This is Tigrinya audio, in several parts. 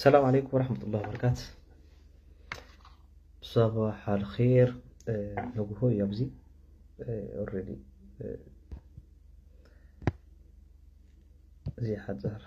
ሰላም ዓለይኩም ወረሕመቱላሂ ወበረካቱ። صباح الخير። ንግሆ እዩ ኣብዚ። ኦልሬዲ እዚ ሓፃር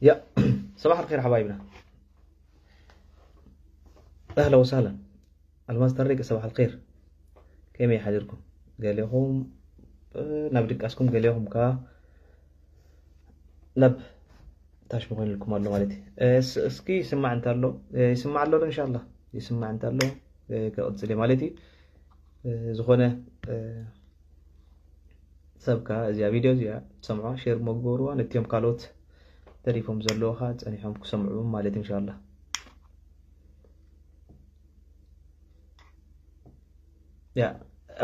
يا صباح الخير حبايبنا، اهلا وسهلا. الماستر ريك صباح الخير، كيف يحضركم؟ قال لكم نبدك اسكم، قال لكم كا نب تاش مغين لكم الله والدي. اسكي يسمع انت له، يسمع له ان شاء الله، يسمع انت له. كقصلي مالتي ዝኾነ ሰብካ እዚኣ ቪድዮ እዚኣ ትሰምዖ ሼር መግበርዋ ነቲኦም ካልኦት ተሪፎም ዘለዉ ኸዓ ጸኒሖም ክሰምዑ ማለት እንሻላ። ያ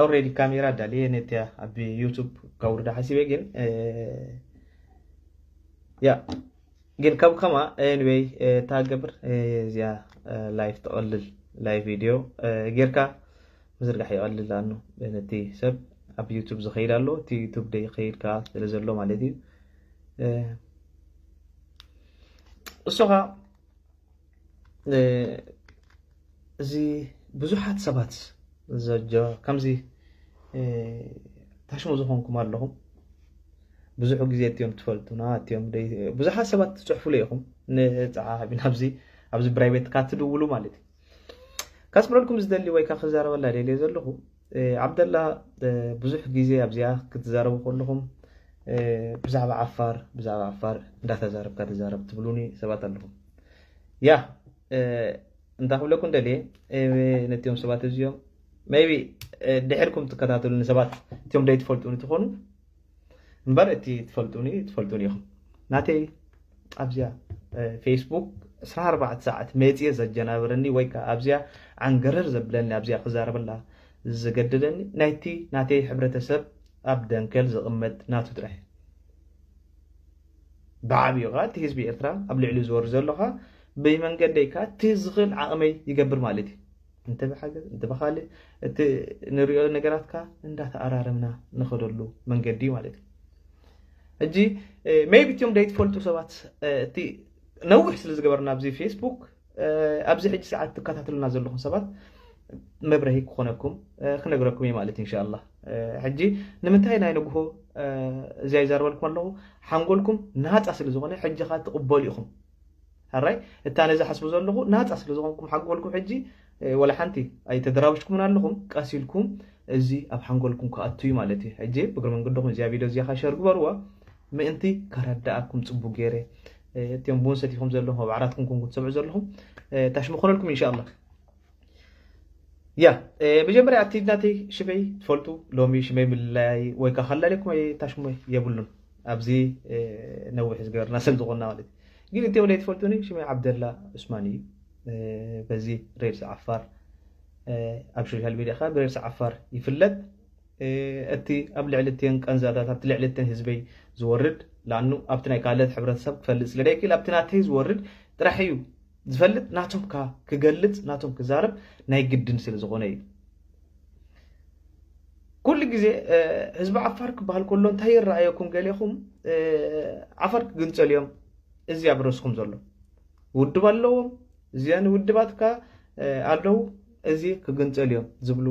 ኦልሬዲ ካሜራ ዳልየ ነቲያ ኣብ ዩቱብ ካውርዳ ሓሲበ ግን ያ ግን ካብ ከማ ኤንወይ ታገብር እዚኣ ላይፍ ትቐልል ላይፍ ቪድዮ ጌርካ ምዝርጋሕ ይቐልል ኣኑ ነቲ ሰብ ኣብ ዩቱብ ዝኸይድ ኣሎ እቲ ዩቱብ ደይ ከይድ ከኣ ስለ ዘሎ ማለት እዩ። እሱ ኸዓ እዚ ብዙሓት ሰባት ዘጆ ከምዚ ታሽሙ ዝኾንኩም ኣለኹም። ብዙሕ ግዜ እትዮም ትፈልጡና እትዮም ብዙሓት ሰባት ትፅሕፉሉ ኢኹም ንፀሓፊና ኣብዚ ኣብዚ ፕራይቬት ካትድውሉ ማለት እዩ። ካስምረልኩም ዝደሊ ወይ ከዓ ክዛረበላ ደልየ ዘለኹ ዓብደላ ብዙሕ ግዜ ኣብዚኣ ክትዛረቡ ከለኹም ብዛዕባ ዓፋር ብዛዕባ ዓፋር እንዳተዛረብካ ተዛረብ ትብሉኒ ሰባት ኣለኹም። ያ እንታይ ክብለኩም ደልየ ነቲኦም ሰባት እዚኦም maybe ድሕርኩም ትከታተሉኒ ሰባት እቲኦም ደይ ትፈልጡኒ ትኾኑ እምበር እቲ ትፈልጡኒ ትፈልጡኒ ኢኹም። ናተይ ኣብዚኣ ፌስቡክ ዕስራን ኣርባዕተ ሰዓት መፅየ ዘጀናብረኒ ወይ ከዓ ኣብዚኣ ዓንገረር ዘብለኒ ኣብዚኣ ክዛረበላ ዝገደደኒ ናይቲ ናተይ ሕብረተሰብ ኣብ ደንከል ዝቕመጥ ናቱ ጥራሕ ብዓብዩ ከዓ እቲ ህዝቢ ኤርትራ ኣብ ልዕሊ ዝወር ዘሎ ከዓ ብመንገደይ ከዓ እቲ ዝኽእል ዓቕመይ ይገብር ማለት እዩ። እንተ ብሓገዝ እንተ ብኻልእ እቲ ንሪኦ ነገራት ከዓ እንዳተኣራረምና ንኸደሉ መንገዲ እዩ ማለት እዩ። ሕጂ maybe እቲኦም ደይትፈልጡ ሰባት እቲ ነዊሕ ስለ ዝገበርና ኣብዚ ፌስቡክ ኣብዚ ሕጂ ሰዓት ትከታተሉና ዘለኹም ሰባት መብረሂ ክኾነኩም ክነግረኩም እየ ማለት እንሻላ። ሕጂ ንምንታይ ናይ ንግሆ እዚኣ ይዛርበልኩም ኣለኹ ሓንጎልኩም ናፃ ስለ ዝኾነ ሕጂ ኸዓ ትቕበሉ ኢኹም። ሕራይ እታ ነዚ ሓስቡ ዘለኹ ናፃ ስለ ዝኾንኩም ሓንጎልኩም ሕጂ ወላ ሓንቲ ኣይተደራብሽኩምን ኣለኹም ቀሲልኩም እዚ ኣብ ሓንጎልኩም ክኣቱ እዩ ማለት እዩ። ሕጂ ብግሪ መንገድኹም እዚኣ ቪድዮ እዚኣ ኸሸር ግበርዋ ምእንቲ ከረዳኣኩም ፅቡቅ ገይረ እቲኦም ቡን ሰቲኹም ዘለኹም ኣብ ዓራትኩም ኮንኩም ትሰምዑ ዘለኹም ታሽሙ ክኾነልኩም እንሻላ። ያ መጀመርያ እቲ ናተይ ሽመይ ትፈልጡ ሎሚ ሽመይ ምልላይ ወይ ከዓ ከላለኩም ታሽሙ የብሉን። ኣብዚ ነዊሕ ዝገበርና ስለ ዝኾንና ማለት እዩ። ግን እቲኦም ለይትፈልጡኒ ሽመይ ዓብደላ ዑስማን እዩ። በዚ ሬድስ ዓፋር ኣብ ሶሻል ሚዲያ ከዓ ብሬድስ ዓፋር ይፍለጥ። እቲ ኣብ ልዕሊ እተን ቀንዛታት ኣብቲ ልዕሊ እተን ህዝበይ ዝወርድ ላኑ ኣብቲ ናይ ካልኦት ሕብረተሰብ ክፈልጥ ስለ ደይክእል ኣብቲ ናተይ ዝወርድ ጥራሕ እዩ ዝፈልጥ ናቶም ካ ክገልፅ ናቶም ክዛረብ ናይ ግድን ስለ ዝኾነ እዩ። ኩሉ ግዜ ህዝቢ ዓፋር ክበሃል ከሎ እንታይ ይረኣየኩም ገሌኹም ዓፋር ክግንፀል እዮም እዚ ኣብ ርእስኹም ዘሎ ውድብ ኣለዎም እዚኣን ውድባትካ ኣለዉ እዚ ክግንፀል እዮም ዝብሉ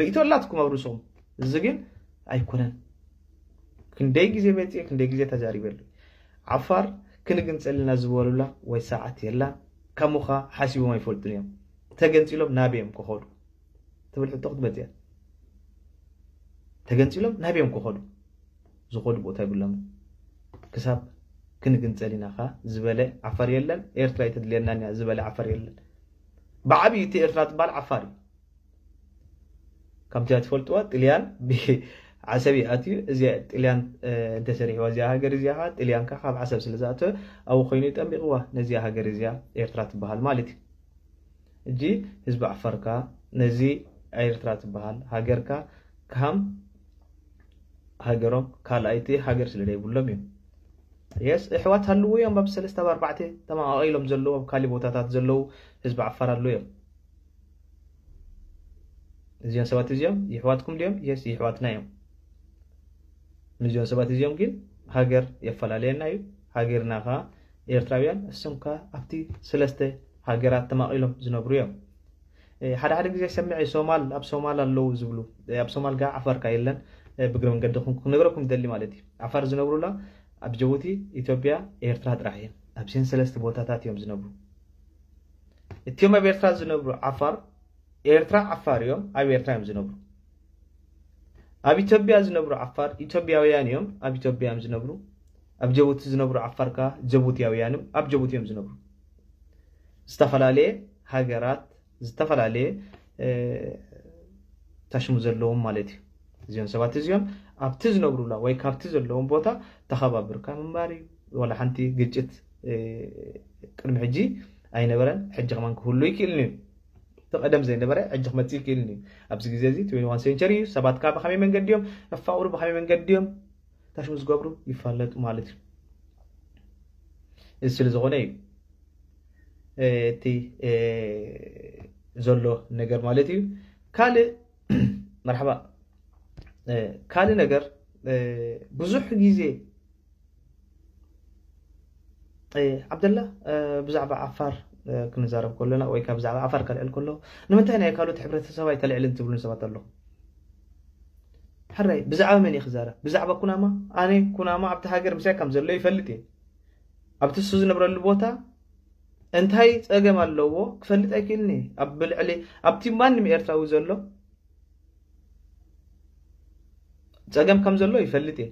ርእቶ ኣላትኩም ኣብ ርእስኹም። እዚ ግን ኣይኮነን። ክንደይ ግዜ መፅየ ክንደይ ግዜ ተዛሪበሉ ዓፋር ክንግንፀልና ዝበሉላ ወይ ሰዓት የላን። ከሙኻ ሓሲቦም ኣይፈልጡን እዮም። ተገንፂሎም ናበዮም ክኸዱ ትብል ሕቶ ክትመፅያ ተገንፂሎም ናበዮም ክኸዱ ዝኸዱ ቦታ ይብሎም። ክሳብ ክንግንፀል ኢና ኸዓ ዝበለ ዓፋር የለን። ኤርትራ ኣይተድልየናን እያ ዝበለ ዓፋር የለን። ብዓብዩ እቲ ኤርትራ ዝበሃል ዓፋር እዩ። ከምቲ ትፈልጥዋ ጥልያን ዓሰብ ይኣትዩ። እዚኣ ጥልያን እንተሰሪሕዋ እዚኣ ሃገር እዚኣ ጥልያን ካብ ዓሰብ ስለ ዝኣተወ ኣብኡ ኮይኑ ጠሚቕዋ ነዚኣ ሃገር እዚኣ ኤርትራ ትበሃል ማለት እዩ። እጂ ህዝቢ ዓፋርካ ነዚ ኤርትራ ትበሃል ሃገርካ ካም ሃገሮም ካልኣይቲ ሃገር ስለ ዘይብሎም እዮም። የስ እሕዋት ሃልዎ እዮም ኣብ ሰለስተ ኣብ ኣርባዕተ ተማቃቂሎም ዘለዉ ኣብ ካሊእ ቦታታት ዘለዉ ህዝቢ ዓፋር ኣለዉ እዮም። እዚኦም ሰባት እዚኦም ይሕዋትኩም ድዮም? የስ ይሕዋትና እዮም። ንዚኦም ሰባት እዚኦም ግን ሃገር የፈላለየና እዩ። ሃገርና ከ ኤርትራውያን እሶም ከ ኣብቲ ሰለስተ ሃገራት ተማቒሎም ዝነብሩ እዮም። ሓደ ሓደ ግዜ ሰምዐ ሶማል ኣብ ሶማል ኣለዉ ዝብሉ። ኣብ ሶማል ከ ዓፋር ከ የለን። ብግረ መንገድኹም ክነግረኩም ደሊ ማለት እዩ። ዓፋር ዝነብሩላ ኣብ ጅቡቲ፣ ኢትዮጵያ፣ ኤርትራ ጥራሕ እዮም። ኣብዚን ሰለስተ ቦታታት እዮም ዝነብሩ። እቲኦም ኣብ ኤርትራ ዝነብሩ ዓፋር ኤርትራ ዓፋር እዮም፣ ኣብ ኤርትራ እዮም ዝነብሩ። ኣብ ኢትዮጵያ ዝነብሩ ዓፋር ኢትዮጵያውያን እዮም፣ ኣብ ኢትዮጵያ እዮም ዝነብሩ። ኣብ ጀቡቲ ዝነብሩ ዓፋር ከኣ ጀቡቲያውያንም ኣብ ጀቡቲ እዮም ዝነብሩ። ዝተፈላለየ ሃገራት ዝተፈላለየ ታሽሙ ዘለዎም ማለት እዩ። እዚኦም ሰባት እዚኦም ኣብቲ ዝነብሩላ ወይ ካብቲ ዘለዎም ቦታ ተኸባብርካ ምንባር እዩ። ዋላ ሓንቲ ግጭት ቅድሚ ሕጂ ኣይነበረን፣ ሕጂ ከማን ክህሉ ይክእልን እዩ። እቲ ቀደም ዘይነበረ ሕጂ ክመፅእ ይክእልን እዩ። ኣብዚ ግዜ እዚ ትዌንቲ ዋን ሴንቸሪ እዩ። ሰባት ከዓ ብኸመይ መንገዲ እዮም እፋቕሩ፣ ብኸመይ መንገዲ እዮም ታሽሙ ዝገብሩ ይፋለጡ ማለት እዩ። እዚ ስለ ዝኾነ እዩ እቲ ዘሎ ነገር ማለት እዩ። ካልእ መርሓባ ካልእ ነገር ብዙሕ ግዜ ዓብደላ ብዛዕባ ዓፋር ክንዛረብ ከለና ወይ ከዓ ብዛዕባ ዓፋር ከልዕል ከሎ ንምንታይ ናይ ካልኦት ሕብረተሰብ ኣይተልዕልን ትብሉን ሰባት ኣለኹም። ሕራይ ብዛዕባ መን እየ ክዛረብ? ብዛዕባ ኩናማ? ኣነ ኩናማ ኣብቲ ሃገር ምሳይ ከም ዘሎ ይፈልጥ እየ። ኣብቲ እሱ ዝነብረሉ ቦታ እንታይ ፀገም ኣለዎ ክፈልጥ ኣይክእልን እየ። ኣብ ብልዕሊ ኣብቲ ማንም ኤርትራዊ ዘሎ ፀገም ከም ዘሎ ይፈልጥ እየ።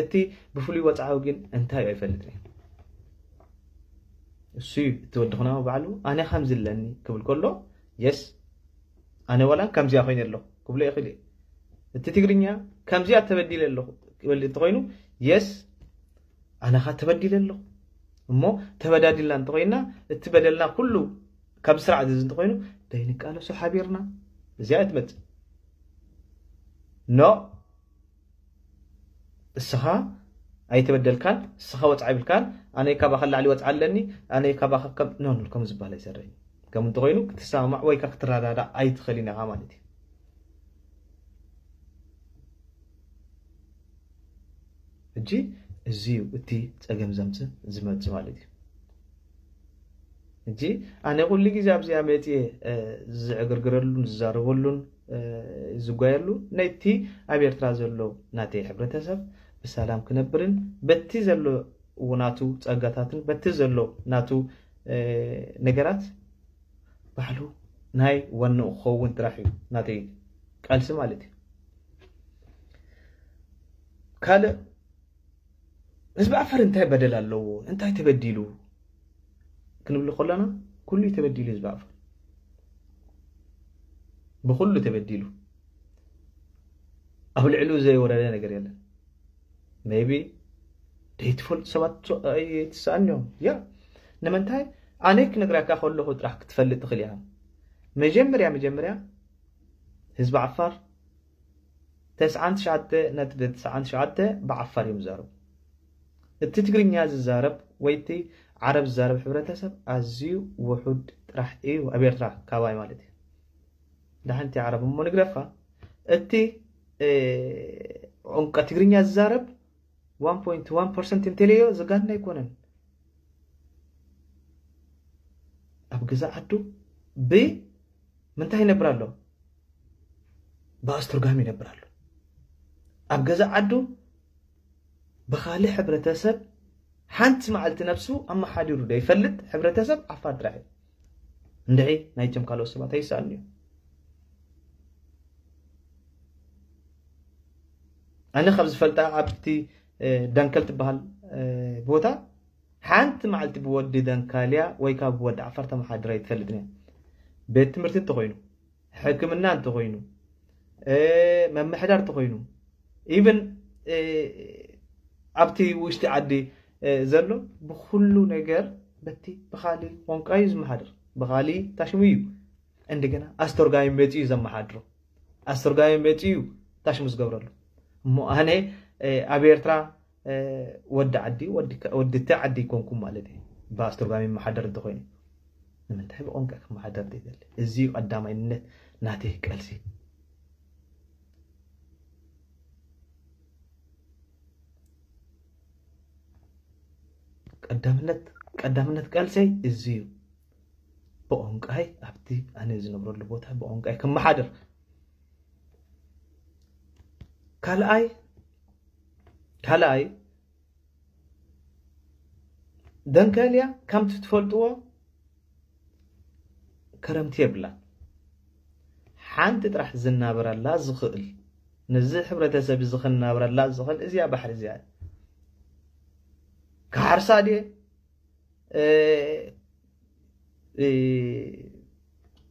እቲ ብፍሉይ ወፅዓዊ ግን እንታይ እዩ ኣይፈልጥን እየ። እሱ እዩ እቲ ወዲ ኩናማ ባዕሉ ኣነ ከምዚ ኣለኒ ክብል ከሎ የስ ኣነ ዋላ ከምዚኣ ኮይነ ኣለኹ ክብሎ ይኽእል እዩ። እቲ ትግርኛ ከምዚኣ ተበዲለ ኣለኹ ክብል እንተኮይኑ የስ ኣነ ኻ ተበዲለ ኣለኹ እሞ ተበዳዲልና እንተኮይና እቲ በደልና ኩሉ ካብ ስርዓት እዚ እንተኮይኑ ደይንቃለሶ ሓቢርና እዚኣ እትመፅእ ኖ እስኻ ኣይተበደልካን እስኻ ወፅዓ ይብልካን ኣነ ካባኻ ላዕሊ ወፅዓ ኣለኒ ኣነ ካባኻ ከም ኖ ኖ ከም ዝበሃል ኣይሰርሕን ከም እንተኮይኑ ክትሰማማዕ ወይ ከዓ ክትረዳዳእ ኣይትኽእልን ኢኻ ማለት እዩ። ሕጂ እዚ እዩ እቲ ፀገም ዘምፅእ ዝመፅእ ማለት እዩ። ሕጂ ኣነ ኩሉ ግዜ ኣብዚኣ መፅየ ዝዕግርግረሉን ዝዛረበሉን ዝጓየሉ ነቲ ኣብ ኤርትራ ዘሎ ናተይ ሕብረተሰብ ብሰላም ክነብርን በቲ ዘሎ ናቱ ፀጋታትን በቲ ዘሎ ናቱ ነገራት ባዕሉ ናይ ዋንኡ ክኸውን ጥራሕ እዩ ናተይ ቃልሲ ማለት እዩ። ካልእ ህዝቢ ዓፋር እንታይ በደል ኣለዎ እንታይ ተበዲሉ ክንብል ከለና ኩሉ እዩ ተበዲሉ ህዝቢ ዓፋር ብኩሉ ተበዲሉ ኣብ ልዕሉ ዘይወረደ ነገር የለን። maybe ደይትፈልጡ ሰባት ኣይትስኣን እዮም ያ ንምንታይ ኣነ ክነግራካ ከለኹ ጥራሕ ክትፈልጥ ትኽእል ኢኻ። መጀመርያ መጀመርያ ህዝቢ ዓፋር ተስዓን ትሽዓተ ነጥቢ ተስዓን ትሽዓተ ብዓፋር እዮም ዝዛረቡ። እቲ ትግርኛ ዝዛረብ ወይ እቲ ዓረብ ዝዛረብ ሕብረተሰብ ኣዝዩ ውሑድ ጥራሕ እዩ ኣብ ኤርትራ ካባይ ማለት እዩ። ደሓን እቲ ዓረብ እሞ ንግደፋ እቲ ቋንቋ ትግርኛ ዝዛረብ ዋን ፖይንት ዋን ፐርሰንት እንተለዮ ዘጋንን ኣይኮነን። ኣብ ገዛ ዓዱ ብ ምንታይ ይነብር ኣሎ? ብኣስተርጓሚ ይነብር ኣሎ። ኣብ ገዛ ዓዱ ብኻልእ ሕብረተሰብ ሓንቲ መዓልቲ ነብሱ ኣመሓዲሩ ዘይፈልጥ ሕብረተሰብ ዓፋር ጥራሕ እዩ። እንድዒ ናይቶም ካልኦት ሰባት ኣይሰኣልን እዮም። ኣነ ካብ ዝፈልጣ ኣብቲ ደንከል ትበሃል ቦታ ሓንቲ መዓልቲ ብወዲ ደንካልያ ወይ ካብ ብወዲ ዓፋር ተመሓድራ ኣይትፈልጥን እያ። ቤት ትምህርቲ እንተኮይኑ፣ ሕክምና እንተኮይኑ፣ መምሕዳር እንተኮይኑ፣ ኢቨን ኣብቲ ውሽጢ ዓዲ ዘሎ ብኩሉ ነገር በቲ ብካሊ ቋንቋ እዩ ዝመሓደር፣ ብካሊ ታሽሙ እዩ። እንደገና ኣስተርጓሚ መፂኡ እዩ ዘመሓድሮ፣ ኣስተርጓሚ መፂኡ እዩ ታሽሙ ዝገብረሉ። እሞ ኣነ ኣብ ኤርትራ ወዲ ዓዲ ወዲ እቲ ዓዲ ይኮንኩም ማለት እዩ። ብኣስተርጓሚ መሓደር እንተኮይኑ ንምንታይ ብቋንቋ ክመሓደር ዘይደሊ? እዚ እዩ ቀዳማይነት ናተይ ቀልሲ። ቀዳምነት ቀዳምነት ቀልሰይ እዚ እዩ። ብቋንቋይ ኣብቲ ኣነ ዝነብረሉ ቦታ ብቋንቋይ ክመሓደር። ካልኣይ ካልኣይ ደንከልያ ከምቲ ትፈልጥዎ ክረምቲ የብላን። ሓንቲ ጥራሕ ዝናበረላ ዝኽእል፣ ነዚ ሕብረተሰብ እዚ ክናበረላ ዝኽእል እዚኣ ባሕሪ እዚኣ። ክሓርሳ ድየ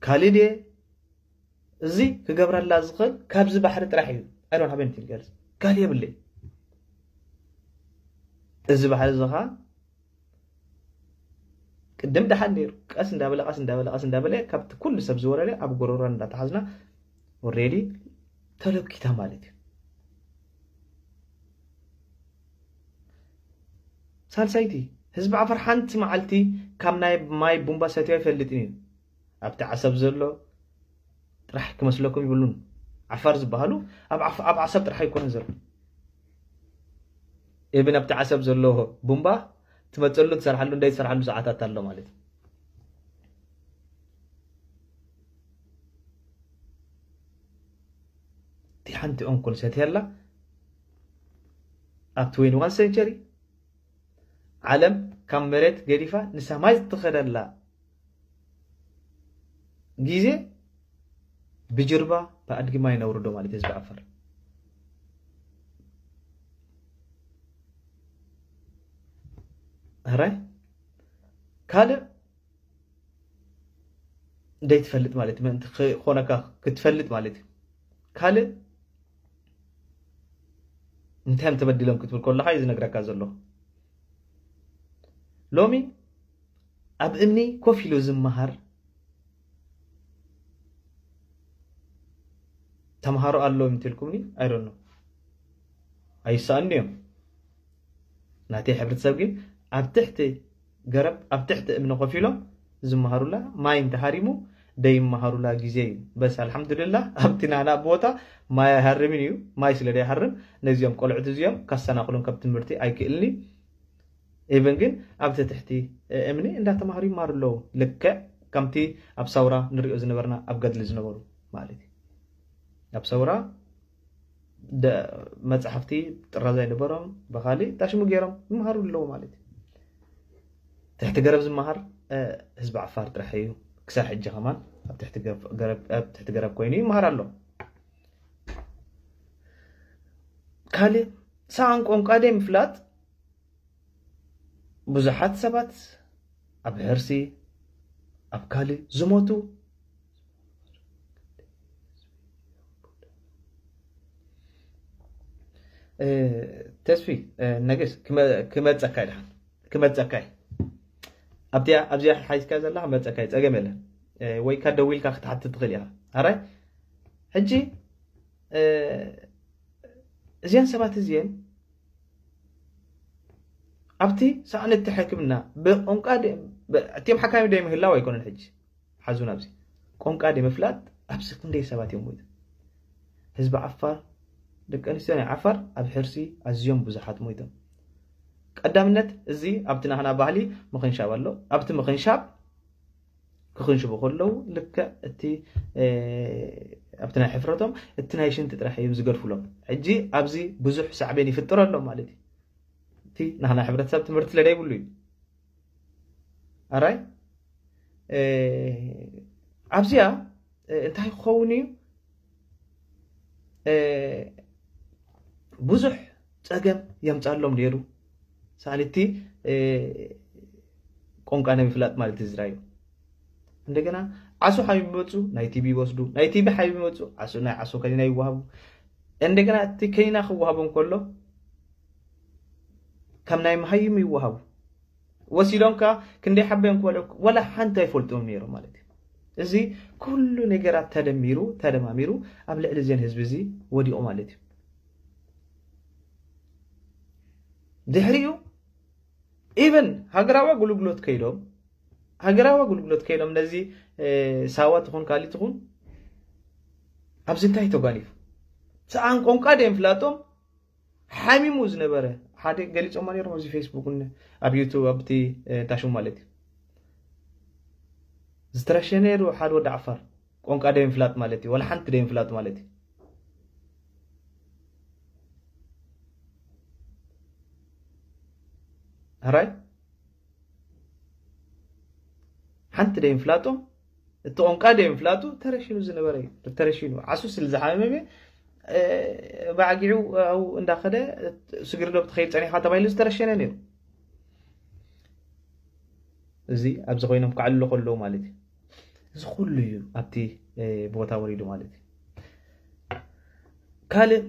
ካልእ ድየ እዚ ክገብረላ ዝኽእል ካብዚ ባሕሪ ጥራሕ እዩ። I don't have anything else። ካልእ የብለይ። እዚ ባሕሪ እዚ ኸዓ ቅድም ደሓን ነይሩ፣ ቀስ እንዳበለ ቀስ እንዳበለ ቀስ እንዳበለ ካብቲ ኩሉ ሰብ ዝወረደ ኣብ ጎረሮ እንዳተሓዝና already ተለኪታ ማለት እዩ። ሳልሳይቲ፣ ህዝቢ ዓፈር ሓንቲ መዓልቲ ካብ ናይ ማይ ቡምባ ሰትዩ ኣይፈልጥን እዩ። ኣብቲ ዓሰብ ዘሎ ጥራሕ ክመስለኩም ይብሉን። ዓፋር ዝበሃሉ ኣብ ዓፍ- ኣብ ዓሰብ ጥራሕ ኣይኮነን ዘሎ። ኢብን ኣብቲ ዓሰብ ዘሎ ቡምባ ትመፀሉ ትሰርሓሉ እንዳይ ትሰርሓሉ ሰዓታት ኣሎ ማለት እዩ። እቲ ሓንቲ ኦንኮል ሰትያላ ኣብ twenty-one century ዓለም ካብ መሬት ገዲፋ ንሰማይ ዝትኸደላ ግዜ ብጅርባ ብኣድጊ ማይ ነውርዶ ማለት ህዝቢ ዓፈር። ሕራይ ካልእ ደይትፈልጥ ማለት ምእንቲ ክኾነካ ክትፈልጥ ማለት እዩ። ካልእ እንታይ እዮም ተበዲሎም ክትብል ከለኻ እዩ ዝነግረካ ዘሎ። ሎሚ ኣብ እምኒ ኮፍ ኢሉ ዝመሃር ተምሃሮ ኣለዉ እንተልኩምኒ፣ I don't know፣ ኣይሰኣኑ እዮም። ናተይ ሕብረተሰብ ግን ኣብ ትሕቲ ገረብ ኣብ ትሕቲ እምኒ ኮፍ ኢሎም ዝመሃሩላ፣ ማይ እንተሃሪሙ ደይመሃሩላ ግዜ እዩ። በስ ኣልሓምዱልላህ ኣብቲ ናና ቦታ ማይ ኣይሃርምን እዩ። ማይ ስለ ደይሃርም ነዚኦም ቆልዑት እዚኦም ካሰናኽሎም ካብ ትምህርቲ ኣይክእልኒ። ኢቨን ግን ኣብቲ ትሕቲ እምኒ እንዳተማሃሩ ይማሩ ኣለዉ። ልክዕ ከምቲ ኣብ ሳውራ ንሪኦ ዝነበርና ኣብ ገድሊ ዝነበሩ ማለት እዩ። ኣብ ሳውራ ደ- መፅሓፍቲ ጥራዝ ኣይነበሮም፣ ብኻሊእ ታሽሙ ገይሮም ይመሃሩ ኣለዉ ማለት እዩ። ትሕቲ ገረብ ዝመሃር ህዝቢ ዓፋር ጥራሕ እዩ። ክሳብ ሕጂ ከማን ኣብ ትሕቲ ገረብ- ገረብ- ኣብ ትሕቲ ገረብ ኮይኑ ይመሃር ኣሎ። ካልእ ሰኣን ቋንቋ ደይ ምፍላጥ ብዙሓት ሰባት ኣብ ሕርሲ ኣብ ካልእ ዝሞቱ ተስፊ ነገስ ክመፀካ ድሓን ክመፀካ ኣብዚኣ ኣብዚኣ ሓይዝካ ዘላ ክመፀካ ጸገም የለን። ወይ ካ ደዊልካ ክትሓትት ትኽእል ኢኻ። ኣራይ ሕጂ እዚአን ሰባት እዚአን ኣብቲ ሳዕነቲ ሕክምና ብቋንቋ እቲም ሓካሚ ደይ ምህላው ኣይኮነን። ሕጂ ሓዙን ኣብዚ ቋንቋ ደይ ምፍላጥ ኣብዚ ክንደይ ሰባት እዮም ሞይቶም። ህዝቢ ዓፋር ደቂ ኣንስትዮ ናይ ዓፋር ኣብ ሕርሲ ኣዝዮም ብዙሓት ሞይቶም። ቀዳምነት እዚ ኣብቲ ናህና ባህሊ ምኽንሻብ ኣሎ። ኣብቲ ምኽንሻብ ክኽንሽቡ ከለዉ ልክዕ እቲ ኣብቲ ናይ ሕፍረቶም እቲ ናይ ሽንቲ ጥራሕ እዮም ዝገድፍሎም። ሕጂ ኣብዚ ብዙሕ ሳዕቤን ይፍጥር ኣሎ ማለት እዩ። እቲ ናህና ሕብረተሰብ ትምህርቲ ስለደይብሉ እዩ። ኣራይ ኣብዚኣ እንታይ ክኸውን እዩ? ብዙሕ ፀገም የምፃሎም ነይሩ። ሳልቲ ቋንቋ ናይ ምፍላጥ ማለት ዝራዩ እንደገና ዓሶ ሓቢብ ይመፁ ናይ ቲቢ ይወስዱ፣ ናይ ቲቢ ሓቢብ ይመፁ ዓሶ ናይ ዓሶ ከኒና ይወሃቡ። እንደገና እቲ ከይና ክወሃቦም ከሎ ከም ናይ መሃይም ይወሃቡ። ወሲዶም ከኣ ክንደይ ሓበዮም ክበልዑ ወላ ሓንቲ ኣይፈልጡም ነይሮም ማለት እዩ። እዚ ኩሉ ነገራት ተደሚሩ ተደማሚሩ ኣብ ልዕሊ እዚን ህዝቢ እዚ ወዲቑ ማለት እዩ። ድሕሪኡ ኢቨን ሃገራዊ ኣገልግሎት ከይዶም ሃገራዊ ኣገልግሎት ከይዶም ነዚ ሳዋ ትኹን ካሊ ትኹን ኣብዚ እንታይ ተጓኒፉ ሰኣን ቆንቃ ደም ፍላጦም ሓሚሙ ዝነበረ ሓደ ገሊጾማ ነይሮም ኣብዚ ፌስቡክ ኣብ ዩቱብ ኣብቲ ታሽሙ ማለት እዩ። ዝተረሸ ነይሩ ሓደ ወዲ ዓፋር ቆንቃ ደም ፍላጥ ማለት እዩ። ወላ ሓንቲ ደም ፍላጥ ማለት እዩ። ሕራይ ሓንቲ ደም ፍላጦም እቲ ቆንቃ ደም ፍላጡ ተረሽኑ ዝነበረ እዩ። ተረሽኑ ዓሱ ስለ ዝሓመመ ብዓጊዑ ኣብኡ እንዳኸደ ስግሪ ዶ ብትኸይድ ጸኒኻ ተባሂሉ ዝተረሸነ ነይሩ። እዚ ኣብዚ ኮይኖም ክዓልሉ ከለዉ ማለት እዩ። እዚ ኩሉ እዩ ኣብቲ ቦታ ወሪዱ ማለት እዩ። ካልእ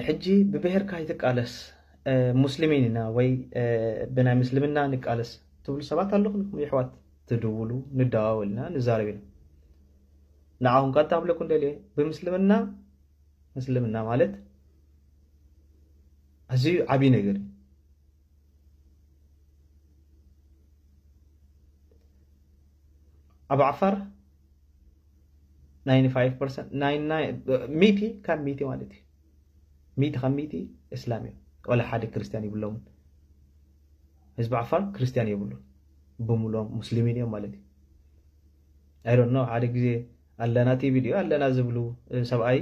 ሕጂ ብብሄርካ ይትቃለስ ሙስሊሚን ኢና ወይ ብናይ ምስልምና ንቃለስ ትብሉ ሰባት ኣለኹም ይሕዋት ትድውሉ ንደዋወልና ንዛረብ ኢና። ንዓኹም ካታ ኣብለኩም ደልየ ብምስልምና ምስልምና ማለት ኣዝዩ ዓብዪ ነገር እዩ። ኣብ ዓፋር ሚቲ ካብ ሚቲ ማለት እዩ። ሚቲ ካብ ሚቲ እስላም እዮም። ዋላ ሓደ ክርስቲያን ይብሎምን። ህዝቢ ዓፋር ክርስቲያን የብሉን። ብምሎም ሙስሊሚን እዮም ማለት እዩ። ኣይዶን ሓደ ግዜ ኣለና ቲቪ ድዩ ኣለና ዝብሉ ሰብኣይ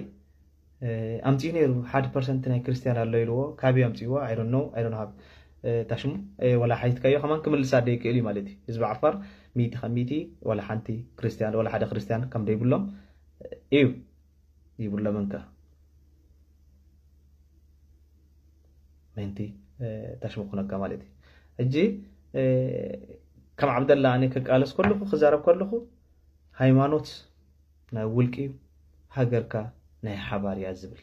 ኣምፅኡ ነይሩ ሓደ ፐርሰንት ናይ ክርስቲያን ኣሎ ኢልዎ ካበይ ኣምፅዎ ኣይዶን ነው ኣይዶን ሃብ ታሽሙ ወላ ሓይትካዮ ከማን ክምልሳ ደይክእል እዩ ማለት እዩ። ህዝቢ ዓፋር ሚቲ ካብ ሚቲ ወላ ሓንቲ ክርስቲያን ወላ ሓደ ክርስቲያን ከም ደይብሎም እዩ ይብሎ መንከ ምንቲ ታሽሙ ክነካ ማለት እዩ። ሕጂ ከም ዓብደላ ኣነ ክቃለስ ከለኹ ክዛረብ ከለኹ ሃይማኖት ናይ ውልቂ እዩ፣ ሃገርካ ናይ ሓባር እያ ዝብል።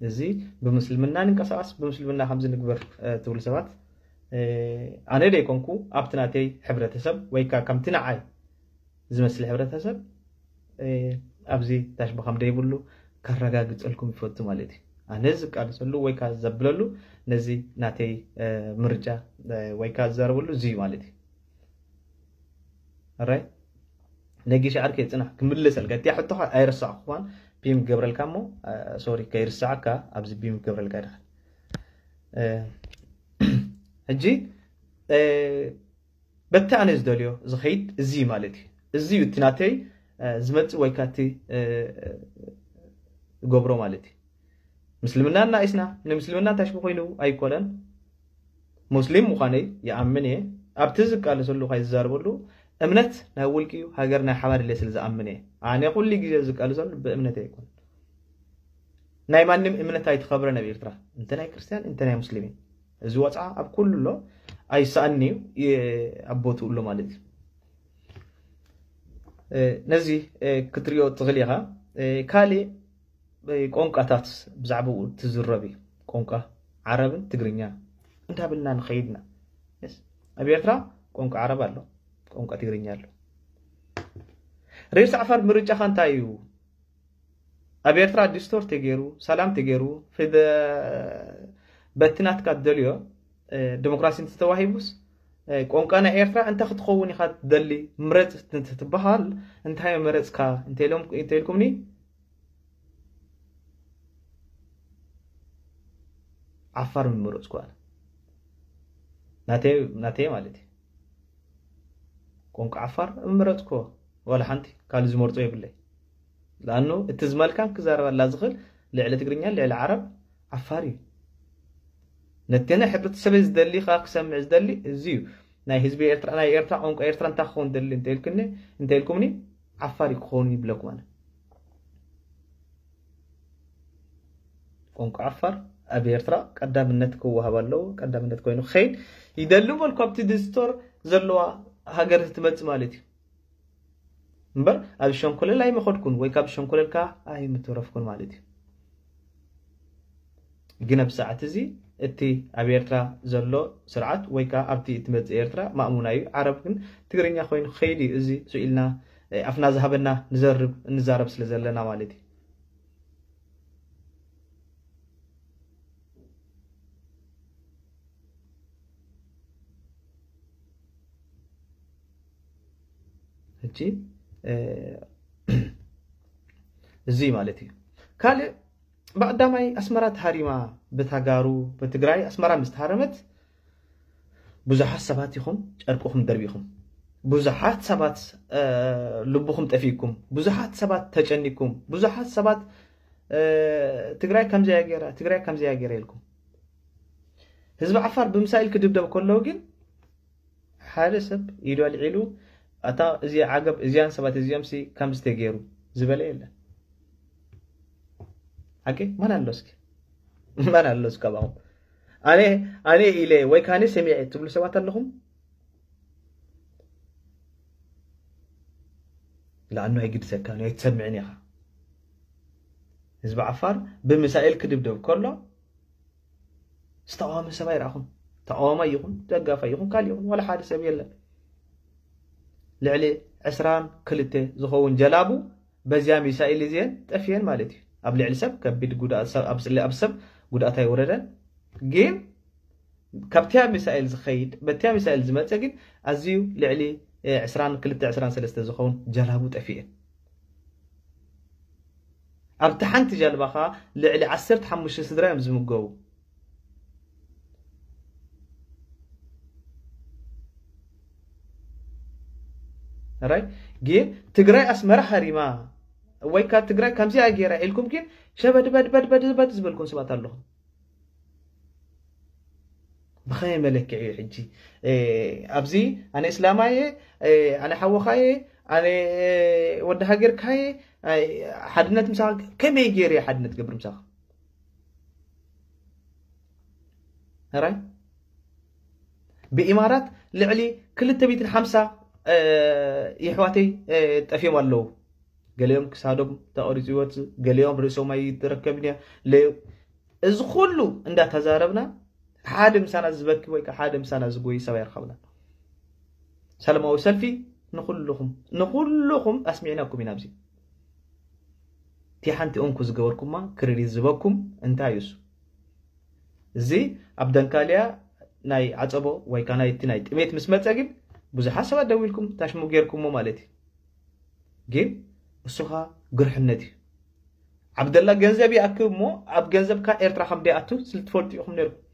እዚ ብምስልምና ንንቀሳቀስ ብምስልምና ከምዚ ንግበር ትብሉ ሰባት ኣነ ደይኮንኩ ኣብቲ ናተይ ሕብረተሰብ ወይ ከዓ ከምቲ ንዓይ ዝመስል ሕብረተሰብ ኣብዚ ታሽሙ ከም ደይብሉ ከረጋግፀልኩም ይፈቱ ማለት እዩ። ኣነ ዝቃለሰሉ ወይ ከዓ ዘብለሉ ነዚ ናተይ ምርጫ ወይ ከዓ ዝዛረበሉ እዚ እዩ ማለት እዩ። ራይ ነጊሽ ዓርከይ ፅናሕ ክምልሰልካ እቲያ ሕቶኻ ኣይረሳዕኩዋን ፒም ገብረልካ እሞ ሶሪ ከይርሳዓካ ኣብዚ ፒም ገብረልካ ድኻ ሕጂ በቲ ኣነ ዝደልዮ ዝኸይድ እዚ ማለት እዩ። እዚ እዩ እቲ ናተይ ዝመፅእ ወይ ካቲ ገብሮ ማለት እዩ። ምስልምና እናኢስና ንምስልምና እንታይ ሽሙ ኮይኑ ኣይኮነን። ሙስሊም ምዃነይ ይኣምን እየ። ኣብቲ ዝቃለሰሉ ካይ ዝዛረበሉ እምነት ናይ ውልቂ እዩ፣ ሃገር ናይ ሓባር ኢለ ስለ ዝኣምን እየ። ኣነ ኩሉ ግዜ ዝቃለሰሉ ብእምነት ኣይኮን። ናይ ማንም እምነት ኣይትኸብረን ኣብ ኤርትራ፣ እንተ ናይ ክርስቲያን እንተ ናይ ሙስሊም እዩ። እዚ ወፅዓ ኣብ ኩሉ ኣሎ፣ ኣይሰኣን እዩ፣ ኣብ ቦትኡ ኣሎ ማለት እዩ። ነዚ ክትሪኦ ትኽእል ኢኻ። ካልእ ቋንቋታት ብዛዕባኡ ትዝረብ እዩ። ቋንቋ ዓረብን ትግርኛ እንዳበልና ንኸይድና። ኣብ ኤርትራ ቋንቋ ዓረብ ኣሎ፣ ቋንቋ ትግርኛ ኣሎ። ሬድስ ዓፋር ምርጫኻ እንታይ እዩ? ኣብ ኤርትራ ዲስቶር ተገይሩ፣ ሰላም ተገይሩ፣ በቲ ናትካ ትደልዮ ዲሞክራሲ እንተተዋሂቡስ ቋንቋ ናይ ኤርትራ እንታይ ክትኸውን ኢኻ ትደሊ? ምረጽ እንትትበሃል እንታይ መረጽካ እንተኢልኩምኒ ዓፋር ምመረጽኩ ኣነ ናተይ ናተይ ማለት እዩ። ቋንቋ ዓፋር ምመረጽኩ ዋላ ሓንቲ ካልእ ዝመርጾ የብለይ። ለኣኑ እቲ ዝመልካን ክዛረበላ ዝኽእል ልዕሊ ትግርኛ ልዕሊ ዓረብ ዓፋር እዩ። ነቲ ናይ ሕብረተሰበይ ዝደሊ ከዓ ክሰምዕ ዝደሊ እዚ እዩ። ናይ ህዝቢ ኤርትራ ናይ ኤርትራ ቋንቋ ኤርትራ እንታይ ክኸውን ደሊ እንተኢልኩኒ እንተኢልኩምኒ ዓፋር እዩ ክኸውን ይብለኩም ኣነ። ቋንቋ ዓፋር ኣብ ኤርትራ ቀዳምነት ክወሃብ ኣለዎ። ቀዳምነት ኮይኑ ክኸይድ ይደሊ በልኩ ኣብቲ ዲስቶር ዘለዋ ሃገር ትመጽእ ማለት እዩ። እምበር ኣብ ሸንኮለል ኣይመኸድኩን ወይ ካብ ሸንኮለል ከኣ ኣይምተረፍኩን ማለት እዩ። ግን ኣብ ሰዓት እዚ እቲ ኣብ ኤርትራ ዘሎ ስርዓት ወይ ከኣ ኣብቲ እትመጽእ ኤርትራ ማእሙና እዩ። ዓረብ ግን ትግርኛ ኮይኑ ክኸይድ እዩ። እዚ ስኢልና ኣፍና ዝሃበና ንዘርብ እንዛረብ ስለ ዘለና ማለት እዩ። ሕጂ እዚ ማለት እዩ። ካልእ ብቐዳማይ ኣስመራ ተሃሪማ ብታጋሩ ብትግራይ ኣስመራ ምስ ተሃረመት ብዙሓት ሰባት ኢኹም ጨርቅኹም ደርቢኹም፣ ብዙሓት ሰባት ልብኹም ጠፊእኩም፣ ብዙሓት ሰባት ተጨኒኩም፣ ብዙሓት ሰባት ትግራይ ከምዚያ ገይራ፣ ትግራይ ከምዚያ ገይራ ኢልኩም። ህዝቢ ዓፋር ብምሳይል ክድብደብ ከለዉ ግን ሓደ ሰብ ኢዱ ኣልዒሉ ኣታ እዚ ዓገብ እዚያን ሰባት እዚኦም ሲ ከምዚ ተገይሩ ዝበለ የለን። ሓቂ ማን ኣሎ እስኪ? ማን ኣሎ እስኪ ካባኹም? ኣነ ኣነ ኢለ ወይ ካነ ሰሚዐ ትብሉ ሰባት ኣለኹም? ለኣኑ ኣይግድሰካን እዩ፣ ኣይትሰምዕን ኢኻ። ህዝቢ ዓፋር ብምሳኤል ክድብደብ ከሎ ዝተቃወመ ሰብ ኣይረኣኹም። ተቃዋማይ ይኹን ደጋፋይ ይኹን ካልእ ይኹን ዋላ ሓደ ሰብ የለን። ልዕሊ ዕስራን ክልተ ዝኸውን ጀላቡ በዚያ ሚሳኤል እዚአን ጠፊአን ማለት እዩ። ኣብ ልዕሊ ሰብ ከቢድ ጉድኣት፣ ሰብ ኣብ ስለ ኣብ ሰብ ጉድኣት ኣይወረደን። ግን ካብቲያ ሚሳኤል ዝኸይድ በቲያ ሚሳኤል ዝመፀ ግን ኣዝዩ ልዕሊ ዕስራን ክልተ ዕስራን ሰለስተ ዝኸውን ጀላቡ ጠፊአን። ኣብቲ ሓንቲ ጀልባ ኸኣ ልዕሊ ዓሰርተ ሓሙሽተ ስድራ እዮም ዝምገቡ። ራይ ግን ትግራይ ኣስመራ ሃሪማ ወይ ካብ ትግራይ ከምዚኣ ገይራ ኢልኩም ግን ሸበድ በድ በድ በድ በድ ዝበልኩም ሰባት ኣለኹም። ብኸመይ መለክዒ እዩ ሕጂ ኣብዚ ኣነ እስላማየ ኣነ ሓወኻየ ኣነ ወዲ ሃገርካየ ሓድነት ምሳኻ ከመይ ገይረ ሓድነት ገብር ምሳኻ? ራይ ብኢማራት ልዕሊ ክልተ ሚእትን ሓምሳ የሕዋተይ ጠፊኦም ኣለዉ። ገሊኦም ክሳዶም ተቐሪፁ ይወፅእ፣ ገሊኦም ርእሶም ኣይትረከብን እያ። እዚ ኩሉ እንዳተዛረብና ሓደ ምሳና ዝበኪ ወይ ሓደ ምሳና ዝጎይ ሰብ ኣይረኸብና። ሰላማዊ ሰልፊ ንኩልኹም ንኩልኹም ኣስሚዕናኩም ኢና። ኣብዚ እቲ ሓንቲ እንኩ ዝገበርኩማ ክሬዲት ዝበኩም እንታይ እዩ እሱ? እዚ ኣብ ደንካልያ ናይ ዓፀቦ ወይ ከዓ ናይቲ ናይ ጥሜት ምስ መፀ ግን ብዙሓት ሰባት ደዊልኩም ታሽሙ ጌርኩሞ ማለት እዩ። ግን እሱ ኸዓ ግርሕነት እዩ። ዓብደላ ገንዘብ ይኣክብ እሞ ኣብ ገንዘብካ ኤርትራ ከም ደይኣቱ ስልትፈልጡ ኢኹም ነይርኩም።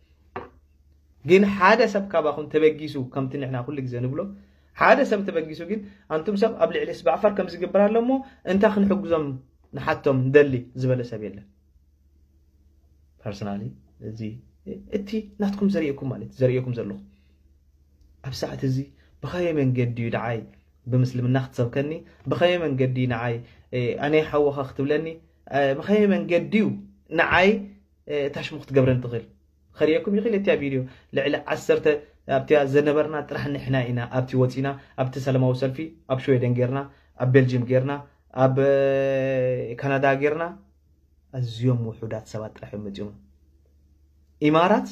ግን ሓደ ሰብ ካባኹም ተበጊሱ ከምቲ ንሕና ኩሉ ግዜ ንብሎ ሓደ ሰብ ተበጊሱ ግን ኣንቱም ሰብ ኣብ ልዕሊ ህዝቢ ዓፋር ከም ዝግበር ኣሎ እሞ እንታይ ክንሕግዞም ንሓቶም ንደሊ ዝበለ ሰብ የለን። ፐርሰናሊ እዚ እቲ ናትኩም ዘርእየኩም ማለት ዘርእየኩም ዘለኹ ኣብ ሰዓት እዚ ብኸመይ መንገዲ እዩ ደዓይ ብምስልምና ክትሰብከኒ ብኸመይ መንገዲ ንዓይ ኣነ ሓወኻ ክትብለኒ ብኸመይ መንገዲ እዩ ንዓይ ታሽሙ ክትገብረኒ ትኽእል ከርእየኩም ይኽእል እቲያ ቪድዮ ልዕሊ ዓሰርተ ኣብቲያ ዘነበርና ጥራሕ ንሕና ኢና ኣብቲ ወፂና ኣብቲ ሰላማዊ ሰልፊ ኣብ ሽወደን ጌርና ኣብ ቤልጅም ጌርና ኣብ ካናዳ ጌርና ኣዝዮም ውሑዳት ሰባት ጥራሕ እዮም መፂኦም። ኢማራት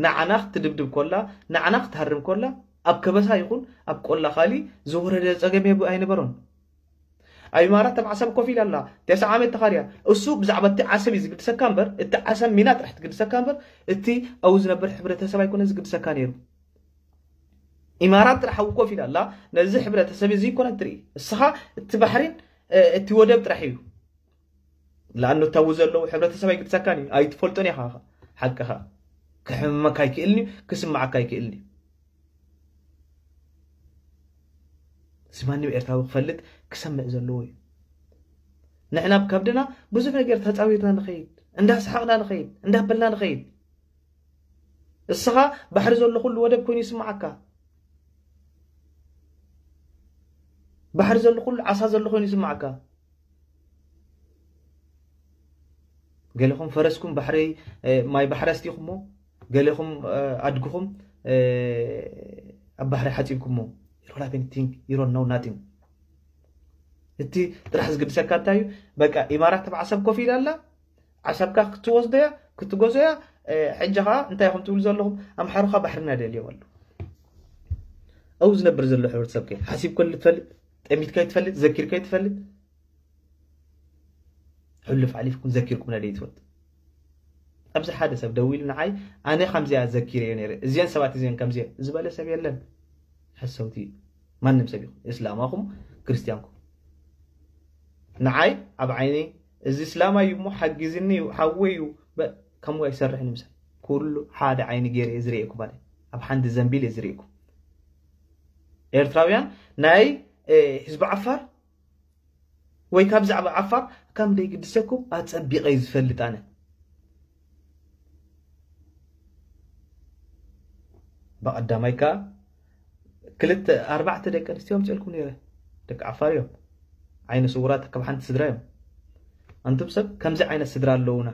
ንዓና ክትድብድብ ኮላ ንዓና ክትሃርም ኮላ ኣብ ከበሳ ይኹን ኣብ ቆላ ካሊ ዝወረደ ፀገም የብ ኣይነበሮን። ኣብ ኢማራት ኣብ ዓሰብ ኮፍ ኢላ ኣላ ተስዓ ዓመት ተኻርያ። እሱ ብዛዕባ እቲ ዓሰብ እዩ ዝግድሰካ እምበር እቲ ዓሰብ ሚና ጥራሕ ትግድሰካ እምበር እቲ ኣብኡ ዝነበር ሕብረተሰብ ኣይኮነ ዝግድሰካ ነይሩ። ኢማራት ጥራሕ ኣብኡ ኮፍ ኢላ ኣላ ነዚ ሕብረተሰብ እዚ ይኮነ ትርኢ እስኻ እቲ ባሕሪን እቲ ወደብ ጥራሕ እዩ። ለኣኑ እታቡ ዘለዉ ሕብረተሰብ ኣይግድሰካን እዩ ኣይትፈልጦን ኢኻ ሓቅኻ ክሕመመካ ኣይክእልን እዩ ክስምዓካ ኣይክእልን እዩ እዚ ማንም ኤርትራዊ ክፈልጥ ክሰምዕ ዘለዎ እዩ ንሕና ብከብድና ብዙሕ ነገር ተፃዊርና ንኸይድ እንዳሰሓቕና ንኸይድ እንዳበልና ንኸይድ እስኻ ባሕሪ ዘሎ ኩሉ ወደብ ኮይኑ ይስምዓካ ባሕሪ ዘሎ ኩሉ ዓሳ ዘሎ ኮይኑ ይስምዓካ ገለኹም ፈረስኩም ባሕሪ ማይ ባሕሪ ኣስቲኹሞ ገለኹም ኣድግኹም ኣብ ባሕሪ ሓፂብኩሞ you don't have anything you don't know nothing እቲ ጥራሕ ዝግድሰካ እንታይ እዩ? በቃ ኢማራት ኣብ ዓሰብ ኮፍ ኢላ ኣላ። ዓሰብካ ክትወስዶ እያ፣ ክትገዝኦ እያ። ሕጂ ኸዓ እንታይ ኢኹም ትብሉ ዘለኹም? ኣምሓሩኻ ባሕርና ደልዮም ኣሎ። ኣብኡ ዝነብር ዘሎ ሕብረተሰብ ከ ሓሲብካ ትፈልጥ? ጠሚትካ ትፈልጥ? ዘኪርካ ትፈልጥ? ሕሉፍ ሓሊፍኩም ዘኪርኩም ናይ ትፈልጡ? ኣብዚ ሓደ ሰብ ደዊሉ ንዓይ ኣነ ከምዚኣ ዘኪረዮ ነይረ፣ እዚአን ሰባት እዚአን ከምዚአን ዝበለ ሰብ የለን። ሓሰውቲ እዩ። ማንም ሰብ ይኹን እስላማኹም ክርስቲያንኩም ንዓይ ኣብ ዓይኒ እዚ እስላማ እዩ እሞ ሓጊዝኒ እዩ ሓወይ እዩ ከምኡ ኣይሰርሕን ምሳይ ኩሉ ሓደ ዓይኒ ገይረ እየ ዝርእየኩም ማለት ኣብ ሓንቲ ዘንቢል እየ ዝርእየኩም ኤርትራውያን ናይ ህዝቢ ዓፋር ወይ ካብ ዛዕባ ዓፋር ከም ደይግድሰኩም ኣጸቢቐ እዩ ዝፈልጥ ኣነ ብቐዳማይ ከኣ ክልተ ኣርባዕተ ደቂ ኣንስትዮ ኣምፅልኩም ነይረ ደቂ ዓፋር እዮም ዓይነ ስውራት ካብ ሓንቲ ስድራ እዮም ኣንቱም ሰብ ከምዚ ዓይነት ስድራ ኣለውና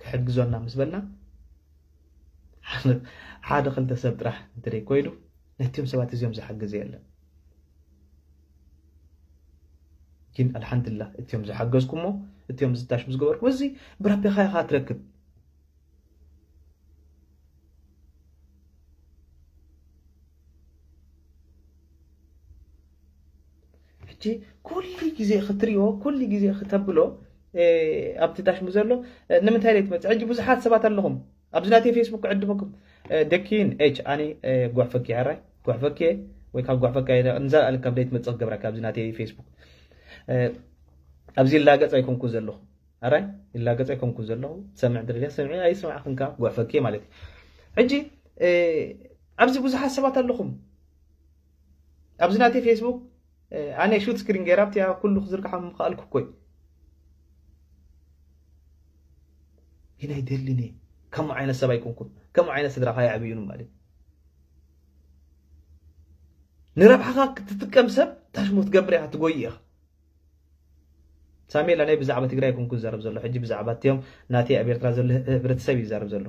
ክሕግዞና ምስ በልና ሓደ ክልተ ሰብ ጥራሕ እንተደይ ኮይኑ ነቲኦም ሰባት እዚኦም ዝሓግዘ የለን ግን ኣልሓምድላ እቲኦም ዝሓገዝኩሞ እቲኦም ዝታሽ ዝገበርኩ እዚ ብራቢኻ ኢኻ ትረክብ ሕጂ ኩሉ ግዜ ክትሪኦ ኩሉ ግዜ ክተብሎ ኣብቲ ታሽሙ ዘሎ ንምንታይ ደይ ትመፅእ ሕጂ ብዙሓት ሰባት ኣለኹም ኣብዚ ናተይ ፌስቡክ ክዕድመኩም ደኪን ኤች ኣነ ጓሕፈኪ ሕራይ ጓሕፈኪ ወይ ካብ ጓሕፈካ ንዛ ኣልካ ደይ ትመፅእ ክገብረካ ኣብዚ ናተይ ፌስቡክ ኣብዚ ላገፅ ኣይኮንኩ ዘለኹ ኣራይ ይላገፀ ኣይኮንኩ ዘለኹ ሰምዕ ድርያ ሰምዒ ኣይስማዕክንካ ጓፈኪ ማለት እዩ ሕጂ ኣብዚ ብዙሓት ሰባት ኣለኹም ኣብዚ ናተይ ፌስቡክ ኣነ ሹት ስክሪን ገይራ ኣብቲያ ኩሉ ክዝርግሓ ምኽኣልኩ ኮይ ግን ኣይደልን እየ ከምኡ ዓይነት ሰብ ኣይኮንኩን ከምኡ ዓይነት ስድራኻ ይዕብዩን ማለት ንረብሓኻ ክትጥቀም ሰብ ታሽሙ ትገብር ኢኻ ትጎይ ኢኻ ሳሜላ ናይ ብዛዕባ ትግራይ ኮንኩ ዝዛረብ ዘሎ ሕጂ ብዛዕባ እትዮም ናተይ ኣብ ኤርትራ ዘሎ ህብረተሰብ እዩ ዝዛረብ ዘሎ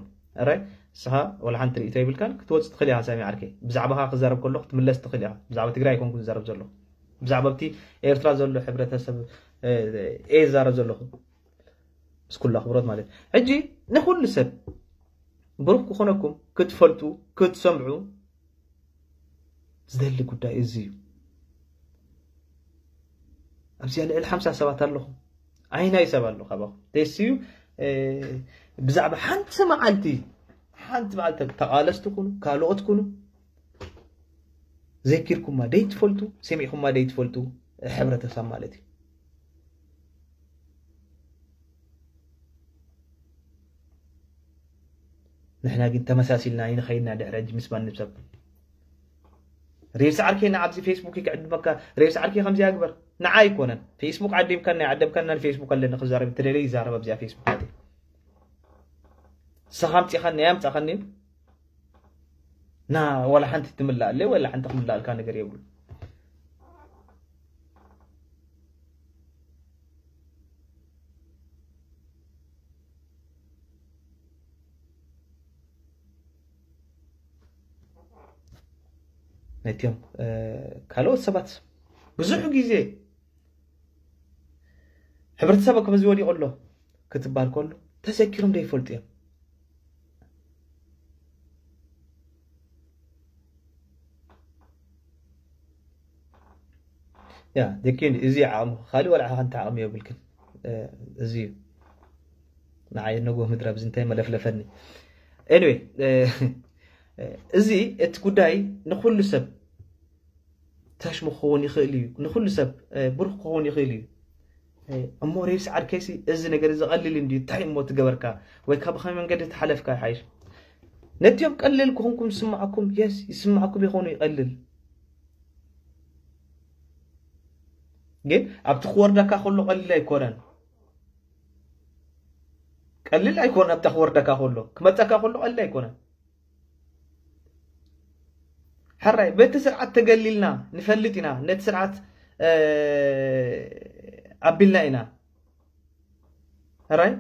ራይ ንስኻ ወላ ሓንቲ ርእቶ ይብልካን ክትወፅእ ትኽእል ኢኻ ሳሚ ዓርከይ ብዛዕባኻ ክዛረብ ከሎ ክትምለስ ትኽእል ኢኻ ብዛዕባ ትግራይ ኮንኩ ዝዛረብ ዘሎ ብዛዕባ ኣብቲ ኤርትራ ዘሎ ሕብረተሰብ እየ ዝዛረብ ዘለኹ ምስ ኩሉ ኣኽብሮት ማለት ሕጂ ንኩሉ ሰብ ብሩክ ክኾነኩም ክትፈልጡ ክትሰምዑ ዝደሊ ጉዳይ እዚ እዩ ኣብዚኣ ልዕሊ ሓምሳ ሰባት ኣለኹም ኣይናይ ሰብ ኣሎ ካባኹም ደስ እዩ ብዛዕባ ሓንቲ መዓልቲ ሓንቲ መዓልቲ ተቃለስቲ ኩኑ ካልኦት ኩኑ ዘኪርኩማ ደይትፈልጡ ሰሚዕኩማ ደይትፈልጡ ሕብረተሰብ ማለት እዩ ንሕና ግን ተመሳሲልና ኣይንኸይድና ድሕሪ ሕጂ ምስ ማንም ሰብ ሬብሲ ዓርከይ ንዓብዚ ፌስቡክ ክዕድመካ ሬብሲ ዓርከይ ከምዚኣ ግበር ንዓ ኣይኮነን ፌስቡክ ዓዲምካን ናይ ዓደምካን ናይ ፌስቡክ ኣለኒ ክዛረብ ተደለ ይዛረብ ኣብዚኣ ፌስቡክ ዓዲ ንስኻ ኣምፂኻኒ ኣምፃኻኒ ና ዋላ ሓንቲ ትምላኣለ ዋላ ሓንቲ ክምላኣልካ ነገር የብሉ ነቲኦም ካልኦት ሰባት ብዙሕ ግዜ ሕብረተሰብ ከምዚ ወዲቑ ኣሎ ክትባል ከሎ ተዘኪሮም ዘይፈልጡ እዮም ያ ደኪን እዚ ዓቕሚ ካልእ ወላ ሓንቲ ዓቕሚ የብልክን እዚ እዩ ንዓይ ነጎ ምድረ ብዚ እንታይ መለፍለፈኒ anyway እዚ እቲ ጉዳይ ንኩሉ ሰብ ታሽሙ ክኸውን ይኽእል እዩ ንኩሉ ሰብ ብሩክ ክኸውን ይኽእል እዩ እሞ ሬብሲ ዓርከይሲ እዚ ነገር እዚ ቀሊል እንዲ እንታይ እሞ ትገበርካ ወይ ካብ ከመይ መንገዲ ተሓለፍካ ይሓይሽ ነቲኦም ቀሊል ክኾንኩም ዝስማዓኩም የስ ይስማዓኩም ይኾኑ ይቐልል ግን ኣብቲ ክወርደካ ከሎ ቀሊል ኣይኮነን ቀሊል ኣይኮነ ኣብታ ክወርደካ ከሎ ክመፀካ ከሎ ቀሊል ኣይኮነን ሕራይ በቲ ስርዓት ተገሊልና ንፈልጥ ኢና ነቲ ስርዓት ኣቢልና ኢና ሕራይ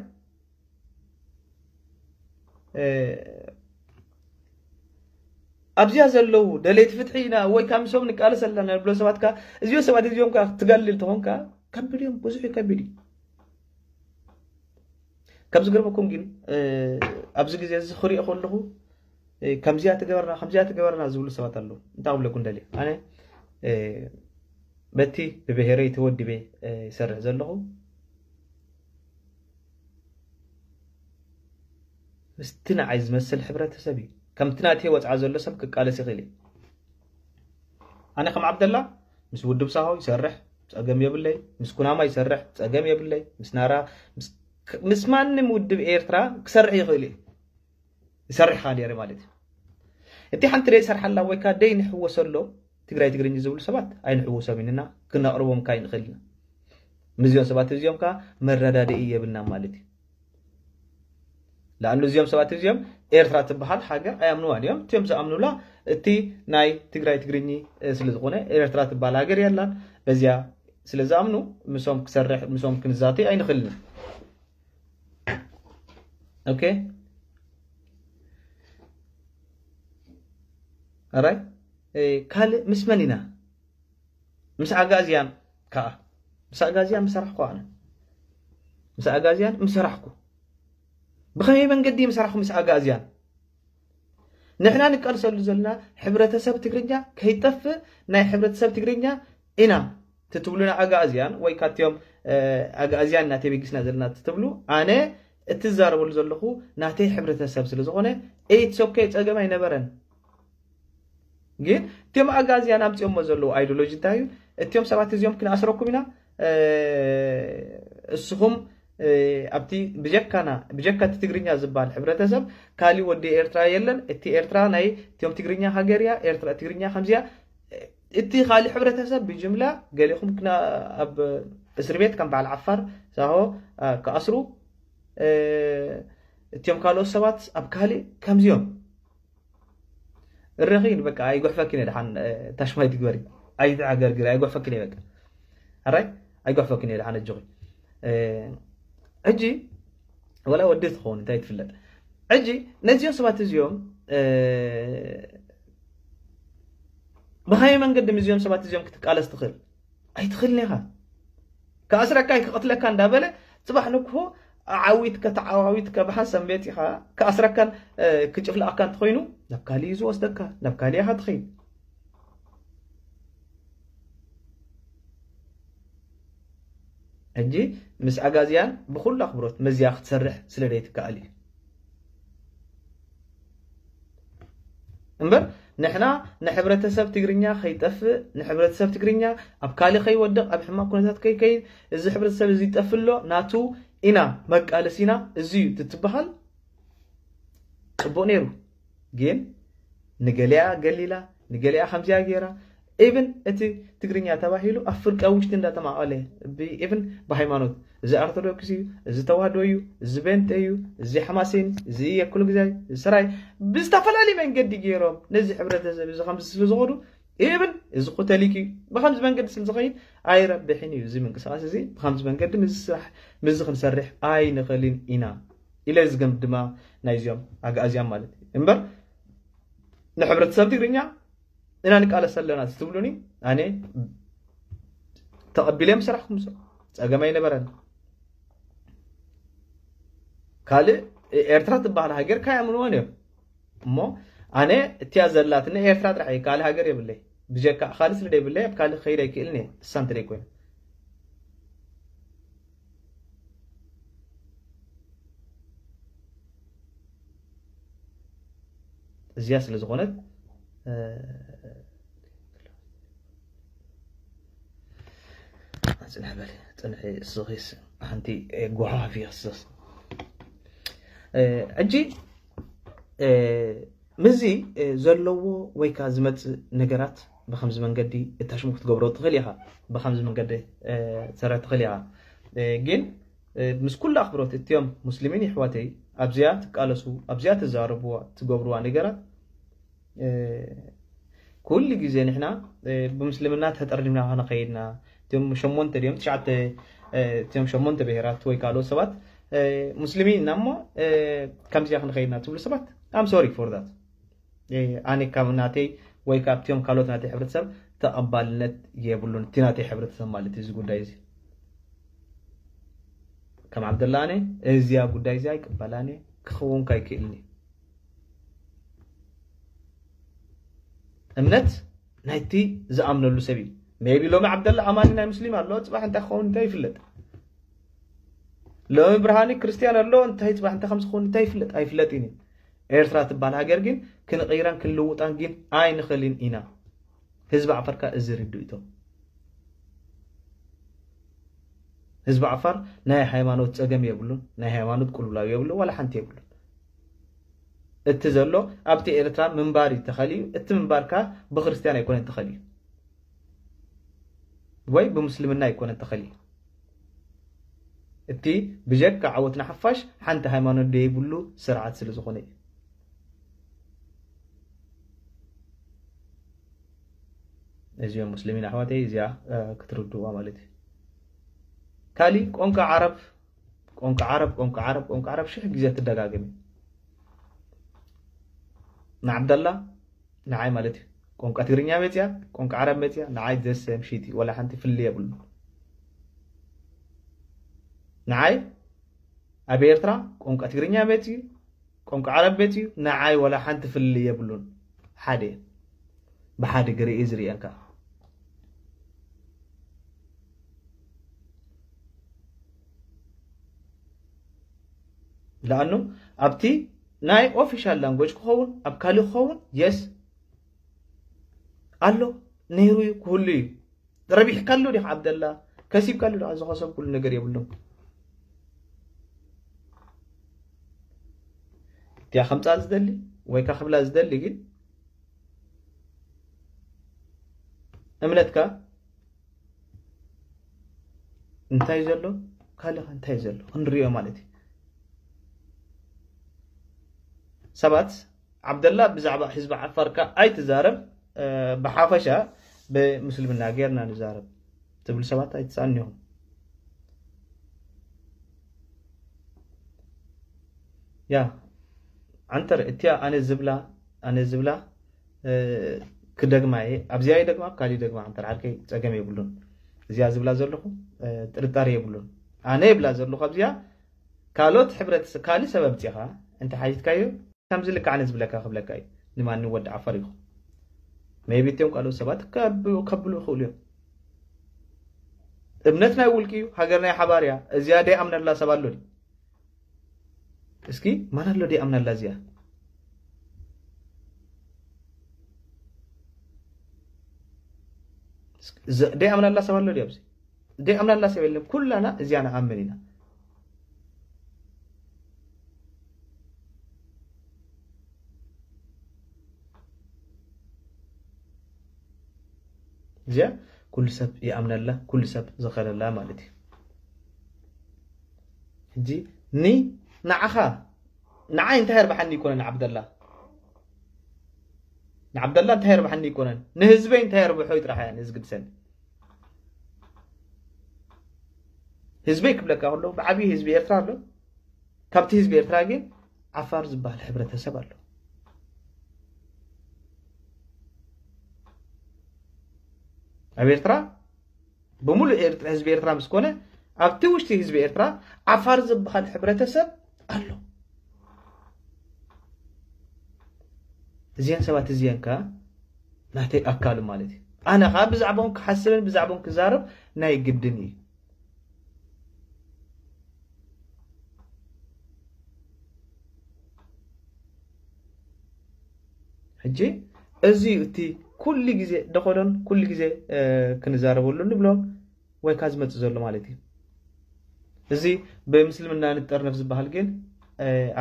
ኣብዚኣ ዘለዉ ደለይቲ ፍትሒ ኢና ወይ ካብ ምሶም ንቃለስ ኣለና ንብሎ ሰባት ከኣ፣ እዚኦ ሰባት እዚኦም ከኣ ትገልል ተኾንካ፣ ከቢድ እዮም፣ ብዙሕ እዩ፣ ከቢድ እዩ። ካብ ዝገርመኩም ግን፣ እ፣ ኣብዚ ግዜ እዚ ክሪኦ ከለኹ፣ እ፣ ከምዚኣ ትገበርና፣ ከምዚኣ ትገበርና ዝብሉ ሰባት ኣለዉ። እንታይ ክብለኩም ደልየ? ኣነ፣ እ፣ በቲ ብብሄረይ ተወዲበ፣ እ፣ ይሰርሕ ዘለኹ። ምስቲ ንዓይ ዝመስል ሕብረተሰብ እዩ። ከምቲ ናተይ ወጽዓ ዘሎ ሰብ ክቃለስ ይኽእል እዩ። ኣነ ከም ዓብደላ ምስ ውድብ ሳሆ ይሰርሕ፣ ጸገም የብለይ። ምስ ኩናማ ይሰርሕ፣ ጸገም የብለይ። ምስ ናራ፣ ምስ፣ ምስ ማንም ውድብ ኤርትራ ክሰርሕ ይኽእል እዩ። ይሰርሕ ከኣ ነይረ ማለት እዩ። እቲ ሓንቲ ደይ ሰርሓላ ወይ ከኣ ደይ ንሕወሰሎ ትግራይ ትግርኝ ዝብሉ ሰባት ኣይንሕወሶም ኢንና ክነቕርቦም ከኣ ይንኽእል ኢና። ምስዚኦም ሰባት እዚኦም ከኣ መረዳድኢ የብልና ማለት እዩ። ለኣኑ እዚኦም ሰባት እዚኦም ኤርትራ ትበሃል ሃገር ኣይኣምንዋን እዮም። እቲኦም ዝኣምኑላ እቲ ናይ ትግራይ ትግርኝ፣ እ፣ ስለ ዝኾነ ኤርትራ ትበሃል ሃገር የላን። በዚያ ስለ ዝኣምኑ ምሶም ክሰርሕ፣ ምሶም ክንዛተይ ኣይንኽእልን። ኦኬ። ኣራይ፣ እ፣ ካልእ ምስ መን ኢና? ምስ ኣጋዝያን ከኣ። ምስ ኣጋዝያን ምሰራሕኩ ኣነ። ምስ ኣጋዝያን ምሰራሕኩ። ብኸመይ መንገዲ ምሰራሕኩ ምስ ኣጋዝያን? ንሕና ንቃልሰሉ ዘለና ሕብረተሰብ ትግርኛ ከይጠፍእ ናይ ሕብረተሰብ ትግርኛ ኢና ትትብሉና ኣጋዝያን ወይ ካትዮም፣ እ፣ ኣጋዝያን እናተበጊስና ዘለና ትትብሉ፣ ኣነ እትዛረበሉ ዘለኹ ናተይ ሕብረተሰብ ስለ ዝኾነ፣ it's okay፣ ጸገም ኣይነበረን። ግን እቲኦም ኣጋዝያን ኣምጺኦሞ ዘለዉ ኣይዲዮሎጂ እንታይ እዩ? እቲኦም ሰባት እዚኦም ክንኣስረኩም ኢና፣ እ፣ እስኹም፣ እ፣ ኣብቲ ብጀካና፣ ብጀካ እቲ ትግርኛ ዝበሃል ሕብረተሰብ ካሊ ወዲ ኤርትራ የለን። እቲ ኤርትራ ናይ እቲኦም ትግርኛ ሃገር እያ፣ ኤርትራ ትግርኛ ከምዚያ። እቲ ካሊ ሕብረተሰብ ብጅምላ ገሊኹም ክና-፣ ኣብ እስሪ ቤት ከም በዓል ዓፋር፣ ሳሆ፣ እ፣ ክኣስሩ፣ እ፣ እቲኦም ካልኦት ሰባት ኣብ ካሊ ከምዚኦም። እረኺ በቃ ኣይጉሕፈኪን እየ ደሓን፣ እ፣ ታሽማይ ትግበሪ። ኣይትዓገርግሪ፣ ኣይጉሕፈኪን እየ በቃ። ኣራይ? ኣይጉሕፈኪን እየ ደሓን ኣጆኺ። እ፣ ሕጂ ወላ ወዲ ትኸውን እንታይ ትፍለጥ። ሕጂ ነዚኦም ሰባት እዚኦም፣ እ፣ ብኸመይ መንገዲ ምስዚኦም ሰባት እዚኦም ክትቃለስ ትኽእል? ኣይትኽእልን ኢኻ። ክኣስረካ እዩ ክቐትለካ እንዳበለ ጽባሕ ንግሆ ዓዊትካ ተዓዋዊትካ ብሓንሳብ መጺኻ ክኣስረካን፣ እ፣ ክጭፍልቐካን እንተኾይኑ ናብ ካሊእ እዩ ዝወስደካ፣ ናብ ካሊእ ኢኻ ትኸይድ። ሕጂ ምስ ኣጋዝያን ብኹሉ ኣኽብሮት መዝያ ክትሰርሕ ስለ ዘይትከኣል እዩ። እምበር ንሕና ንሕብረተሰብ ትግርኛ ከይጠፍእ፣ ንሕብረተሰብ ትግርኛ ኣብ ካልእ ከይወድቕ፣ ኣብ ሕማቕ ኩነታት ከይከይድ፣ እዚ ሕብረተሰብ እዚ ይጠፍእ ኣሎ፣ ናቱ ኢና መቃለሲና እዚ እዩ ትትበሃል ጽቡቕ ነይሩ። ግን ንገሊኣ ገሊላ፣ ንገሊኣ ከምዚኣ ገይራ፣ ኢቭን እቲ ትግርኛ ተባሂሉ ኣብ ፍርቂ ውሽጢ እንዳተማቐለ፣ ብ-፣ ኢቭን ብሃይማኖት፣ እዚ ኣርቶዶክስ እዩ፣ እዚ ተዋህዶ እዩ፣ እዚ ቤንጤ እዩ፣ እዚ ሓማሴን፣ እዚ የኩሉ ግዛይ፣ እዚ ሰራይ፣ ብዝተፈላለየ መንገዲ ገይሮም ነዚ ሕብረተሰብ እዚ ከምዚ ስለ ዝኸዱ፣ ኢቭን እዚ ኮተሊክ እዩ፣ ብከምዚ መንገዲ ስለ ዝኸይድ ኣይረብሕን እዩ። እዚ ምንቅስቃስ እዚ ብከምዚ መንገዲ ምስዚ ስራሕ፣ ምስዚ ክንሰርሕ ኣይንኽእልን ኢና ኢለ ዝገምት ድማ ናይዚኦም ኣግኣዝያን ማለት እዩ። እምበር ንሕብረተሰብ ትግርኛ ኢና ንቃለስ ኣለና ትብሉኒ፣ ኣነ ተቐቢለ ምሰራሕኩም፣ ጸገም ኣይነበረን። ካልእ ኤርትራ ትበሃል ሃገር ካይኣምንዎን እዮም። እሞ ኣነ እቲያ ዘላትኒ ኤርትራ ጥራሕ እየ፣ ካልእ ሃገር የብለይ። ብጀካ ካልእ ስለ ዘይብለይ ኣብ ካልእ ክኸይድ ኣይክእልን እየ፣ እሳ እንተ ዘይኮይኑ። እዚኣ ስለ ዝኾነት፣ እ፣ ጽንሕ በሊ፣ ጽንሒ እስኺስ ሓንቲ፣ እ፣ ጓሓፍ ይኽስስ። እ፣ ሕጂ፣ እ፣ ምስዚ፣ እ፣ ዘለዎ ወይ ከኣ ዝመጽእ ነገራት ብኸምዚ መንገዲ እታሽሙ ክትገብሮ ትኽእል ኢኻ። ብኸምዚ መንገዲ፣ እ፣ ትሰርሕ ትኽእል ኢኻ። እ፣ ግን፣ እ፣ ምስ ኩሉ ኣኽብሮት እቲኦም ሙስሊሚን ይሕዋተይ ኣብዚኣ ትቃለሱ፣ ኣብዚኣ ትዛረብዋ፣ ትገብርዋ ነገራት፣ እ፣ ኩሉ ግዜ ንሕና፣ እ፣ ብምስልምና ተጠርኒፍና ከነኸይድና፣ እቲኦም ሸሞንተ ድዮም ትሽዓተ፣ እ፣ እቲኦም ሸሞንተ ብሄራት ወይ ካልኦት ሰባት፣ እ፣ ሙስሊሚን ኢና እሞ፣ እ፣ ከምዚኣ ክንኸይድና ትብሉ ሰባት፣ I'm sorry for that። ኣነ ካብ ናተይ ወይ ካብቲኦም ካልኦት ናተይ ሕብረተሰብ ተቐባልነት የብሉን። እቲ ናተይ ሕብረተሰብ ማለት እዚ ጉዳይ እዚ ከም ዓብደላ ኣነ እዚያ ጉዳይ እዚኣ ኣይቅበላን እየ፣ ክኸውን ኣይክእልን እዩ። እምነት ናይቲ ዝኣምነሉ ሰብ እዩ። ሜቢ ሎሚ ዓብደላ ኣማኒ ናይ ሙስሊም ኣሎ፣ ፅባሕ እንታይ ክኸውን እንታይ ይፍለጥ። ሎሚ ብርሃኒ ክርስትያን ኣሎ፣ እንታይ ፅባሕ እንታይ ከም ዝኸውን እንታይ ይፍለጥ ኣይፍለጥን እዩ። ኤርትራ ትበሃል ሃገር ግን ክንቕይራን ክንልውጣን ግን ኣይንኽእልን ኢና። ህዝቢ ዓፋር ከኣ እዚ ርድኢቶ። ህዝቢ ዓፋር ናይ ሃይማኖት ጸገም የብሉን፣ ናይ ሃይማኖት ቅልውላው የብሉን፣ ዋላ ሓንቲ የብሉን። እቲ ዘሎ ኣብቲ ኤርትራ ምንባር እዩ ተኸልዩ፣ እቲ ምንባር ከኣ ብክርስትያን ኣይኮነን ተኸልዩ ወይ ብምስልምና ኣይኮነን ተኸልዩ። እቲ ብጀካ ዓወት ንሓፋሽ ሓንቲ ሃይማኖት ደይብሉ ስርዓት ስለ ዝኾነ እዩ። እዚኦም ሙስሊሚን ኣሕዋተይ እዚኣ ክትርድዋ ማለት እዩ። ካሊ ቆንቃ ዓረብ ቆንቃ ዓረብ ቆንቃ ዓረብ ቆንቃ ዓረብ ሽሕ ግዜ ትደጋገም እዩ። ንዓብደላ ንዓይ ማለት እዩ። ቆንቃ ትግርኛ መፅያ ቆንቃ ዓረብ መፅያ ንዓይ ዘሰም ሽቲ ወላ ሓንቲ ፍሊ የብሉ። ንዓይ ኣብ ኤርትራ ቆንቃ ትግርኛ መፅዩ ቆንቃ ዓረብ መፅዩ ንዓይ ወላ ሓንቲ ፍሊ የብሉን። ሓደ ብሓደ ግርኢ ዝርእየን ከኣ ለኣኑ ኣብቲ ናይ ኦፊሻል ላንጎጅ ክኸውን ኣብ ካልእ ክኸውን የስ ኣሎ ነይሩ እዩ ክህሉ እዩ። ረቢሕካ ኣሎ ዲኻ ዓብደላ ከሲብካ ኣሎ ዲኻ ዝኸሰብ ኩሉ ነገር የብሎም። እቲያ ከምፃ ዝደሊ ወይ ካ ክብላ ዝደሊ ግን እምነትካ እንታይ ዘሎ ካልኻ እንታይ ዘሎ ክንሪኦ ማለት እዩ። ሰባት ዓብደላ ብዛዕባ ህዝቢ ዓፋርካ ኣይትዛረብ፣ ብሓፈሻ ብምስልምና ጌርና ንዛረብ ትብሉ ሰባት ኣይትስኣኑ ኢኹም። ያ ዓንተር እቲያ ኣነ ዝብላ ኣነ ዝብላ ክደግማ እየ። ኣብዚኣ ይደግማ ኣብ ካሊእ ደግማ ዓንተር ዓርከይ ጸገም የብሉን። እዚኣ ዝብላ ዘለኹ ጥርጣሬ የብሉን። ኣነ ይብላ ዘለኹ ኣብዚኣ ካልኦት ሕብረተሰብ ካልእ ሰብ ኣምጺኻ እንተ ሓቲትካዮ ከምዚ ልክዕ ኣነ ዝብለካ ክብለካ እዩ። ንማንም ወዲ ዓፋር ይኹን maybe እቲኦም ካልኦት ሰባት ከብሉ ይኽእሉ እዮም። እምነት ናይ ውልቂ እዩ። ሃገር ናይ ሓባር እያ። እዚኣ ደይኣምነላ ሰብ ኣሎ ድዩ? እስኪ ማን ኣሎ ደይኣምነላ እዚኣ? ደይኣምነላ ሰብ ኣሎ ድዩ ኣብዚ? ደይኣምነላ ሰብ የለን። ኩላና እዚኣ ንኣምን ኢና። እዚኣ ኩሉ ሰብ ይኣምነላ ኩሉ ሰብ ዝኸለላ ማለት እዩ። ሕጂ ኒ ንዓኻ ንዓይ እንታይ የርብሓኒ ይኮነን ዓብደላ ንዓብደላ እንታይ የርብሓኒ ይኮነን ንህዝበይ እንታይ የርብሖ ይጥራሕ እያ ንዝግድሰኒ። ህዝበይ ክብለካ ከሎ ብዓብዪ ህዝቢ ኤርትራ ኣሎ። ካብቲ ህዝቢ ኤርትራ ግን ዓፋር ዝበሃል ሕብረተሰብ ኣሎ። ኣብ ኤርትራ ብምሉእ ኤርትራ ህዝቢ ኤርትራ ምስ ኮነ ኣብቲ ውሽጢ ህዝቢ ኤርትራ ዓፋር ዝበሃል ሕብረተሰብ ኣሎ። እዚአን ሰባት እዚአን ከ ናተይ ኣካል ማለት እዩ። ኣነ ከ ብዛዕባኦም ክሓስብን ብዛዕባኦም ክዛረብ ናይ ግድን እዩ። ሕጂ እዚ እቲ ኩሉ ግዜ ደኸዶን ኩሉ ግዜ ክንዛረበሉ ንብሎም ወይ ካ ዝመጽእ ዘሎ ማለት እዩ። እዚ ብምስልምና ንጠርነፍ ዝበሃል ግን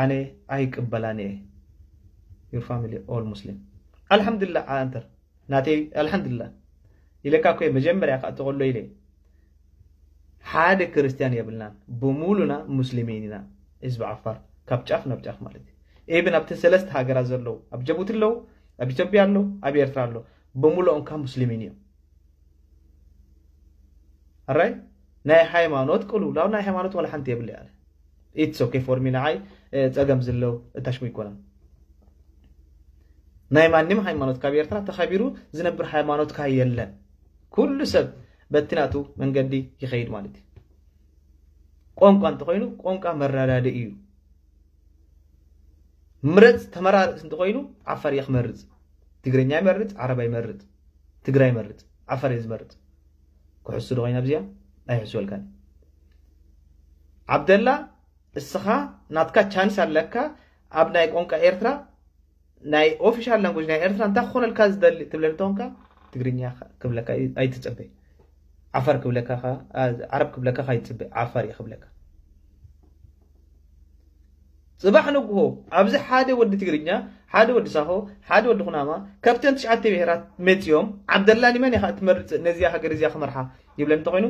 ኣነ ኣይቅበላን እየ። Your family all Muslim ኣልሓምዱላ ኣንተር ናተይ ኣልሓምዱላ ኢለካ እኮ መጀመርያ ክኣቲ ከሎ ኢለ ሓደ ክርስትያን የብልናን ብሙሉና ሙስሊሚን ኢና። ህዝቢ ዓፋር ካብ ጫፍ ናብ ጫፍ ማለት እዩ። ኢብን ኣብቲ ሰለስተ ሃገራት ዘለዉ ኣብ ጀቡቲ ኣለዉ ኣብ ኢትዮጵያ ኣለዉ ኣብ ኤርትራ ኣለዉ ብምሉኦም ካብ ሙስሊሚን እዮም። ኣራይ ናይ ሃይማኖት ቅልውላው ናይ ሃይማኖት ዋላ ሓንቲ የብለ ኣነ it's okay for me ንዓይ ጸገም ዝለው እታሽሙ ይኮነን። ናይ ማንም ሃይማኖት ካብ ኤርትራ ተኸቢሩ ዝነብር ሃይማኖት ከ የለን። ኩሉ ሰብ በቲ ናቱ መንገዲ ይኸይድ ማለት እዩ። ቋንቋ እንተኾይኑ ቋንቋ መረዳድኢ እዩ። ምረፅ ተመራርፅ እንተኾይኑ ዓፋር እየ ክመርፅ። ትግርኛ ይመርፅ፣ ዓረባ ይመርፅ፣ ትግራይ ይመርፅ፣ ዓፋር እየ ዝመርፅ። ክሕሱ ዶ ኮይና ኣብዚኣ ኣይሕስበልካን። ዓብደላ እስኻ ናትካ ቻንስ ኣለካ ኣብ ናይ ቋንቋ ኤርትራ ናይ ኦፊሻል ላንጉጅ ናይ ኤርትራ እንታይ ክኾነልካ ዝደሊ ትብለኒ እንተኾንካ ትግርኛ ክብለካ ኣይትጸበይ። ዓፋር ክብለካ ዓረብ ክብለካ ኣይትጸበይ። ዓፋር እየ ክብለካ። ጽባሕ ንግሆ ኣብዚ ሓደ ወዲ ትግርኛ፣ ሓደ ወዲ ሳሆ፣ ሓደ ወዲ ኩናማ ካብተን ትሽዓተ ብሄራት መጺኦም ዓብደላ ኒመን ኢኻ እትመርጽ ነዚኣ ሃገር እዚኣ ክመርሓ ይብለኒ እንተኾይኑ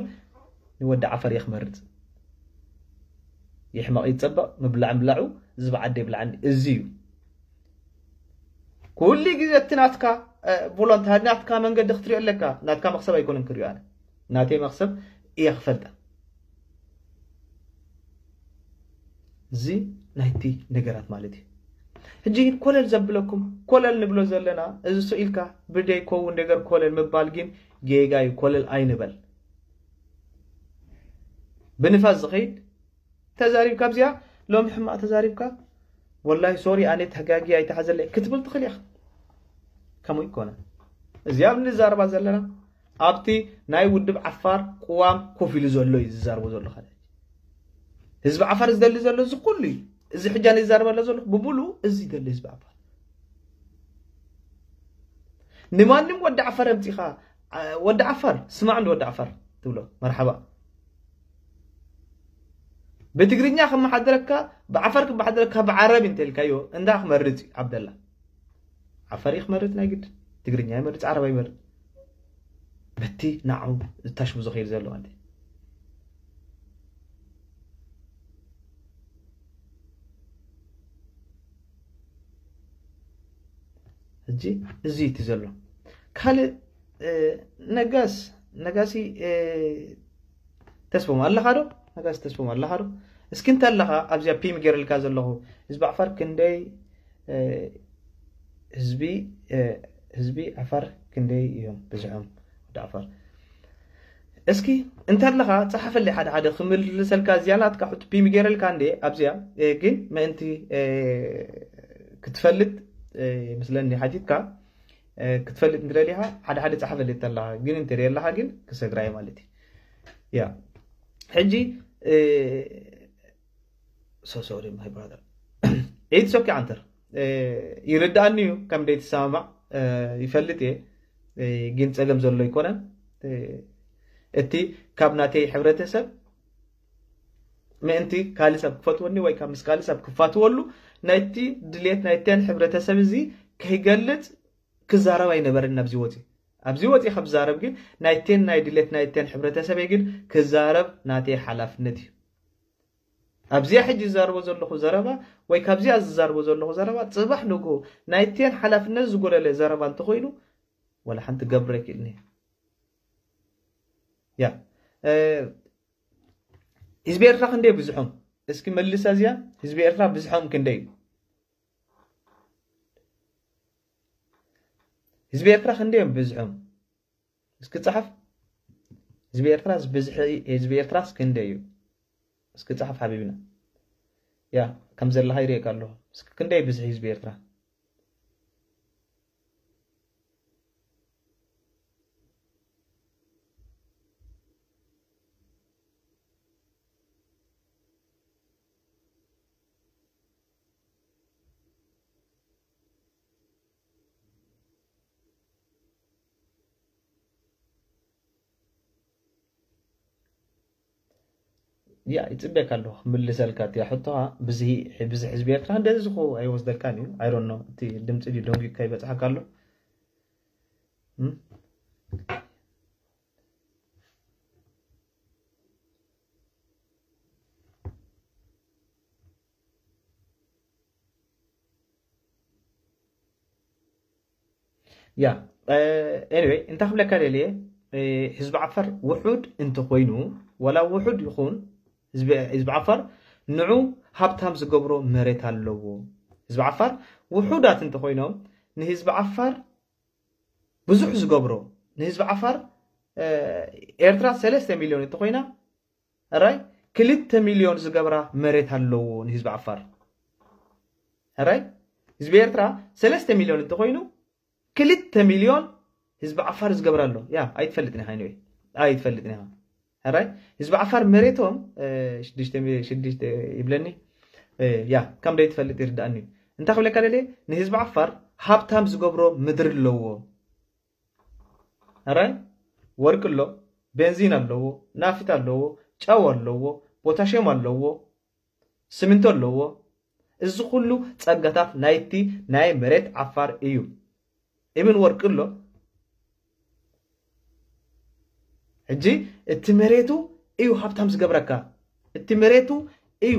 ንወዲ ዓፋር እየ ክመርጽ። ይሕመቕ ይጸበቕ ምብላዕ ምብላዑ ዝበዓደ ይብላዓኒ እዚ እዩ። ኩሉ ግዜ እቲ ናትካ ቮሎንታሪ ናትካ መንገዲ ክትሪኦ ኣለካ። ናትካ መክሰብ ኣይኮነን ክሪኦ ኣነ ናተይ መክሰብ እየ ክፈልጣ። እዚ ናይቲ ነገራት ማለት እዩ። ሕጂ ግን ኮለል ዘብለኩም ኮለል ንብሎ ዘለና እዚ ስኢልካ ብደይ ከውን ነገር ኮለል ምባል ግን ጌጋ እዩ። ኮለል ኣይንበል። ብንፋስ ዝኸይድ ተዛሪብካ ኣብዚኣ ሎም ሕማቕ ተዛሪብካ ወላሂ ሶሪ ኣነ ተጋጊ ኣይተሓዘለይ ክትብል ትኽእል ኢኻ። ከምኡ ይኮነ እዚኣ ንዛረባ ዘለና ኣብቲ ናይ ውድብ ዓፋር ቅዋም ኮፍ ኢሉ ዘሎ እዩ ዝዛርቦ ዘሎ። ካለ ህዝቢ ዓፋር ዝደሊ ዘሎ እዚ ኩሉ እዩ። እዚ ሕጃ ንዛረበለ ዘሎ ብምሉ እዚ ይደሊ ህዝቢ ዓፋር። ንማንም ወዲ ዓፋር ኣምፂኻ ወዲ ዓፋር ስማዕ እንዲ ወዲ ዓፋር ትብሎ መርሓባ። ብትግርኛ ከመሓደረካ ብዓፋር ክመሓደረካ ብዓረብ እንተልካዮ እንዳ ክመርፅ እዩ ዓብደላ። ዓፋር እዩ ክመርፅ ናይ ግድ ትግርኛ ይመርፅ ዓረብ ኣይመርፅ። በቲ ንዓው ዝታሽቡ ዝኸይድ ዘሎ ማለት እዩ። ሕጂ እዚ እቲ ዘሎ ካልእ ነጋስ ነጋሲ ተስፎም ኣለኻ ዶ? ነጋሲ ተስፎም ኣለኻ ዶ? እስኪ እንተ ኣለኻ ኣብዚኣ ፒም ገይረልካ ዘለኹ ህዝቢ ዓፋር ክንደይ ህዝቢ ህዝቢ ዓፋር ክንደይ እዮም ብዝሖም ወዲ ዓፋር? እስኪ እንተ ኣለኻ ጸሓፈለይ ሓደ ሓደ ክምልሰልካ እዚኣ ናትካ ሕቶ ፒም ገይረልካ እንደ ኣብዚኣ ግን ምእንቲ ክትፈልጥ ይመስለኒ ሓቲትካ ክትፈልጥ እንድለሊኻ ሓደ ሓደ ጸሓፈለይ እንተ ኣለኻ ግን እንተ ኣለኻ ግን ክሰግራይ ማለት እዩ። ያ ሕጂ so sorry my brother it's okay ኣንተር ይርዳእኒ እዩ ከም ደይትሰማማዕ ይፈልጥ እየ። ግን ጸገም ዘሎ ኣይኮነን። እቲ ካብ ናተይ ሕብረተሰብ ምእንቲ ካልእ ሰብ ክፈትወኒ ወይ ካብ ምስ ካልእ ሰብ ክፋትወሉ ናይቲ ድሌት ናይተን ሕብረተሰብ እዚ ከይገልጽ ክዛረብ ኣይነበረን ኣብዚ ወፂ ኣብዚ ወፂ ካብ ዝዛረብ ግን ናይቴን ናይ ድሌት ናይቴን ሕብረተሰበይ ግን ክዛረብ ናተይ ሓላፍነት እዩ። ኣብዚኣ ሕጂ ዝዛርቦ ዘለኹ ዘረባ ወይ ካብዚኣ ዝዛርቦ ዘለኹ ዘረባ ፅባሕ ንግሆ ናይቴን ሓላፍነት ዝጎደለ ዘረባ እንተኮይኑ ወላ ሓንቲ ገብረ ይክእልኒ ያ ህዝቢ ኤርትራ ክንደይ ብዙሖም እስኪ መልስ ኣዚያ ህዝቢ ኤርትራ ብዝሖም ክንደይ እዩ? ህዝቢ ኤርትራ ክንደይ እዮም ብዝሖም? እስኪ ጸሓፍ። ህዝቢ ኤርትራ ብዝሒ ህዝቢ ኤርትራስ ክንደይ እዩ? እስኪ ጸሓፍ ሓቢብና። ያ ከም ዘለኻ ይርእየካ ኣለኹ። እስኪ ክንደይ ብዝሒ ህዝቢ ኤርትራ? ያ ይጽበካ ኣለኹ ክምልሰልካ እቲያ ሕቶኻ። ብዝሒ ብዝሒ ህዝቢ ኤርትራ እንደዚ ዝኾ ኣይወስደልካን እዩ። I don't know እቲ ድምፂ ድዩ ደንጒካ ይበጽሓካ ኣሎ። ያ anyway እንታይ ክብለካ ደልየ ህዝቢ ዓፋር ውሑድ እንተኮይኑ ዋላ ውሑድ ይኹን ህዝቢ ዓፋር ንዑ ሃብታም ዝገብሮ መሬት ኣለዎ። ህዝቢ ዓፋር ውሑዳት እንተኮይኖም ንህዝቢ ዓፋር ብዙሕ ዝገብሮ፣ ንህዝቢ ዓፋር ኤርትራ ሰለስተ ሚልዮን እንተኾይና፣ ራይ ክልተ ሚልዮን ዝገብራ መሬት ኣለዎ ንህዝቢ ዓፋር። ራይ ህዝቢ ኤርትራ ሰለስተ ሚልዮን እንተኾይኑ፣ ክልተ ሚልዮን ህዝቢ ዓፋር ዝገብራ ኣሎ። ያ ኣይትፈልጥን ኢኻ፣ ኣይትፈልጥን ኢኻ። ሕራይ ህዝቢ ዓፋር መሬቶም ሽዱሽተ ይብለኒ። ያ ከም ደይ ትፈልጥ ይርዳእኒ። እንታይ ክብለካ ደለ፣ ንህዝቢ ዓፋር ሃብታም ዝገብሮ ምድሪ ኣለዎ። ሕራይ ወርቂ ኣሎ፣ ቤንዚን ኣለዎ፣ ናፍት ኣለዎ፣ ጨው ኣለዎ፣ ፖታሽዮም ኣለዎ፣ ስሚንቶ ኣለዎ። እዚ ኩሉ ጸጋታት ናይቲ ናይ መሬት ዓፋር እዩ። ኢብን ወርቂ ኣሎ። ሕጂ እቲ መሬቱ እዩ ሃብታም ዝገብረካ። እቲ መሬቱ እዩ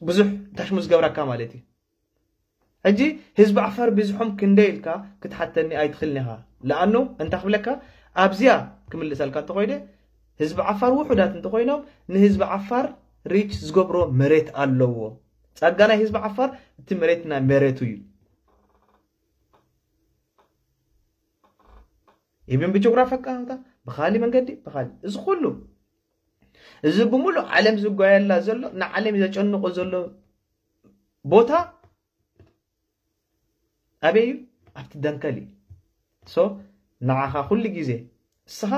ብዙሕ ታሽሙ ዝገብረካ ማለት እዩ። ሕጂ ህዝቢ ዓፋር ብዝሖም ክንደይ ኢልካ ክትሓተኒ ኣይትኽእልን ኢኻ። ለኣኑ እንታ ክብለካ ኣብዚኣ ክምልሰልካ እንተኾይደ ህዝቢ ዓፋር ውሑዳት እንተኾይኖም ንህዝቢ ዓፋር ሪች ዝገብሮ መሬት ኣለዎ። ጸጋ ናይ ህዝቢ ዓፋር እቲ መሬት ናይ መሬቱ እዩ። ኢብን ብጂኦግራፊ ኣቀማምጣ ብኻሊ መንገዲ ብኻሊ እዚ ኩሉ እዚ ብምሉእ ዓለም ዝጓየላ ዘሎ ንዓለም ዘጨንቆ ዘሎ ቦታ ኣበይ እዩ? ኣብቲ ደንከል እዩ። ሶ ንዓኻ ኩሉ ግዜ እስኻ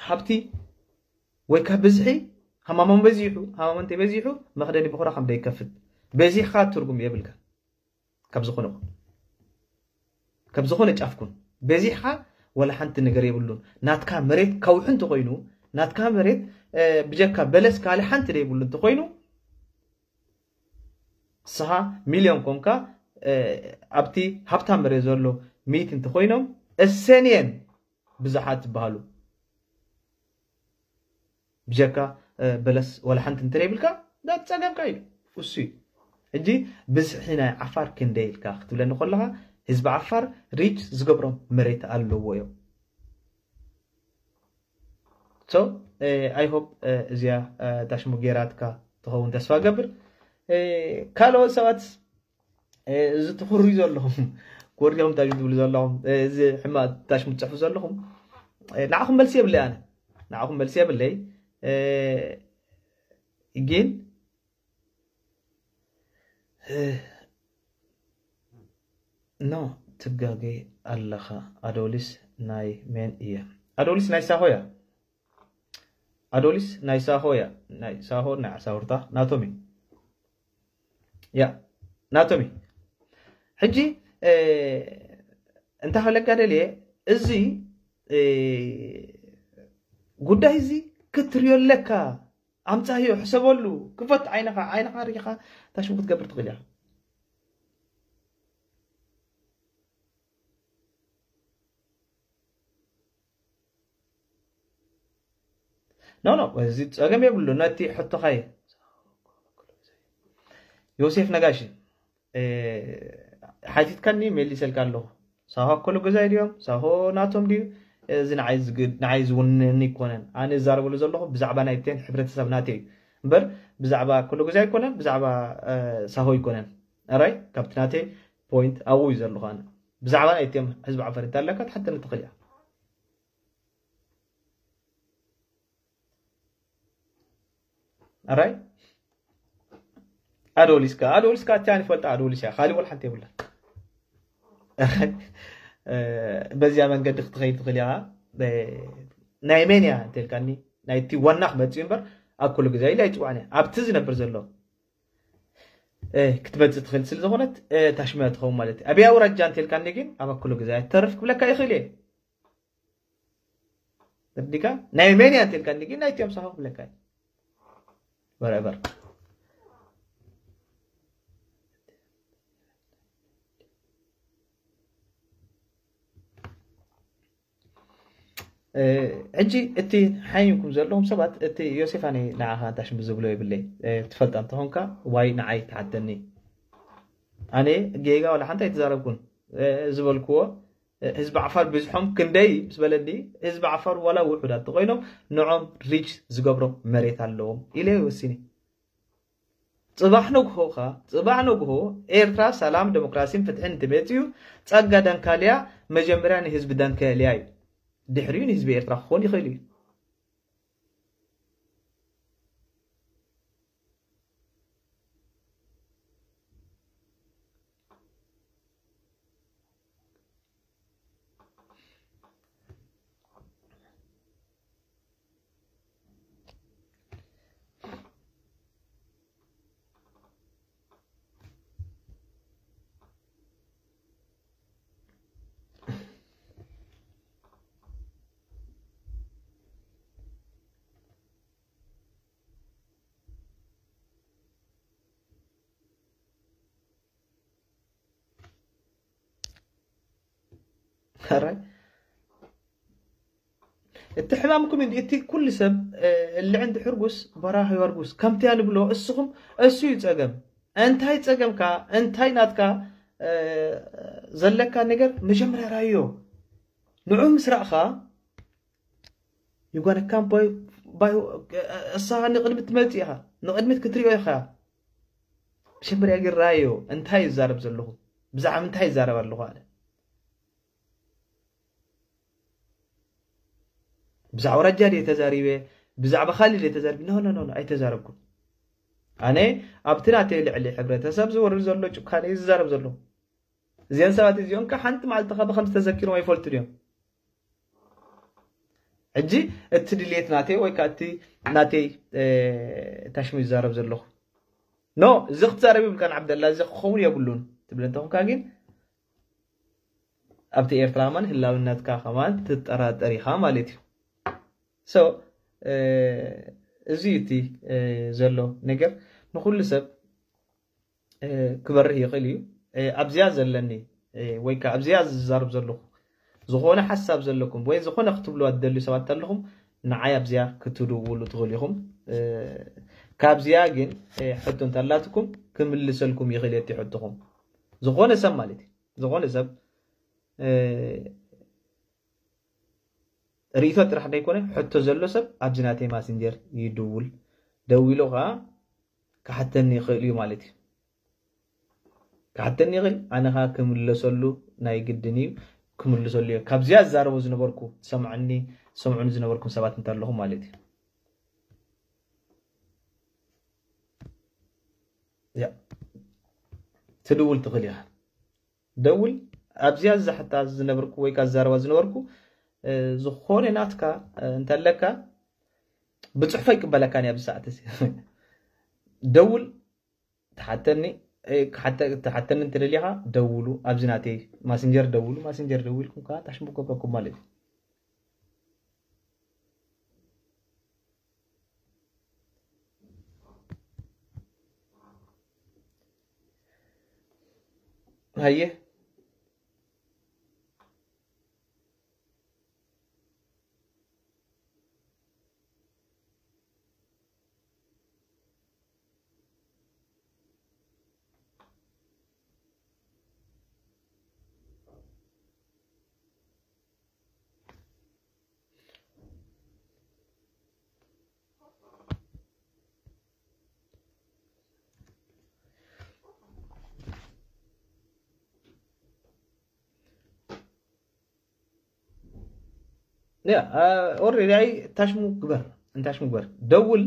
ሃብቲ ወይ ካብ ብዝሒ ሃማሞን በዚሑ ሃማሞን እንተይ በዚሑ መኽደኒ ብኹራ ከም ደይከፍት በዚሕኻ ትርጉም የብልካ። ካብ ዝኾነ ካብ ዝኾነ ጫፍኩን በዚሕኻ ወላ ሓንቲ ነገር የብሉን። ናትካ መሬት ከውሒ እንተኾይኑ ናትካ መሬት ብጀካ በለስ ካልእ ሓንቲ ደይብሉ እንተኾይኑ ንስኻ ሚልዮን ኮንካ ኣብቲ ሃብታም መሬት ዘሎ ሚእቲ እንተኾይኖም እሰንየን ብዙሓት ዝበሃሉ ብጀካ በለስ ወላ ሓንቲ እንተደይብልካ ዳት ጸገምካ እዩ። እሱ እዩ። ሕጂ ብዝሒ ናይ ዓፋር ክንደይ ኢልካ ክትብለኒ ከለኻ ህዝቢ ዓፋር ሪች ዝገብሮም መሬት ኣለዎ እዮም። So I hope እዚኣ ታሽሙ ጌራትካ ትኸውን ተስፋ ገብር። ካልኦት ሰባት እዚ ትኹሪ ዘለኹም ኮርዲኹም ታሽሙ ትብሉ ዘለኹም እዚ ሕማቕ ታሽሙ ትጽሕፉ ዘለኹም ንዓኹም መልሲ የብለይ። ኣነ ንዓኹም መልሲ የብለይ። ግን ኖ ትጋገ ኣለኻ። ኣዶሊስ ናይ ሜን እየ። ኣዶሊስ ናይ ሳሆ እያ። ኣዶሊስ ናይ ሳሆ እያ። ናይ ሳሆ ናይ ዓሳውርታ ናቶም እዩ። ያ ናቶም እዩ። ሕጂ እንታይ ክብለካ ደልየ እዚ ጉዳይ እዚ ክትርዮ ኣለካ። ኣምጻዮ ሕሰበሉ ክፈት ዓይንኻ ዓይንኻ ሪኻ ታሽሙ ክትገብር ትኽእል ኢኻ። ኖ ኖ እዚ ጸገም የብሉ ነቲ ሕቶኻየ ዮሴፍ ነጋሽ ሓቲትካኒ መሊሰልካ ኣለኹ። ሳሆ ኣኮሎ ገዛይ ድዮም ሳሆ ናቶም ድዩ? እዚ ንዓይ ዝውንኒ ይኮነን። ኣነ ዝዛረበሉ ዘለኹ ብዛዕባ ናይቴን ሕብረተሰብ ናተይ እዩ እምበር ብዛዕባ ኣኮሎ ገዛይ ኣይኮነን ብዛዕባ ሳሆ ኣይኮነን። ኣራይ ካብቲ ናተይ ፖይንት ኣብኡ እዩ ዘለኹ። ኣነ ብዛዕባ ናይቴም ህዝቢ ዓፈር እንተለካ ትሓተኒ ትኽእል እያ። ኣራይ ኣዶሊስካ ኣዶሊስካ እቲያ ንፈልጣ ኣዶሊስ እያ። ካሊእ ወላ ሓንቲ የብላ። በዚያ መንገዲ ክትኸይድ ትኽእል ኢኻ። ናይ መን እያ እንተልካኒ ናይቲ ዋና ክመፅእ እምበር ኣብ ኩሉ ግዜ ኢለ ኣይፅዋዕን እያ። ኣብቲ ዝነብር ዘሎ ክትመፅእ ትኽእል ስለ ዝኾነት ታሽመያ ትኸውን ማለት እዩ። ኣብያ ውራጃ እንተልካኒ ግን ኣብ ኣኩሉ ግዜ ተርፍ ክብለካ ይኽእል እየ። ተርዲካ ናይ መን እያ እንተልካ እንዲጊ ናይ ቲኦም ሳሆ ክብለካ እዩ። Whatever። ሕጂ እቲ ሓይንኩም ዘለኹም ሰባት እቲ ዮሴፍ ኣነ ንዓኻ እንታይ ሽም ዝብሎ የብለይ። ትፈልጣ እንተኾንካ ዋይ ንዓይ ትሓተኒ። ኣነ ጌጋ ዋላ ሓንቲ ኣይተዛረብኩን። ዝበልክዎ ህዝቢ ዓፋር ብዝሖም ክንደይ ምስ በለኒ ህዝቢ ዓፋር ዋላ ውሑዳት ተኮይኖም ንዖም ሪች ዝገብሮም መሬት ኣለዎም ኢለ ወሲኒ። ጽባሕ ነግሆ ኸኣ፣ ጽባሕ ነግሆ ኤርትራ ሰላም፣ ደሞክራሲን ፍትሕን እንተመጺኡ፣ ጸጋ ደንካልያ መጀመርያ ንህዝቢ ደንከልያ እዩ። ድሕሪኡ ንህዝቢ ኤርትራ ክኾን ይኽእል እዩ። ሕራይ እቲ ሕማምኩም እንዲ እቲ ኩሉ ሰብ እልዕ እንዲ ሕርጉስ በራህ ይወርጉስ ከምቲ ንብሎ እስኹም እሱ እዩ ጸገም። እንታይ ጸገምካ እንታይ ናትካ ዘለካ ነገር መጀመርያ ራዮ ንዑ ምስ ረእኻ ይጓነካም እሳ ንቕድሚት ትመጽእ ኢኻ ንቕድሚት ክትሪኦ ኢኻ። መጀመርያ ግን ራዮ እንታይ ይዛረብ ዘለኹ ብዛዕባ እንታይ ይዛረብ ኣለኹ ኣለ ብዛዕባ ረጃ ድየ ተዛሪበ ብዛዕባ ካሊ ድየ ተዛሪበ ኖ ኖ ኖ ኣይተዛረብኩን ኣነ ኣብቲ ናተይ ልዕሊ ሕብረተሰብ ዝወርድ ዘሎ ጭካነ እዩ ዝዛረብ ዘለኹ እዚአን ሰባት እዚኦም ከ ሓንቲ መዓልቲ ከ ብከምዚ ተዘኪሮም ኣይፈልጡ ድዮም ሕጂ እቲ ድሌት ናተይ ወይ ከዓ እቲ ናተይ ታሽሙ ይዛረብ ዘለኹ ኖ እዚ ክትዛረብ ይብልካን ዓብደላ እዚ ክኸውን የብሉን ትብል እንተኹንካ ግን ኣብቲ ኤርትራ ከማን ህላውነትካ ከማን ትጠራጠር ኢኻ ማለት እዩ so እዚ እቲ ዘሎ ነገር ንኩሉ ሰብ ክበርህ ይኽእል እዩ ኣብዚኣ ዘለኒ ወይ ከዓ ኣብዚኣ ዝዛርብ ዘለኹ ዝኾነ ሓሳብ ዘለኩም ወይ ዝኾነ ክትብልዋ ትደልዩ ሰባት ኣለኹም ንዓይ ኣብዚኣ ክትድውሉ ትኽእሉ ኢኹም ካብዚኣ ግን ሕቶ እንተላትኩም ክምልሰልኩም ይኽእል የቲ ሕትኹም ዝኾነ ሰብ ማለት እዩ ዝኾነ ሰብ ርእይቶ ጥራሕ ዘይኮነ ሕቶ ዘሎ ሰብ ኣብዚ ናተይ ማሲንጀር ይድውል ደዊሉ ከዓ ክሓተኒ ይኽእል እዩ ማለት እዩ ክሓተኒ ይኽእል ኣነ ከዓ ክምለሰሉ ናይ ግድን እዩ ክምልሰሉ እየ ካብዚኣ ዝዛረቦ ዝነበርኩ ሰምዐኒ ሰምዑኒ ዝነበርኩም ሰባት እንተ ኣለኹም ማለት እዩ ትድውል ትኽእል ኢኻ ደውል ኣብዚኣ ዝዛሕታ ዝነበርኩ ወይ ከዓ ዝዛረባ ዝነበርኩ ዝኾነ ናትካ እንተለካ ብፅሑፎ ይቅበለካ ኣብዚ ሰዓት እዚ ደውል ትሓተኒ ትሓተኒ እንትደሊኻ ደውሉ ኣብዚ ናተይ ማስንጀር ደውሉ ማስንጀር ደዊልኩም ከዓ ታሽሙ ክገብረኩም ማለት እዩ ሃየ ያ ኦሬዲ ኣይ ታሽሙ ግበር እንታሽሙ ግበር ደውል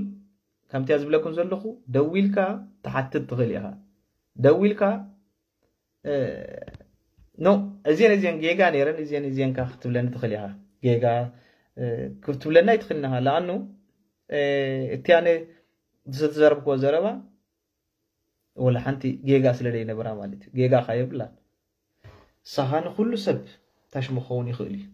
ከምቲያ ዝብለኩም ዘለኹ ደዊልካ ትሓትት ትኽእል ኢኻ ደዊልካ ኖ እዚን እዚን ጌጋ ነይረን እዚን እዚንካ ክትብለኒ ትኽእል ኢኻ ጌጋ ክትብለና ኣይትኽእልን ኢኻ ለኣኑ እቲ ኣነ ዝተዘረብክዎ ዘረባ ወላ ሓንቲ ጌጋ ስለ ዘይነበራ ማለት እዩ ጌጋ ካ የብላን ሳኻ ንኩሉ ሰብ ታሽሙ ክኸውን ይኽእል እዩ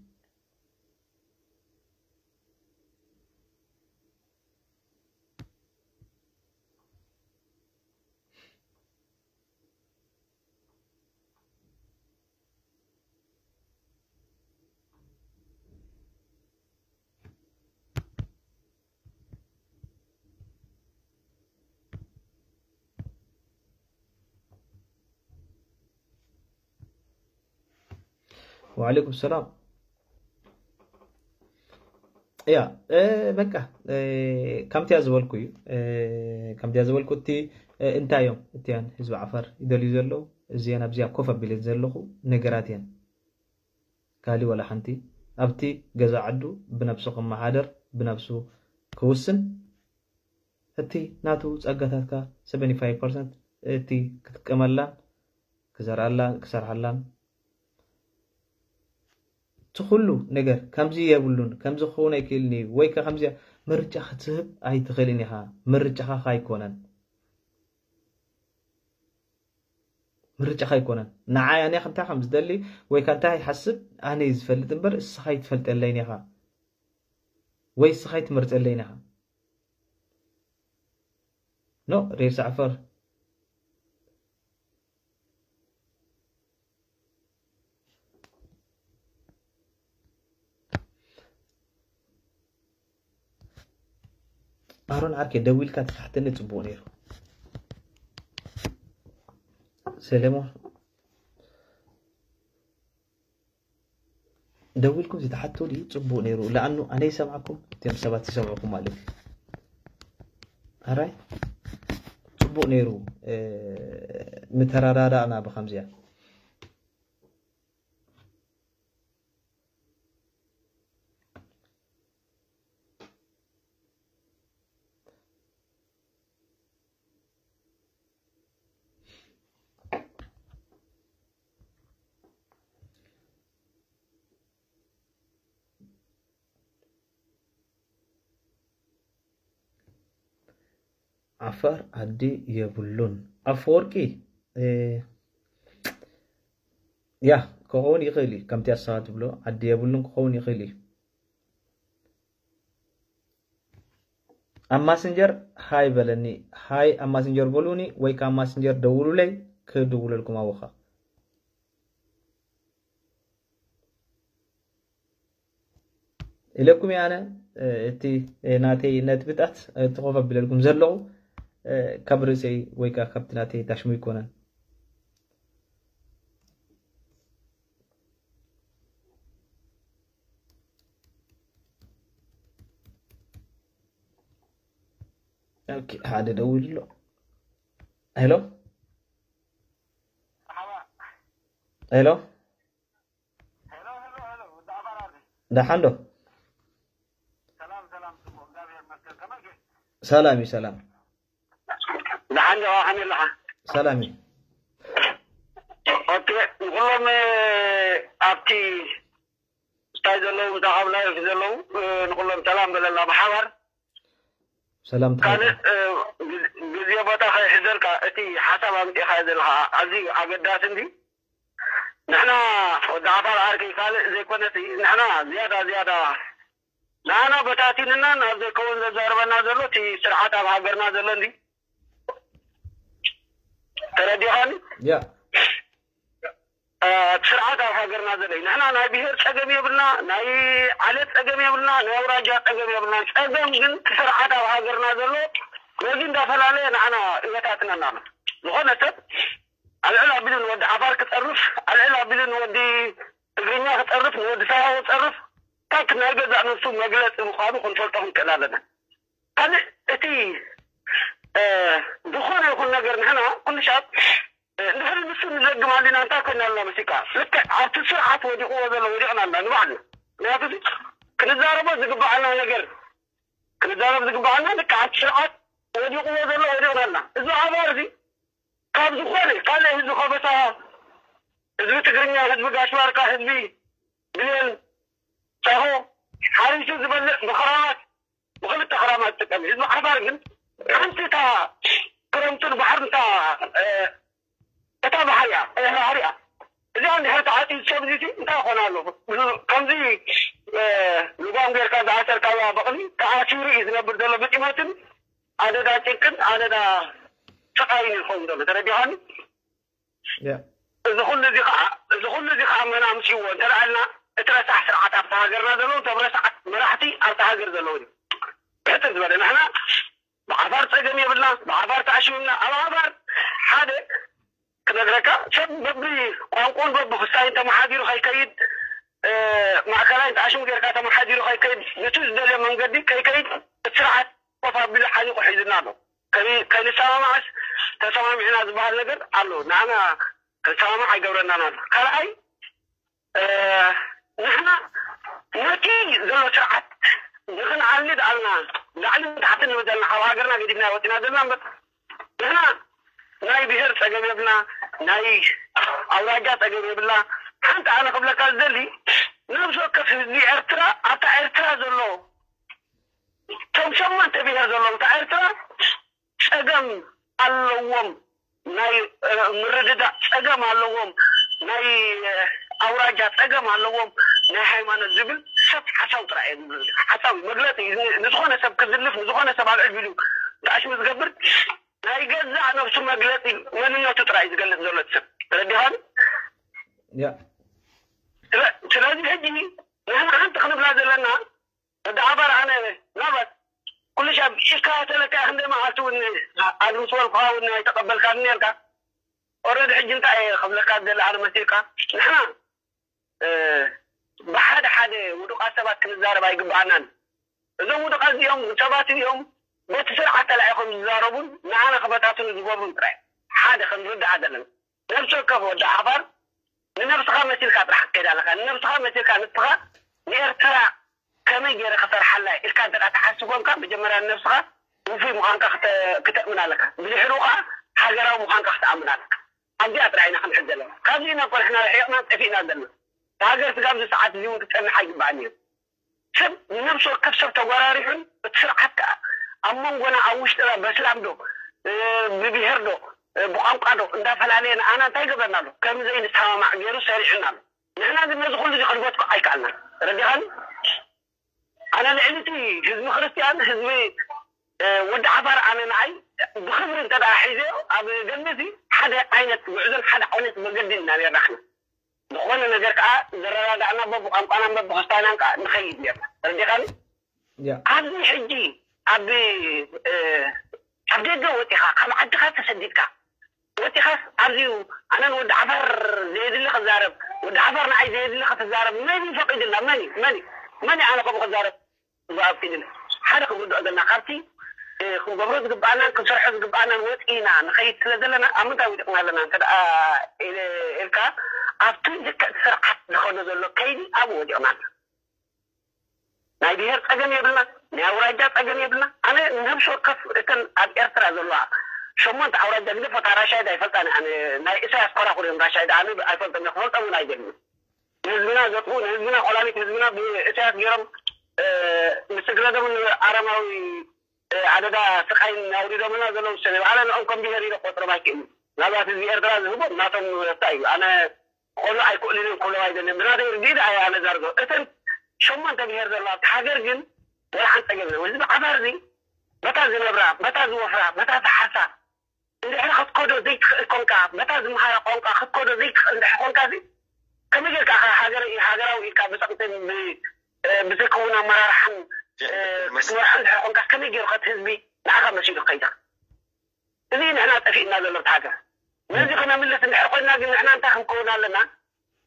وعليكم السلام يا بقى كم تياز بولكو كم تياز بولكو تي እንታይ እዮም እቲያን ህዝቢ ዓፋር ይደልዩ ዘለዉ? እዚአን ኣብዚኣ ኮፍ ኣቢለን ዘለኹ ነገራት እየን። ካሊ ዋላ ሓንቲ ኣብቲ ገዛ ዓዱ ብነብሱ ክመሓደር ብነብሱ ክውስን እቲ ናቱ ጸጋታትካ ሰቨንቲ ፋይቭ ፐርሰንት እቲ ክጥቀመላን ክዘርኣላን ክሰርሓላን እቲ ኩሉ ነገር ከምዚ የብሉን ከምዚ ክኸውን ኣይክእልን እዩ ወይ ከ ከምዚ ምርጫ ክትህብ ኣይትኽእልን ኢኻ። ምርጫኻ ኣይኮነን። ምርጫኻ ኣይኮነን። ንዓይ ኣነ እንታይ ከም ዝደሊ ወይ ከ እንታይ ይሓስብ ኣነ እዩ ዝፈልጥ እምበር እስኻ ይትፈልጠለይን ኢኻ ወይ እስኻ ይትመርፀለይን ኢኻ። ኖ ሬሳ ዓፈር ኣሮን ዓርከይ ደዊልካ ተታሕተኒ ጽቡቕ ነይሩ። ሰለሞን ደዊልኩም ዝተሓትቱሊ ጽቡቕ ነይሩ። ለኣኑ ኣነ ይሰምዓኩም፣ እቶም ሰባት ይሰምዑኩም ማለት እዩ። ኣራይ ጽቡቕ ነይሩ። እ፣ ምተረዳዳእና ብኸምዚያ። ዓፋር ዓዲ የብሉን። ኣፈወርቂ፣ እ፣ ያ፣ ክኸውን ይኽእል እዩ። ከምቲ ኣስኻ ትብሎ፣ ዓዲ የብሉን ክኸውን ይኽእል እዩ። ኣብ ማስንጀር ሃይ በለኒ። ሃይ ኣብ ማስንጀር በሉኒ ወይ ካብ ማስንጀር ደውሉለይ፣ ክድውለልኩም ኣብኻ። ኢለኩም እየ ኣነ፣ እ፣ እቲ፣ እ፣ ናተይ ነጥብታት፣ እ፣ እቲ ኮፍ ኣቢለልኩም ዘለኹ፣ እ፣ ካብ ርእሰይ ወይ ከኣ ካብቲ ናተይ ታሽሙ ኣይኮነን። ኦኬ፣ ሓደ ደዊሉ ኣሎ። ሄሎ? ሄሎ? ደሓን ዶ? ሰላም እዩ፣ ሰላም። ደሓን ዶ? ከመይ ኣለኻ? ሰላም እዩ። ኦኬ፣ ንኩሎም፣ እ፣ ኣብቲ ስታይ ዘለዉ፣ እንታይ ካብ ላይፍ ዘለዉ፣ እ፣ ንኩሎም ሰላም በለላ ብሓባር። ሰላም ካልእ፣ ትበል። እ፣ ግዝ-፣ ግዜ ቦታ ከይሕዘልካ፣ እቲ ሓሳብ ኣምጺእካዮ ዘለኻ ኣዝዩ ኣገዳሲ እንዲ። ንሕና ወዲ ዓፋር ዓርከይ ካልእ ዘይኮነሲ፣ ንሕና ዝያዳ፣ ዝያዳ ንዓና በታቲንና ናብ ዘይከውን ዘዛርበና ዘሎ እቲ ስርዓት ኣብ ሃገርና ዘሎ እንዲ። ተረዲኻኒ? ያ። እ፣ እቲ ስርዓት ኣብ ሃገርና ዘሎ እዩ። ንሕና ናይ ብሄር ጸገም የብልና፣ ናይ ዓሌት ጸገም የብልና፣ ናይ ኣውራጃ ጸገም የብልና። ጸገም ግን እቲ ስርዓት ኣብ ሃገርና ዘሎ ነዚ እንዳፈላለየ ንዓና ይበታትነና ኣሎ። ዝኾነ ሰብ ኣልዕል ኣቢሉ ንወዲ ዓፋር ክጸርፍ፣ ኣልዕል ኣቢሉ ንወዲ ትግርኛ ክጸርፍ፣ ንወዲ ሳሆ ክጸርፍ፣ ታክ ናይ ገዛእ ነብሱ መግለጺ ምዃኑ ክንፈልጦ ክንክእል ኣለና። ካልእ እቲ፣ እ፣ ዝኾነ ይኹን ነገር ንሕና ኩሉ ሻብ፣ እ፣ እንድሕር ንሱ ንዘግም ኣሊና እንታይ ኮይና ኣለና መሲልካ? ልክዕ ኣብቲ ስርዓት ወዲቕዎ ዘሎ ወዲቕና ኣለና ንባዕልና። ምክንያቱ እዚ ክንዛረቦ ዝግብኣና ነገር፣ ክንዛረብ ዝግብኣና ልክዕ ኣብቲ ስርዓት ወዲቕዎ ዘሎ ወዲቕና ኣለና። እዚ ዓፋር እዚ ካብ ዝኾነ ካልእ ህዝቢ ከበሳ፣ ህዝቢ ትግርኛ፣ ህዝቢ ጋሽ ባርካ፣ ህዝቢ ብሌን፣ ጫኾ፣ ሓሪሱ ዝበልዕ ብኽራማት፣ ብኽልተ ክራማት ዝጥቀም እዩ። ህዝቢ ዓፋር ግን ሓንቲ እታ ክረምትን ባሕርን እታ፣ እ፣ እታ ባሕሪ እያ፣ እታ ባሕሪ እያ። እዚኣ እንድሕር ተዓጽዩ ሰብ እዚሲ እንታይ ይኾን ኣሎ? ከምዚ፣ እ፣ ልጓም ጌርካ ዝኣሰርካያ በቕሊ ተኣሲሩ እዩ ዝነብር ዘሎ ብጢሞትን ኣደዳ ጭንቅን ኣደዳ ስቓይን ይኸውን ዘሎ። ተረዲኻኒ? ያ። እዚ ኩሉ እዚ ከዓ፣ እዚ ኩሉ እዚ ከዓ መን ኣምፅእዎ እንተደኣልና፣ እቲ ረሳሕ ስርዓት ኣብታ ሃገርና ዘለዉ፣ እቶም ረሳሓት መራሕቲ ኣብታ ሃገር ዘለዉ እዩ። ብሕፅር ዝበለ፣ ንሕና ብዓፋር ፀገም የብልና፣ ብዓፋር ተኣሽምና፣ ኣብ ዓፋር ሓደ ክነግረካ፣ ሰብ በቢ ቋንቋን በቢ ክስታይን ተመሓዲሩ ከይከይድ፣ እ፣ ማእከላይን ተኣሽሙ ጌርካ ተመሓዲሩ ከይከይድ፣ ነቲ ዝደልዮ መንገዲ ከይከይድ፣ እቲ ስርዓት ኮፍ ኣቢሉ ሓኒቑ ሒዙና ኣሎ። ከይ-፣ ከይንሰማማዕስ፣ ተሰማሚዕና ዝበሃል ነገር ኣሎ። ንዓና ከሰማምዕ ኣይገብረናን ኣሎ። ካልኣይ፣ እ፣ ንሕና ነቲ ዘሎ ስርዓት ንኽንዓሊ ደኣልና ላዕልን ታሕትን ንብል ዘለና፣ ካብ ሃገርና ገዲፍና ወፂና ዘለና እምበር፣ ንሕና ናይ ብሄር ጸገም የብልና፣ ናይ ኣውራጃ ጸገም የብልና። ሓንቲ ኣነ ክብለካ ዝደሊ፣ ነብሲ ወከፍ ህዝቢ ኤርትራ፣ ኣብታ ኤርትራ ዘሎ፣ እቶም ሸሞንተ ብሄር ዘለዉ ኣብታ ኤርትራ ጸገም ኣለዎም፣ ናይ፣ እ፣ ምርድዳእ ጸገም ኣለዎም፣ ናይ፣ እ፣ ኣውራጃ ጸገም ኣለዎም፣ ናይ ሃይማኖት ዝብል ሰብ ሓሳዊ ጥራይ እዮም ዝብሉ። ሓሳዊ መግለጺ ን-፣ ንዝኾነ ሰብ ክዝልፍ፣ ንዝኾነ ሰብ ኣብ ዕቢሉ ተኣሽሙ ዝገብር፣ ናይ ገዛእ ነብሱ መግለጺ መንነቱ ጥራይ ዝገልጽ ዘሎ ሰብ። ተረዲኻኒ? ያ ስለ-፣ ስለዚ ሕጂ ንሕና ሓንቲ ክንብላ ዘለና፣ ወዲ ዓፋር ኣነ ናባት ኩሉ ሻብ ኢልካ ተለካ ክንደ መዓልቲ እውን ኣድምስ ወልፍኻ እውን ኣይተቐበልካኒ ነርካ። ኦረዲ ሕጂ እንታይ እየ ክብለካ ዝደሊ ኣነ መሲልካ፣ ንሕና፣ እ፣ ብሓደ ሓደ ውዱቓት ሰባት ክንዛረብ ኣይግብኣናን። እዞም ውዱቓት እዚኦም ሰባት እዚኦም በቲ ስርዓት ተላኢኾም ዝዛረቡን ንዓና ክበታትኑ ዝገብሩን ጥራይ ሓደ ክንርዳእ ዘለና። ነብሲ ወከፍ ወዲ ዓፋር ንነብስኻ መሲልካ ጥራሕ ክትከይድ ኣለካ። ንነብስኻ መሲልካ ንስኻ ንኤርትራ ከመይ ገይረ ክሰርሓላ ኢልካ እንተ ትሓስብ ኮንካ፣ መጀመርያ ንነብስኻ ውፉይ ምዃንካ ክተ-፣ ክተእምን ኣለካ። ብድሕሩ ኸዓ ሃገራዊ ምዃንካ ክትኣምን ኣለካ። ኣብዚኣ ጥራሕ ኢና ክንሕዝ ዘለና። ካብዚ ኢና እኮ ንሕና ርሒቕና ጠፊእና ዘለና። እታ ሃገር ስጋብ እዚ ሰዓት እዚ እውን ክትጸንሕ ኣይግባእን እዩ። ሰብ ንነብሲ ወከፍ ሰብ ተጎራሪሑን እቲ ስርዓት ከዓ ኣብ መንጎና ኣብ ውሽጥና በስላም ዶ፣ እ፣ ብብሄር ዶ፣ እ፣ ብቋንቋ ዶ እንዳፈላለየ ንኣና እንታይ ይገብረና ኣሎ? ከም ዘይንሰማማዕ ገይሩ ሰሪዑና ኣሎ። ንሕና ግን ነዚ ኩሉ እዚ ክንጎትኮ ኣይከኣልናን። ረዲኻኒ? ኣነ ልዕሊ እቲ ህዝቢ ክርስትያን፣ ህዝቢ፣ እ፣ ወዲ ዓፋር ኣነ ንኣይ ብኽብሪ እንተ ደኣ ሒዘዮ ኣብ ገድሊ እዚ ሓደ ዓይነት ጉዕዞን ሓደ ዓይነት መገድን ኢና ነርና ንሕና። ዝኾነ ነገር ከዓ ዘረዳዳእና በብቋንቋናን በብክስታይናን ከዓ ንኸይድ ነርና። ተረዲኻኒ? ያ ኣብዚ ሕጂ ኣብ፣ እ፣ ኣብ ደገ ወፂኻ ካብ ዓድኻ ተሰዲድካ ወፂኻስ ኣብዚ ኣነ ንወዲ ዓፋር ዘየድሊ ክዛረብ፣ ወዲ ዓፋር ንዓይ ዘየድሊ ክትዛረብ መን እዩ ፈቂድልና? መን እዩ? መን እዩ? መን እዩ ኣነ ከምኡ ክዛረብ ዝኣፍቂድኒ? ሓደ ክንርድኦ ዘለና ካብቲ፣ እ፣ ክንገብሮ ዝግብኣናን ክንሰርሖ ዝግብኣናን ወፂና ንኸይድ ስለ ዘለና ኣብ ምንታይ ወዲቕና ኣለና እንተ ደኣ ኢለ-፣ ኢልካ ኣብቲ ልክዕ ስርዓት ዝኸዶ ዘሎ ከይዲ ኣብኡ ወዲቕና ኣለና። ናይ ብሄር ጸገም የብልና፣ ናይ ኣውራጃ ጸገም የብልና። ኣነ ነብሲ ወከፍ እተን ኣብ ኤርትራ ዘለዋ ሸሞንተ ኣውራጃ ግደፎ፣ እታ ራሻይድ ኣይፈልጣን ኣነ። ናይ ኢሳያስ ኮራኩር እዮም ራሻይድ፣ ኣነ ኣይፈልጦም እየ፣ ክፈልጦም እውን ኣይደልን። ንህዝብና ዘጥፉ፣ ንህዝብና ቆላሊት ህዝብና ብኢሳያስ ገይሮም፣ እ፣ ንስግረዶምን ኣረማዊ፣ እ፣ ኣደዳ ስቃይን ኣውሪዶምና ዘለዉ ሰብ እዮም። ኣነ ንኦም ከም ብሄር ኢለ ክቆጽሮም ኣይክእልን። ምናልባት ህዝቢ ኤርትራ ዝህቦም ናቶም ረብሓ እዩ። ኣነ ክኾኑ ኣይክእሉን እዮም ክብሎም ኣይደልን። ብናተይ ርድኢት እየ ኣነ ዛርጎ። እተን ሸሞንተ ብሄር ዘለዋ ኣብቲ ሃገር ግን ወላ ሓንቲ ጸገም የለን። ህዝቢ ዓፋር እዚ በታ ዝነብራ፣ በታ ዝወፍራ፣ በታ ዝሓርሳ እንድሕር ክትከዶ ዘይትኽእል ኮንካ፣ በታ ዝምሃራ ቋንቋ ክትከዶ ዘይትኽእል እንድሕር ኮንካ እዚ ከመይ ጌርካ ኢኻ ሃገር-፣ ሃገራዊ ኢልካ ብጸቕጥን ብ-፣ እ፣ ብዘይከውን ኣመራርሓን፣ እ፣ ክትመርሖ እንድሕር ኮንካ ከመይ ጌሩ ከቲ ህዝቢ ንዓኻ መሲሉ ክኸይድ? እዚ ንሕና ጠፊእና ዘሎ እቲ ሃገር። ነዚ ክነምልስ እንድሕር ኮይንና ግን ንሕና እንታይ ክንከውን ኣለና?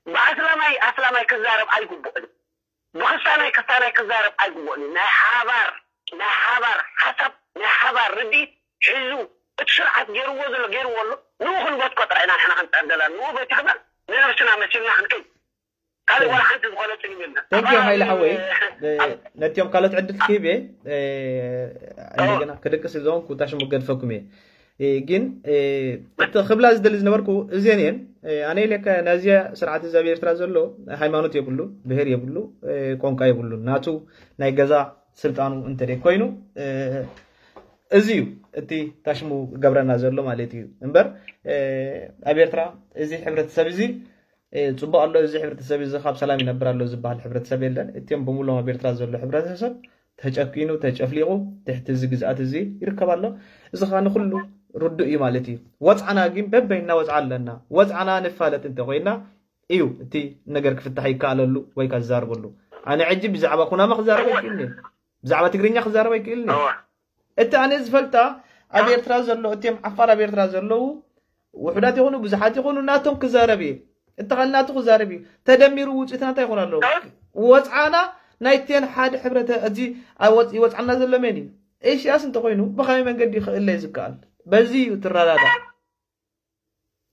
ብኣስላማይ ኣስላማይ ክዛረብ ኣይግብኦን እዩ። ብክስታናይ ክስታናይ ክዛረብ ኣይግብኦን እዩ። ናይ ሓባር፣ ናይ ሓባር ሓሳብ፣ ናይ ሓባር ርድኢት ሒዙ እቲ ስርዓት ገይርዎ ዘሎ ገይርዎ ኣሎ። ንኡ ክንበትኮ ጥራይ ኢና ንሕና ክንጥዕር ዘለና። ንኡ በቲኽና ንነብስና መሲልና ክንከይድ። ካልእ ዋላ ሓንቲ ዝኾነ ጽልም የለን። Thank you፣ ኣባ-፣ ሃይለ ሓወይ። እ፣ እ፣ ነቲኦም ካልኦት ዕድል ክህብ እየ። እ፣ እንደገና ክድቅስ እዞም ኩታ ሽሙ ገድፈኩም እየ። እ፣ ግን፣ እ፣ እቲ ክብላ ዝደሊ ዝነበርኩ እዚአን እየን። እ፣ ኣነ ኢለካ ናዚያ ስርዓት እዚ ኣብ ኤርትራ ዘሎ ሃይማኖት የብሉ፣ ብሄር የብሉ፣ እ፣ ቋንቋ የብሉ። ናቱ ናይ ገዛ ስልጣኑ እንተ ደይ ኮይኑ፣ እ፣ እዚ እዩ እቲ ታሽሙ ገብረና ዘሎ ማለት እዩ። እምበር፣ እ፣ ኣብ ኤርትራ እዚ ሕብረተሰብ እዚ፣ እ፣ ጽቡቕ ኣሎ፣ እዚ ሕብረተሰብ እዚ ካብ ሰላም ይነብር ኣሎ ዝበሃል ሕብረተሰብ የለን። እቲኦም ብምሎም ኣብ ኤርትራ ዘሎ ሕብረተሰብ ተጨኪኑ፣ ተጨፍሊቑ፣ ትሕቲ እዚ ግዝኣት እዚ ይርከብ ኣሎ። እዚ ኸኣ ንኹሉ ርዱእ እዩ ማለት እዩ። ወጽዓና ግን በበይና ወጽዓ ኣለና። ወጽዓና ንፋለጥ እንተ ኮይና እዩ እቲ ነገር ክፍታሕ ይከኣለሉ ወይ ከኣ ዝዛረበሉ። ኣነ ሕጂ ብዛዕባ ኩናማ ክዛረብ ኣይክእልን እየ። ብዛዕባ ትግርኛ ክዛረብ ኣይክእልን እየ። እወ። እቲ ኣነ ዝፈልጣ ኣብ ኤርትራ ዘሎ፣ እቲኦም ዓፋር ኣብ ኤርትራ ዘለዉ ውሑዳት ይኹኑ ብዙሓት ይኹኑ ናቶም ክዛረብ እየ። እቲ ኻል ናቱ ክዛረብ እዩ። ተደሚሩ ውፅኢት ናታ ይኾን ኣለዉ። ወፅዓና ናይተን ሓደ ሕብረተ-፣ እዚ ኣብ ወፅ-፣ ይወፅዓና ዘሎ መን እዩ? ኢሳያስ እንተኾይኑ ብኸመይ መንገዲ ክእለ እዩ ዝከኣል? በዚ እዩ ትረዳዳእ።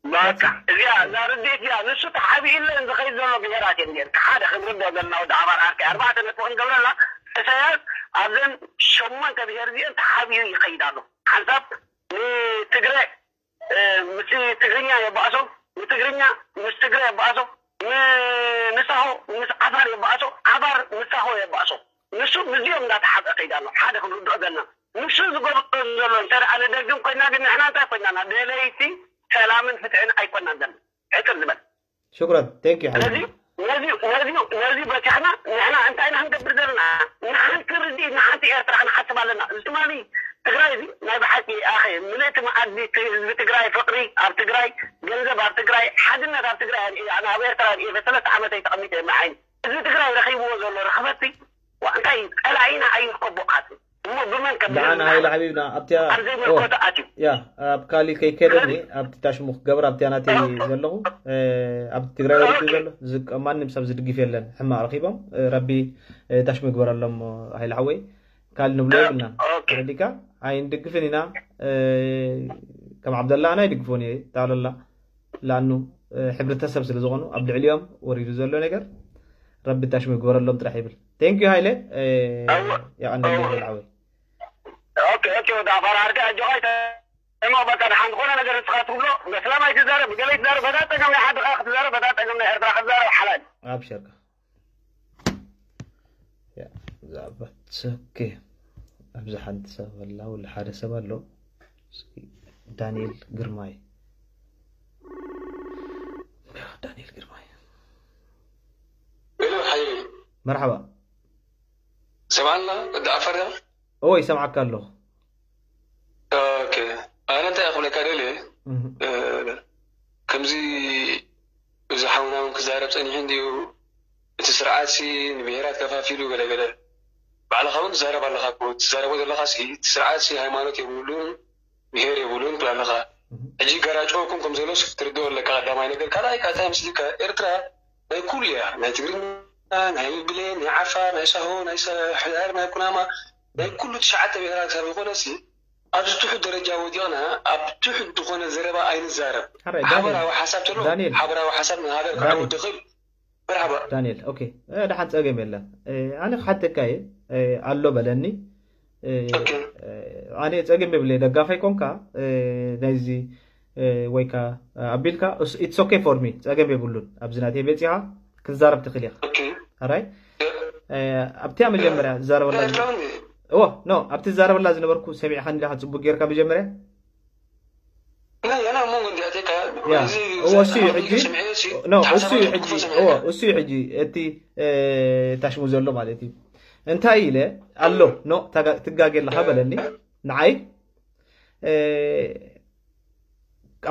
በቃ እዚኣ እዛ ርድኢት እዚኣ ንሱ ተሓቢእለን ዝኸይድ ዘሎ ብሄራት እየን። ጌርካ ሓደ ክንርድኦ ዘለና ወዲ ኣባር ዓርከይ ኣርባዕተ ነጥቢ ክንገብረላ፣ ኢሳያስ ኣብዘን ሸሞንተ ብሄር እዚአን ተሓቢኡ ይኸይድ ኣሎ። ሓንሳብ ንትግረ ምስ ትግርኛ የባእሶ፣ ንትግርኛ ምስ ትግረ የባእሶ፣ ንሳሆ ምስ ዓፋር የባእሶ፣ ዓፋር ምስ ሳሆ የባእሶ። ንሱ ምስዚኦም እንዳተሓብአ ከይዳ ኣሎ። ሓደ ክንርድኦ ዘለና ንሱ ዝገብሮ ዘሎ እንተ ደኣ ንደግም ኮይና ግን ንሕና እንታይ ኮይናና? ደለይቲ ሰላምን ፍትሕን ኣይኮናን ዘለና። ሕጥር ዝበል ሽኩረን ቴንክ ዩ ሓቢቢ ስለዚ ነዚ ነዚ ነዚ በቲሕና ንሕና እንታይ ኢና ክንገብር ዘለና? ንሓንቲ ርድኢት ንሓንቲ ኤርትራ ክንሓስብ ኣለና። እዚ ትማሊ ትግራይ እዚ ናይ ብሓቂ ኣኸ ምልእቲ መኣዲ ት- ህዝቢ ትግራይ ፍቅሪ ኣብ ትግራይ ገንዘብ ኣብ ትግራይ ሓድነት ኣብ ትግራይ ኣርኢ ኣነ ኣብ ኤርትራ ኣርኢ ሰለስተ ዓመተይ ተቐሚጠ የመዓይኒ እዚ ትግራይ ረኺብዎ ዘሎ ርኽበቲ ዋ እንታይ እዩ? ጸላኢና ኣይርከቦ ኣት እሞ ብመን ከቢልና ደሓን ሃይለ ሓቢብና ኣብቲያ ኣብ ዘይምልከቶ ኣትዩ ያ ኣብ ካሊ ከይከደኒ ኣብቲ ታሽሙ ክገብር ኣብቲያ ናተይ ዘለኹ ኣብቲ ትግራይ ወሪዱ ዘሎ ዝቀ- ማንም ሰብ ዝድግፍ የለን ሕማቕ ረኺቦም ረቢ ታሽሙ ይግበረሎም ሃይለ ሓወይ ካሊ ንብሎ የብልና ኦኬ ረዲካ ኣይንድግፍን ኢና ከም ዓብደላ ኣና ይድግፎን እየ ታለላ ላኑ ሕብረተሰብ ስለ ዝኾኑ ኣብ ልዕሊኦም ወሪዱ ዘሎ ነገር ረቢ ታሽሙ ይግበረሎም ጥራሕ ይብል ቴንክ ዩ ሃይለ የቐንደልኝ ሃይለ ሓወይ ኦኬ ኦኬ ወደ ኣፋር ዓርከይ ኣጆኻ እሞ በቃ ደሓን ዝኾነ ነገር ንስኻ ትብሎ በስላም ኣይትዛረብ ብገለ ይትዛረብ በታ ፀገም ናይ ዓድኻ ክትዛረብ በታ ፀገም ናይ ኤርትራ ክትዛረብ ሓላል ኣብሸርካ ዛዕባ ኦኬ ኣብዚ ሓንቲ ሰብ ኣላ ወላ ሓደ ሰብ ኣሎ እስኪ ዳንኤል ግርማይ ዳንኤል ግርማይ ሄሎ ሓይሊ መርሓባ ሰምዓና ወዲ ዓፋር ዲኻ? እወ ይሰምዓካ ኣለኹ ኦኬ ኣነ እንታይ ክብለካ ደልየ ከምዚ እዚ ሓውና እውን ክዛረብ ፀኒሑ እንድዩ እቲ ስርዓት ሲ ንብሄራት ከፋፊሉ ገለገለ ባዕልኻ እውን ትዛረብ ኣለኻ እኮ ትዛረቦ ዘለኻ ሲ እቲ ስርዓት ሲ ሃይማኖት የብሉን ብሄር የብሉን ትብል ኣለኻ ሕጂ ገራጭወኩም ከም ዘሎስ ክትርድኦ ኣለካ ቀዳማይ ነገር ካልኣይ ካታ ምስሊካ ኤርትራ ናይ ኩሉ እያ ናይ ትግርኛ ናይ ብሌን ናይ ዓፋር ናይ ሳሆ ናይ ሕዳር ናይ ኩናማ ናይ ኩሉ ትሽዓተ ብሄራት ካብ ዝኾነ ሲ ኣብዚ ትሑት ደረጃ ወዲቕና ኣብ ትሑት ዝኾነ ዘረባ ኣይንዛረብ ሓበራዊ ሓሳብ ተሎ ሓበራዊ ሓሳብ ንሃገር ክዓወት ይኽእል መርሓባ ዳንኤል ኦኬ ደሓን ፀገም የለን ኣነ ክሓተካ እየ ኣሎ በለኒ ኣነ ፀገም የብለይ ደጋፋይ ኮንካ ናይዚ ወይካ ኣቢልካ it's okay for me ፀገም የብሉን ኣብዚ ናተይ በፂኻ ክትዛረብ ትኽእል ኢኻ ኣራይ ኣብቲያ መጀመርያ ዝዛረበላ እዎ ኖ ኣብቲ ዝዛረበላ ዝነበርኩ ሰሚዕካ ንዲኻ ፅቡቅ ጌርካ መጀመርያ እሱ እዩ ሕጂ እሱ እዩ ሕጂ እቲ ታሽሙ ዘሎ ማለት እዩ እንታይ ኢለ ኣሎ ኖ ትጋጌ ኣለካ በለኒ ንዓይ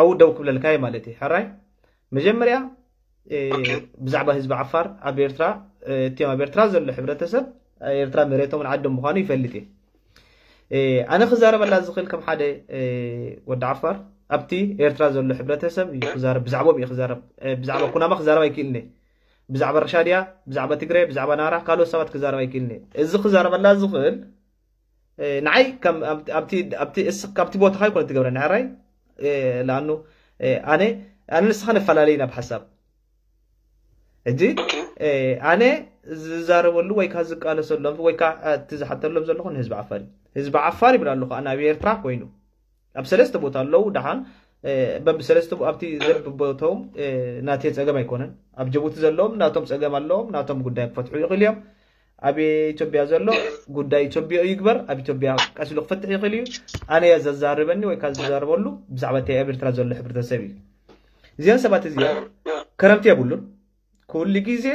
ኣብኡ ደው ክብለልካ እየ ማለት እዩ ሕራይ መጀመርያ ብዛዕባ ህዝቢ ዓፋር ኣብ ኤርትራ እቲኦም ኣብ ኤርትራ ዘሎ ሕብረተሰብ ኤርትራ መሬቶም ዓዶም ምዃኑ ይፈልጥ እየ ኣነ ክዛረበላ ዝኽእል ከም ሓደ ወዲ ዓፋር ኣብቲ ኤርትራ ዘሎ ሕብረተሰብ እዩ ክዛረብ ብዛዕቦም እዩ ክዛረብ ብዛዕባ ኩናማ ክዛረብ ኣይክእልን እየ ብዛዕባ ርሻድያ ብዛዕባ ትግረ ብዛዕባ ናራ ካልኦት ሰባት ክዛረብ ኣይክእልን እየ እዚ ክዛረበላ ዝኽእል ንዓይ ካብቲ ቦታኻ ይኮነ ትገብረኒ ሕራይ ለኣኑ ኣነ ኣነ ንስኻ ነፈላለይ ናብ ሓሳብ ሕጂ ኣነ ዝዛረበሉ ወይ ካ ዝቃለሰሎም ወይ ካ እቲ ዝሓተሎም ዘለኹ ንህዝቢ ዓፋር እዩ ህዝቢ ዓፋር ይብል ኣለኹ ኣነ ኣብ ኤርትራ ኮይኑ ኣብ ሰለስተ ቦታ ኣለዉ ደሓን በብሰለስተ ኣብቲ ዘብቦቶም ናተይ ፀገም ኣይኮነን ኣብ ጅቡቲ ዘለዎም ናቶም ፀገም ኣለዎም ናቶም ጉዳይ ክፈትሑ ይኽእል እዮም ኣብ ኢትዮጵያ ዘሎ ጉዳይ ኢትዮጵያ ይግበር ኣብ ኢትዮጵያ ቀሲሉ ክፈትሕ ይኽእል እዩ ኣነ እየ ዘዛርበኒ ወይ ካብ ዝዛርበሉ ብዛዕባ እቲ ኣብ ኤርትራ ዘሎ ሕብረተሰብ እዩ እዚኦም ሰባት እዚኦም ክረምቲ የብሉን ኩሉ ግዜ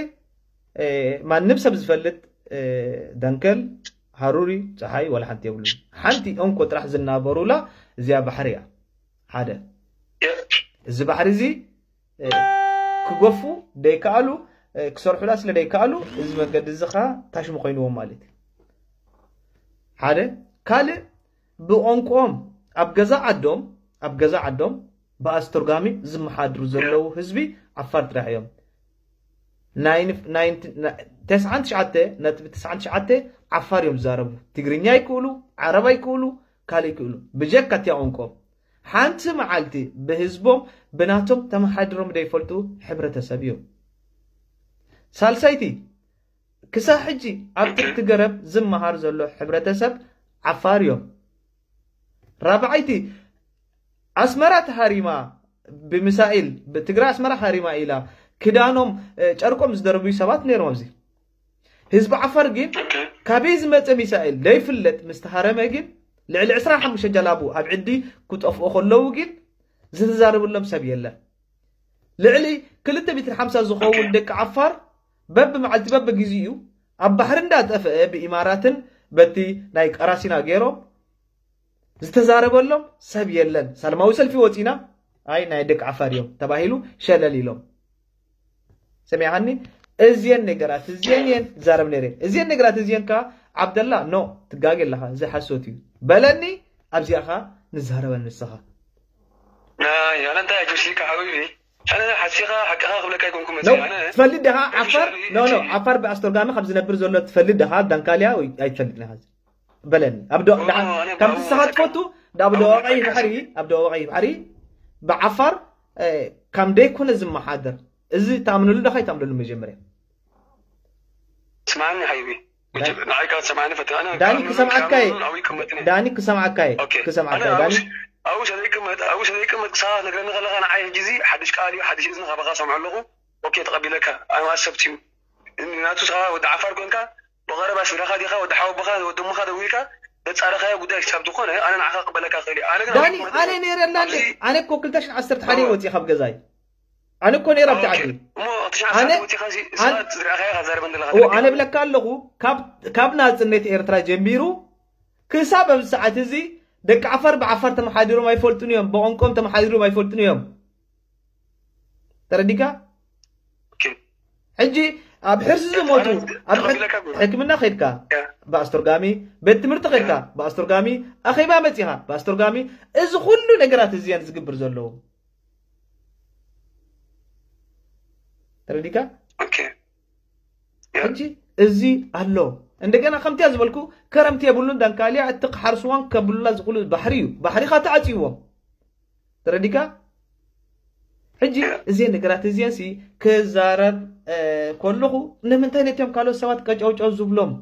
ማንም ሰብ ዝፈልጥ ደንከል ሃሩሪ ፀሓይ ዋላ ሓንቲ የብሉን ሓንቲ እንኮ ጥራሕ ዝናበሩላ እዚኣ ባሕሪ እያ ሓደ እዚ ባሕሪ እዚ ክገፉ ደይከኣሉ ክሰርሑላ ስለ ደይከኣሉ እዚ መንገዲ እዚ ከዓ ታሽሙ ኮይንዎም ማለት እዩ ሓደ ካልእ ብቋንቋኦም ኣብ ገዛ ዓዶም ኣብ ገዛ ዓዶም ብኣስተርጓሚ ዝመሓድሩ ዘለዉ ህዝቢ ዓፋር ጥራሕ እዮም ተስዓን ትሽዓተ ነጥቢ ተስዓን ትሽዓተ ዓፋር እዮም ዝዛረቡ ትግርኛ ይክእሉ ዓረብ ኣይክእሉ ካልእ ይክእሉ ብጀካ እቲያ ቋንቋኦም ሓንቲ መዓልቲ ብህዝቦም ብናቶም ተመሓድሮም ዘይፈልጡ ሕብረተሰብ እዮም። ሳልሳይቲ፣ ክሳብ ሕጂ ኣብ ትሕቲ ገረብ ዝመሃር ዘሎ ሕብረተሰብ ዓፋር እዮም። ራብዓይቲ፣ ኣስመራ ተሃሪማ ብሚሳኤል ብትግራይ ኣስመራ ሃሪማ ኢላ ክዳኖም ጨርቆም ዝደርብዩ ሰባት ነይሮም። ኣብዚ ህዝቢ ዓፋር ግን ካበይ ዝመፀ ሚሳኤል ዘይፍለጥ ምስ ተሃረመ ግን ልዕሊ ዕስራን ሓሙሽተ ጀላቡ ኣብ ዕዲ ክጠፍኡ ከለዉ ግን ዝተዛረበሎም ሰብ የለን። ልዕሊ ክልተ ሚእትን ሓምሳ ዝኸውን ደቂ ዓፋር በብመዓልቲ በብግዚኡ ኣብ ባሕሪ እንዳጠፍአ ብኢማራትን በቲ ናይ ቀራሲና ገይሮም ዝተዛረበሎም ሰብ የለን። ሰላማዊ ሰልፊ ወፂና ኣይ ናይ ደቂ ዓፋር እዮም ተባሂሉ ሸለል ኢሎም። ሰሚዓኒ? እዚየን ነገራት እዚየን እየን ዝዛረብ ነይረ። እዚየን ነገራት እዚየን ከ ዓብደላ ኖ ትጋገ ኣለኻ፣ እዚ ሓሶት እዩ በለኒ። ኣብዚኣ ኸ ንዛረበን ንስኻ ኣነ እንታይ ኣጆሲካ ሓቢቢ ኣነ ሓሲኻ ሓቅኻ ክብለካ ኣይኮንኩ መ ትፈልጥ ደኻ ዓፋር ኖ ኖ ዓፋር ብኣስተርጋሚ ካብ ዝነብር ዘሎ ትፈልጥ ደኻ ዳንካልያ ወይ ኣይትፈልጥ ነኻ በለኒ። ኣብ ዶ- ደሓን- ከምቲ ንስኻ ትፈቱ ኣብ ደቡብ ቀይሕ ባሕሪ ኣብ ደቡብ ቀይሕ ባሕሪ ብዓፋር ከም ደይኮነ ዝመሓደር እዚ ተኣምነሉ ደኻ ይተኣምነሉ መጀመርያ ስማዕኒ ሓይቢ ንዓይ ካብ ሰማዕኒ ፈትነ ኣነ ዳኒ ክሰምዓካይ ኣው ይቅመጥኒ ዳኒ ክሰምዓካይ ኦኬ ክሰምዓካይ ኣነ ዳኒ ኣውሽ- ኣውሽ ዘይቅመጥ ኣውሽ ዘይቅመጥ ክሳባት ነግረኒ ከለካ ንዓይ ሕጂ እዚ ሓድሽ ቃል እዩ ሓድሽ እዝኒ ካባካ ሰምዖ ኣለኩ ኦኬ ተቀቢለካ ኣነ ኣሰብት እዩ ናቱ ስኻ ወዲ ዓፋር ኮንካ ብቀረባ ስድራኻ ዲኻ ወዲ ሓወቦኻ ወዲ እሞኻ ደዊልካ ዘጻረኻዮ ጉዳይ ክሳብ ዝኾነ ኣነ ንዓኻ ክቅበለካ ክእል እየ ኣነ ግን ዳኒ ኣነ ነይረ ኣላ እንዴ ኣነ እኮ ክልተ ሽሕን ዓሰርተ ሓደ ወፂእ ካብ ገዛይ ኣነ እኮ ነይረ ኣብቲ ዓዲ እሞ እቲ ሽዓ ኣነ- ሰዓት ወፂኻ እዚ ኣነ- ሰባት ዝረኣኻዮ ካብ ዛረበ እንደለኻ እዎ ኣነ ብለካ ኣለኹ ካብ- ካብ ናፅነት ኤርትራ ጀሚሩ ክሳብ ኣብዚ ሰዓት እዚ ደቂ ዓፋር ብዓፋር ተመሓዲሮም ኣይፈልጡን እዮም ብቋንቋኦም ተመሓዲሮም ኣይፈልጡን እዮም ተረዲካ ሕጂ ኣብ ሕርሲ ዝሞቱ ኣብ ሕክምና ከድካ ብኣስተርጋሚ ቤት ትምህርቲ ከድካ ብኣስተርጋሚ ኣኼባ መፂኻ ብኣስተርጋሚ እዚ ኩሉ ነገራት እዚያን ዝግብር ዘለዉ ተረዲካ ሕጂ እዚ ኣሎ እንደገና ከምቲያ ዝበልኩ ከረምቲ የብሉን ዳንካልያ እቲ ክሓርስዋን ከብሉላ ዝኽሉ ባሕሪ እዩ ባሕሪኻ ተዓፅይዎም ተረዲካ ሕጂ እዚን ነገራት እዚን ሲ ክዛረብ ከለኹ ንምንታይ ነቲኦም ካልኦት ሰባት ቀጨውጨው ዝብሎም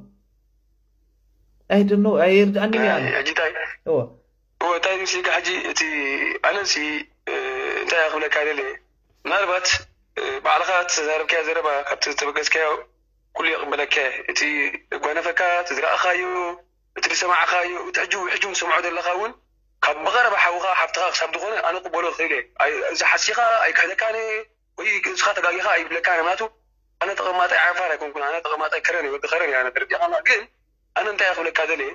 ኣይድኖ ኣይርድኣኒ እወ እንታይ ምስልካ ሕጂ እቲ ኣነሲ እንታይ ክብለካ ደለ ምናልባት ባዕልኻ ተዛረብካዮ ዘረባ ካብቲ ዝተበገስካዮ ኩሉ ይቕበለካ እቲ ጓነፈካ እቲ ዝረኣኻዮ እቲ ዝሰማዕኻዮ እቲ ሕጂ ሕጂ ዝሰምዖ ዘለኻ እውን ካብ ብቐረባ ሓውኻ ሓፍትኻ ክሳብ ዝኾነ ኣነ ክበሎ ክእል እየ እዚ ሓሲኻ ኣይክሕደካን ወይ እስኻ ተጋጊኻ ኣይብለካን ምክንያቱ ኣነ ተቐማጣይ ዓፋር ኣይኮንኩን ኣነ ተቐማጣይ ከረን ወዲ ከረን እያ ተረዲኻና ግን ኣነ እንታይ ክብለካ ደልየ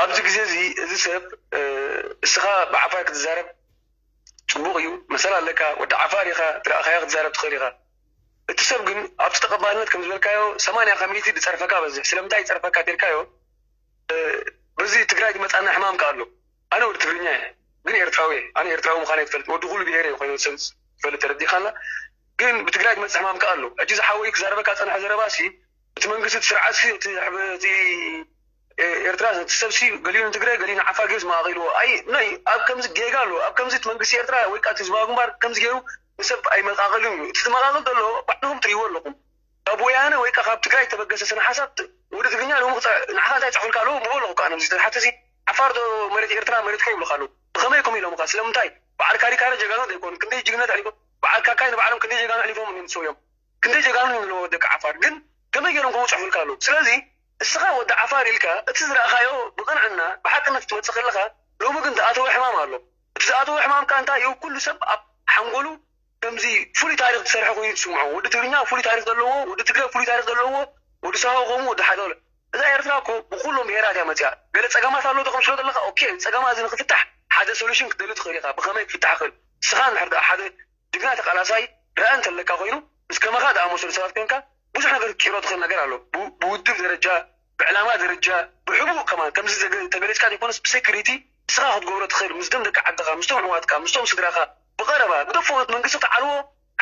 ኣብዚ ግዜ እዚ እዚ ሰብ እስኻ ብዓፋር ክትዛረብ ፅቡቕ እዩ መሰል ኣለካ ወዲ ዓፋር ኢኻ ትረእኻያ ክትዛረብ ትኽእል ኢኻ እቲ ሰብ ግን ኣብቲ ተቐባልነት ከም ዝበልካዮ ሰማንያ ካብ ሚእቲ ዝፀርፈካ በዝሕ ስለምንታይ ይፀርፈካ ተልካዮ በዚ ትግራይ ዝመፃና ሕማም ከ ኣሎ ኣነ ወዲ ትግርኛ እየ ግን ኤርትራዊ እየ ኣነ ኤርትራዊ ምዃነ ትፈልጥ ወዲ ኩሉ ብሄር እየ ኮይኑ ዝፈልጥ ተረዲኻና ግን ብትግራይ ዝመፅእ ሕማም ከ ኣሎ ሕጂ ዝሓወይ ክዛረበካ ፀንሐ ዘረባ ሲ እቲ መንግስቲ እቲ ስርዓት ሲ እቲ ኤርትራ እቲ ሰብ ሲ ገሊኡ ንትግራይ ገሊኡ ንዓፋር ገይሩ ዝመቃቂልዎ ኣይ ናይ ኣብ ከምዚ ጌጋ ኣሎ ኣብ ከምዚ እቲ መንግስቲ ኤርትራ ወይ ከዓ ህዝባዊ ግንባር ከምዚ ገይሩ ንሰብ ኣይመቃቅልን እዩ እቲ ዝመቃቅል ዘሎ ባዕልኩም ትሪእዎ ኣለኩም ካብ ወያነ ወይ ከዓ ካብ ትግራይ ተበገሰ ስነ ሓሳብ ወዲ ትግርኛ ሎም ንዓኻ እንታይ ፅሑልካ ኣለዉ ምበ ኣለኹ ከዓ ነዚ ተሓተሲ ዓፋር ዶ መሬት ኤርትራ መሬትካ ይብሉካ ኣለዉ ብኸመይ ኮም ኢሎምካ ስለምንታይ በዓል ካሪካረ ጀጋኑ ዘይኮኑ ክንደይ ጅግነት ኣሊፎም በዓል ካካይ ንባዕሎም ክንደይ ጀጋኑ ኣሊፎም እዮም ሰውዮም ክንደይ ጀጋኑ እዮም ዘለዎ ደቂ ዓፋር ግን ከመይ ገይሮም ከምኡ ፅሑፍልካ ኣለዉ ስለዚ እስኻ ወዲ ዓፋር ኢልካ እቲ ዝረእኻዮ ብቕንዕና ብሓቅነት ክትመፅእ ከለኻ ሎሚ ግን ዝኣተወ ሕማም ኣሎ እቲ ዝኣተወ ሕማም ከዓ እንታይ እዩ ኩሉ ሰብ ኣብ ሓንጎሉ ከምዚ ፍሉይ ታሪክ ዝሰርሐ ኮይኑ ትስምዖ ወዲ ትግርኛ ፍሉይ ታሪክ ዘለዎ ወዲ ትግራይ ፍሉይ ታሪክ ዘለዎ ወዲ ሳሆ ከምኡ ወዲ ሓደ እዛ ኤርትራ እኮ ብኩሎም ብሄራት እያ መፅያ ገለ ፀገማት ኣሎ ተቅምስሎ ዘለካ ኦኬ ፀገማ እዚ ንክፍታሕ ሓደ ሶሉሽን ክትደሊ ትኽእል ኢካ ብከመይ ክፍታሕ ክእል ንስኻ እንድሕር ደኣ ሓደ ጅግና ተቃላሳይ ረኣ እንተለካ ኮይኑ ምስ ከማኻ ዝኣመሰሉ ሰባት ኮንካ ብዙሕ ነገር ክትቅይሮ ትኽእል ነገር ኣሎ ብውድብ ደረጃ ብዕላማ ደረጃ ብሕቡእ ከማን ከምዚ ተገሊፅካ ዘይኮነስ ብሴኩሪቲ ንስኻ ክትገብሮ ትኽእል ምስቶም ደቂ ዓድኻ ምስቶም ኣሕዋትካ ምስቶም ስድራኻ ብቐረባ ግደፎ ነቲ መንግስቲ ክትዓልዎ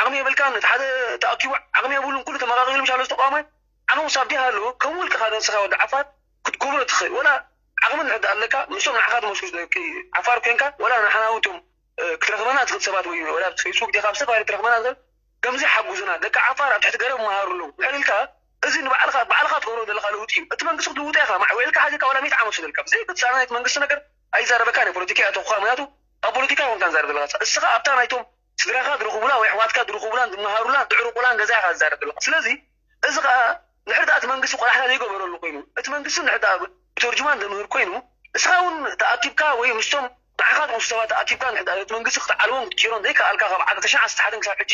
ዓቕሚ የብልካን ነቲ ሓደ ተኣኪቡ ዓቕሚ የብሉን ኩሉ ተመቓቒሉ ምሻሎ ዝተቋመ ዓቕሚ ሳብ ዲሃ ኣለዎ ከም ውልቅኻ ነብስኻ ወዲ ዓፋር ክትገብሮ ትኽእል ወላ ዓቕሚ እንድሕር ኣለካ ምስቶም ንዓኻ ዝመስሉ ደቂ ዓፋር ኮንካ ወላ ንሕና እውን እቶም ክትረኽበና ትኽእል ሰባት ወይ ወላ ኣብ ፌስቡክ ዲኻ ኣብ ዝተፈላለዩ ትረኽበና ትኽእል ከምዚ ሓጉዙና ደቂ ዓፋር ኣብ ትሕቲ ገረብ መሃሩ ኣለዉ ድሕር ኢልካ እዚ ንባዕልኻ ባዕልኻ ትገብሮ ዘለኻ ለውጢ እዩ። እቲ መንግስቲ ክትልውጦ ኢኻ ማዕዊዕልካ ሓዚካ ዋላ ሚእቲ ዓመት ሰደልካ ብዘይ ክትሳና ናይቲ መንግስቲ ነገር ኣይዛረበካን እዩ። ፖለቲካ እያ ተኹኻ ምክንያቱ ኣብ ፖለቲካ ይኮንካ ንዛረብ ዘለካ እስኻ ኣብታ ናይቶም ስድራኻ ዝረኽቡላ ወይ ኣሕዋትካ ዝረኽቡላን ዝመሃሩላን ዝዕርቁላን ገዛ ኢኻ ዝዛረብ ዘለኻ። ስለዚ እዚ ኸዓ ንሕርዳእ እቲ መንግስቲ ቆላሕታ ዘይገበረሉ ኮይኑ እቲ መንግስቲ ንሕርዳእ ብተርጅማን ዘምህር ኮይኑ እስኻ እውን ተኣኪብካ ወይ ምስቶም ንዓኻ ዝመስሉ ሰባት ተኣኪብካ ንሕርዳእ እቲ መንግስቲ ክትዓልቦም ክትጭሮም ዘይከኣልካ ካብ ዓሰርተ ሸዓተ ክሳብ ሕጂ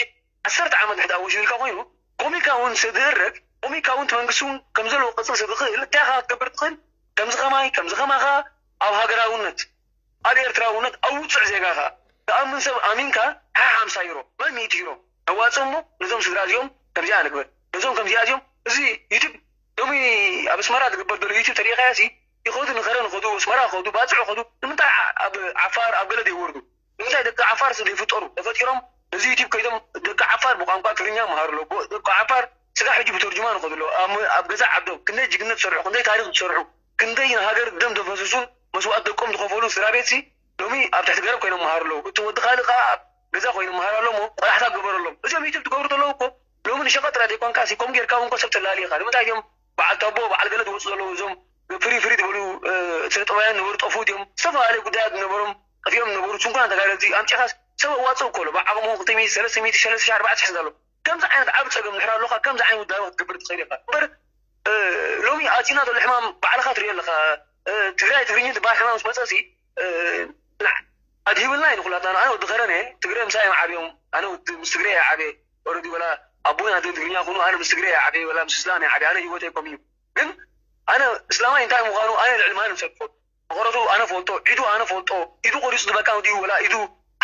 ዓሰርተ ዓመት ንሕርዳእ ወሽዩ ኢልካ ኮይኑ ኮሚካ እውን ስድረግ ኮሚካ እውን እቲ መንግስቲ እውን ከም ዘለዎ ቅፅል ስዝኽእል እንታይ ኢኻ ክትገብር ትኽእል ከምዚ ኸማይ ከምዚ ኸማኻ ኣብ ሃገራውነት ኣብ ኤርትራውነት ኣብ ውፅዕ ዜጋኻ ትኣምን ሰብ ኣሚንካ ሓሓምሳ ዩሮ ወይ ሚእቲ ዩሮ ነዋፅእ እሞ ነዞም ስድራ እዚኦም ከምዚኣ ንግበር ነዞም ከምዚኣ እዚኦም እዚ ዩቱብ ሎሚ ኣብ ኣስመራ ዝግበር ዘሎ ዩቱብ ተሪኢኻዮ ሲ ይኸዱ ንኸረ ንኸዱ ኣስመራ ኸዱ ባፅዕ ኸዱ ንምንታይ ኣብ ዓፋር ኣብ ገለ ዘይወርዱ ንምንታይ ደቂ ዓፋር ስ ዘይፍጠሩ ተፈጢሮም እዚ ዩቱብ ከይዶም ደቂ ዓፋር ብቋንቋ ትግርኛ መሃሩ ኣሎ ደቂ ዓፋር ስጋ ሕጂ ብተርጅማ ንኸዱ ኣሎ ኣብ ገዛ ዓዶም ክንደይ ጅግነት ዝሰርሑ ክንደይ ታሪክ ዝሰርሑ ክንደይ ንሃገር ደም ዘፈሰሱን መስዋእቲ ደቆም ዝኸፈሉን ስድራ ቤት ሲ ሎሚ ኣብ ትሕቲ ገረብ ኮይኖም መሃሩ ኣለዉ። እቲ ወዲ ካልእ ከዓ ኣብ ገዛ ኮይኑ መሃር ኣሎ ሞ ቆላሕታ ግበረሎም። እዚኦም ዩቱብ ትገብሩ ዘለዉ እኮ ሎሚ ንሸቐጥ ጥራይ ዘይኮንካ ሲ ከምኡ ጌርካ እውን እኮ ሰብ ተላሊ ኢኻ። ንምንታይ እዮም በዓል ታቦ በዓል ገለ ዝወፁ ዘለዉ እዞም ፍሪ ፍሪ ዝበሉ ስነ ጥበባውያን ነበሩ ጠፍኡ ድዮም ዝተፈላለዩ ጉዳያት ዝነበሮም ጠፊኦም ዝነበሩ ስንኩላን ተጋደልቲ ኣምፂኻስ ሰብ ኣዋፅእ እኮ ኣሎ ብዓቕሙ ክልተ ሚእቲ ሰለስተ ሚእቲ ሰለስተ ሺሕ ኣርባዕተ ሺሕ ዘሎ ከምዚ ዓይነት ዓብ ፀገም ድሕር ኣለካ ከምዚ ዓይነት ውዳበ ክትገብር ትኽእል ኢኻ እምበር ሎሚ ኣቲና ዘሎ ሕማም ባዕልኻ ትሪኦ ኣለኻ ትግራይ ትግርኛ ዝበሃል ሕማም ዝመፀ ሲ ኣድሂብልና እዩ ንኩላትና ኣነ ወዲ ከረን እየ ትግረ ምሳይ እዮም ዓብዮም ኣነ ምስ ትግረ እየ ዓብየ ኦረዲ ወላ ኣቦይ ኣደ ትግርኛ ኩኑ ኣነ ምስ ትግረ እየ ዓብየ ወላ ምስ እስላም እየ ዓብየ ኣነ ህይወተይ ከም እዩ ግን ኣነ እስላማይ እንታይ ምዃኑ ኣነ ልዕሊ ማንም ሰብ ፈልጦ መቐረቱ ኣነ ፈልጦ ኢዱ ኣነ ፈልጦ ኢዱ ቆሪፁ ዝበካ ድዩ ወላ ኢዱ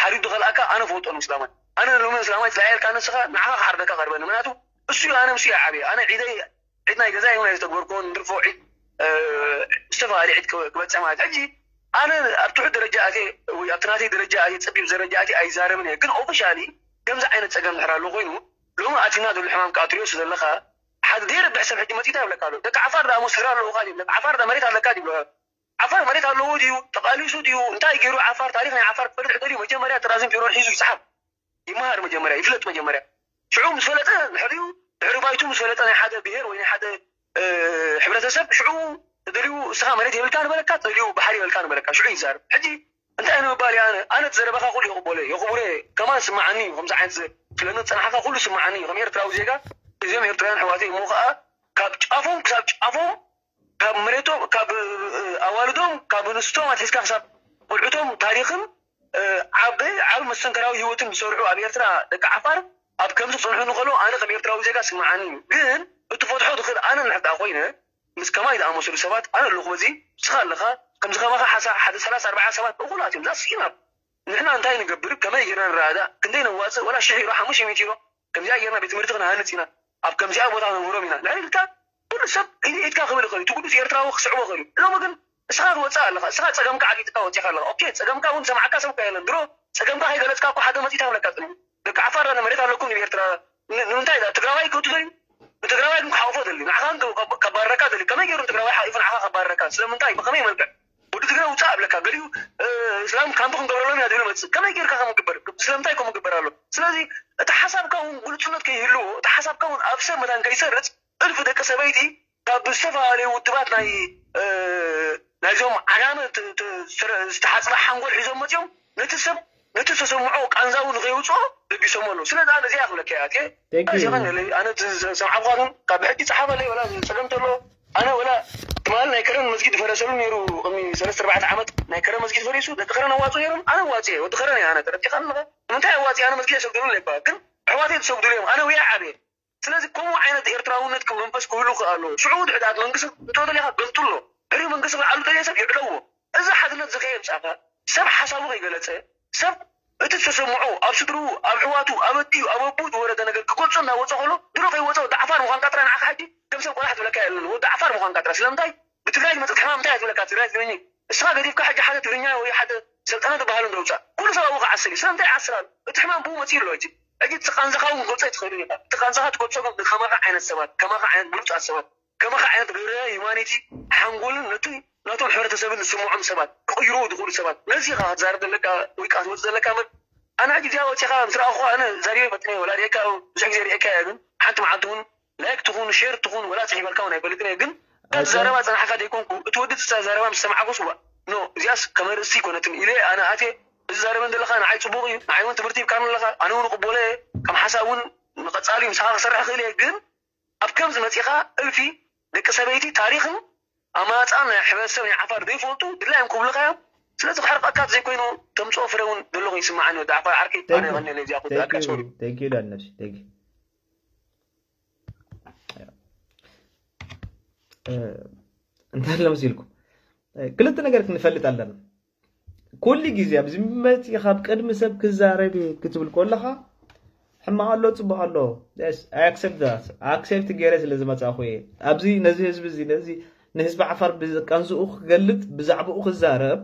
ሓሪዱ ዝኸልኣካ ኣነ ፈልጦ ንእስላማይ ኣነ ሎሚ እስላማይ ትለያየልካ ንስኻ ንዓኻ ክሓርደካ ቀርበኒ ምክንያቱ እሱ እዩ ኣነ ምስ እየ ዓብየ ኣነ ዒደይ ዒድ ናይ ገዛ ይሁን ኣይተግበርኩን ድርፎ ዒድ ዝተፈላለዩ ዒድ ክበፅሕ ማለት ሕጂ ኣነ ኣብ ትሑት ደረጃ ኣትየ ወይ ኣብቲ ናተይ ደረጃ ኣትየ ፀቢብ ደረጃ ኣትየ ኣይዛረብን እየ ግን ኦፊሻሊ ከምዚ ዓይነት ፀገም ድሕር ኣሎ ኮይኑ ሎሚ ኣቲና ዘሎ ሕማም ከዓ ትሪኦ ዘለካ ሓደ ዘይረብሕ ሰብ ሕጂ መፂታ ይብለካ ኣሎ ደቂ ዓፋር ዳ ስድራ ኣለውካ ድዩ ደቂ ዓፋር ዳ መሬት ኣለካ ድዩ ዓፋር መሬት ኣለዎ ድዩ ተቃሊሱ ድዩ እንታይ ገይሩ ዓፋር ታሪክ ናይ ዓፋር ክፈልጥ ሕደል እዩ መጀመርያ ጥራዝን ቢሮን ሒዙ ይፅሓፍ ይመሃር መጀመርያ ይፍለጥ መጀመርያ ሽዑ ምስ ፈለጠ ድሕሪኡ ድሕሪ ባይቱ ምስ ፈለጠ ናይ ሓደ ብሄር ወይ ናይ ሓደ ሕብረተሰብ ሽዑ ተደልዩ እስኻ መሬት የብልካ ንበለካ ተደልዩ ባሕሪ የብልካ ንበለካ ሽዑ ይዛረብ ሕጂ እንታይ ንምባል እየ ኣነ ኣነ ዘረባኻ ኩሉ የቕበሎ የኽብሮ ከማን ስማዓኒ እዩ ከምዚ ዓይነት ስለኒ ዝፀናሕካ ኩሉ ስማዓኒ እዩ ከም ኤርትራዊ ዜጋ እዚኦም ኤርትራውያን ኣሕዋተይ እሞ ከዓ ካብ ጫፎም ክሳብ ጫፎም ካብ መሬቶም ካብ ኣዋልዶም ካብ ኣንስቶም ኣትሒዝካ ክሳብ ቆልዑቶም ታሪኽን ዓቢ ዓቢ መስተንከራዊ ህይወትን ዝሰርሑ ኣብ ኤርትራ ደቂ ዓፋር ኣብ ከምዚ ክጸንሑ እንከሎ ኣነ ከም ኤርትራዊ ዜጋ ስምዓኒ እዩ ግን እትፈትሖ ትኽእል ኣነ እንድሕር ኮይነ ምስ ከማይ ዝኣመሰሉ ሰባት ኣነ ኣለኹ በዚ ንስኻ ኣለኻ ከምዚ ከማኻ ሓሳ ሓደ ሰላሳ ኣርባዓ ሰባት እኹላት እዮም that's enough ንሕና እንታይ ንገብር ከመይ ጌርና ንረዳዳእ ክንደይ ነዋፅእ ወላ ሽሕ ዩሮ ሓሙሽተ ሚእቲ ዩሮ ከምዚኣ ጌርና ቤት ትምህርቲ ክንሃንፅ ኢና ኣብ ከምዚኣ ቦታ ነምህሮም ኢና ንሕና ኢልካ ኩሉ ሰብ ኢድካ ክብል ይኽእል እዩ እቲ ቅዱስ ኤርትራዊ ክስዕቦ ይኽእል እዩ ሎሚ ግን እስኻ ትወፅእ ኣለኻ እስኻ ፀገምካ ዓጊጥካ ወፂኻ ኣለኻ ኦኬ ፀገምካ እውን ሰማዕካ ሰብ እኳ የለን ድሮ ፀገምካ ከይገለፅካ እኮ ሓደ መፂእ ተብለካ ፅንሑ ደቂ ዓፋር ዳነ መሬት ኣለኩም ንኤርትራ ንምንታይ ትግራዋይ ክእቱ ደልዩ ንትግራዋይ ግን ክሓቑፎ ደልዩ ንዓኻ ከባረካ ደልዩ ከመይ ገይሩ ትግራዋይ ሓቂፉ ንዓኻ ከባረካ ስለምንታይ ብኸመይ መልክዕ ወዲ ትግራይ ውፃእ ኣብለካ ገሊኡ እስላም ካምፕ ክንገብረሎም ኢና ዝብል መፅእ ከመይ ጌርካ ከም ግበር ስለምንታይ ከም ግበር ኣሎ ስለዚ እቲ ሓሳብካ እውን ግልፁነት ከይህልዎ እቲ ሓሳብካ እውን ኣብ ሰብ መታን ከይሰርፅ እልፊ ደቂ ሰበይቲ ካብ ዝተፈላለዩ ውድባት ናይ ናይዞም ዓጋመ ዝተሓፅበ ሓንጎል ሒዞም መፅኦም ነቲ ሰብ ነቲ ዝተሰምዖ ቃንዛዊ ንከይውፅኦ ደቢሶም ኣለዉ ስለዚ ኣነ እዚኣ ክብለካ እያ ኣትየ Thank you. ኣነ ሰምዓብኻትም ካብ ብሕጂ ፀሓፈለይ ወላ ፀገም ተሎ ኣነ ወላ ትማል ናይ ከረን መስጊድ ፈረሰሉ ነይሩ ቅድሚ ሰለስተ ኣርባዕተ ዓመት ናይ ከረን መስጊድ ፈሪሱ ደቂ ከረን ኣዋፁ ነይሮም ኣነ ዋፅየ ወዲ ከረን እየ ኣነ ተረዲኻ ኣለኻ ንምንታይ ኣዋፅየ ኣነ መስጊድ ኣይሰግደሉን ይባሃል ግን ኣሕዋተይ ዝሰግዱሉ እዮም ኣነ ውያ ዓብየ ስለዚ ከምኡ ዓይነት ኤርትራውነት መንፈስ ክህሉ ክኣሎ ሽዑ ድሕዳት መንግስቲ እቶ ደሊኻ ገልጡ ኣሎ ሕሪ መንግስቲ ክዓሉ ደልየ ሰብ ይዕለዎ እዚ ሓድነት ዝኸየ ምፃኻ ሰብ ሓሳቡ ከይገለፀ ሰብ እቲ ዝተሰምዖ ኣብ ስድርኡ ኣብ ሕዋቱ ኣብ ኣዲኡ ኣብ ኣቦኡ ዝወረደ ነገር ክገልፆ እናወፀ ከሎ ድሮ ከይወፀ ወዲ ዓፋር ምዃንካ ጥራይ ንዓኻ ሕጂ ከም ሰብ ቆላሕ ትብለካ የለን ወዲ ዓፋር ምዃንካ ጥራይ ስለምንታይ ብትግራይ ዝመፀት ሕማም እንታይ እያ ትብለካ ትግራይ ትግርኛ እስኻ ገዲፍካ ሕጂ ሓደ ትግርኛ ወይ ሓደ ሰልጠነ ዝበሃሉ እንደውፃእ ኩሉ ሰብ ኣብኡ ክዓስል እዩ ስለምንታይ ይዓስል ኣሎ እቲ ሕማም ብኡ መፅኡ ኣሎ ሕጂ ሕጂ እቲ ቃንዛኻ እውን ክትገልፆ ኣይትኽእልን ኢኻ እቲ ቃንዛኻ ትገልፆ ግን ከማኻ ዓይነት ሰባት ከማኻ ዓይነት ብሉፃት ሰባት ከማኻ ዓይነት ግብረ ሂማኒቲ ሓንጎልን ነቲ ናቶም ሕብረተሰብን ዝስምዖም ሰባት ክቕይርዎ ዝኽእሉ ሰባት ነዚ ኢኻ ክትዛረብ ዘለካ ወይ ከዓ ክትወፅእ ዘለካ እምበር ኣነ ሕጂ እዚኣ ወፂኻ ምስ ረኣኹ ኣነ ዛሪበ ፈጥነ ወላ ሪእካ ብዙሕ ግዜ ሪእካ እያ ግን ሓንቲ መዓልቲ እውን ላይክ ትኹን ሼር ትኹን ወላ ፅሒፈልካ እውን ኣይፈልጥን እየ ግን እዛ ኣይ፣ ዘረባ ፀናሕካ ዘይኮንኩ እቲ ወዲ እዛ ዘረባ ምስ ሰማዕኩስ ዋ ኖ እዚኣስ ከመርእሲ ይኮነትን ኢለ ኣነ ኣትየ እዚ ዛረበን ዘለካ ንዓይ ፅቡቅ እዩ ንዓይ እውን ትምህርቲ ይብካን ኣለካ ኣነ እውን ቅቦለ ከም ሓሳብ እውን ንቀፃሊ ምሳኻ ክሰርሕ ክእል እየ ግን ኣብ ከምዚ መፂኻ እልፊ ደቂ ሰበይቲ ታሪኽን ኣማፃን ናይ ሕብረተሰብ ናይ ዓፋር ዘይፈልጡ ድላዮም ክብልኻ እዮም ስለዚ ክሕርቀካ ዘይኮይኑ ተምፅኦ ፍረ እውን ዘለኹ ይስማዓኒ ወዲ ዓፋር ዓርከይ ኣነ የቐንየለ እዚኣ ክወዳእካ ሶሪ ዳነሽ እንታይ ኣሎ መሲልኩም ክልተ ነገር ክንፈልጥ ኣለና ኩሉ ግዜ ኣብዚ መፂ ካብ ቅድሚ ሰብ ክዛረብ ክትብል ከለኻ ሕማቕ ኣሎ ፅቡቅ ኣሎ ኣክሰፕት ገይረ ስለ ዝመፃእኩ እየ ኣብዚ ነዚ ህዝቢ እዚ ነዚ ንህዝቢ ዓፋር ብቀንዝኡ ክገልጥ ብዛዕባኡ ክዛረብ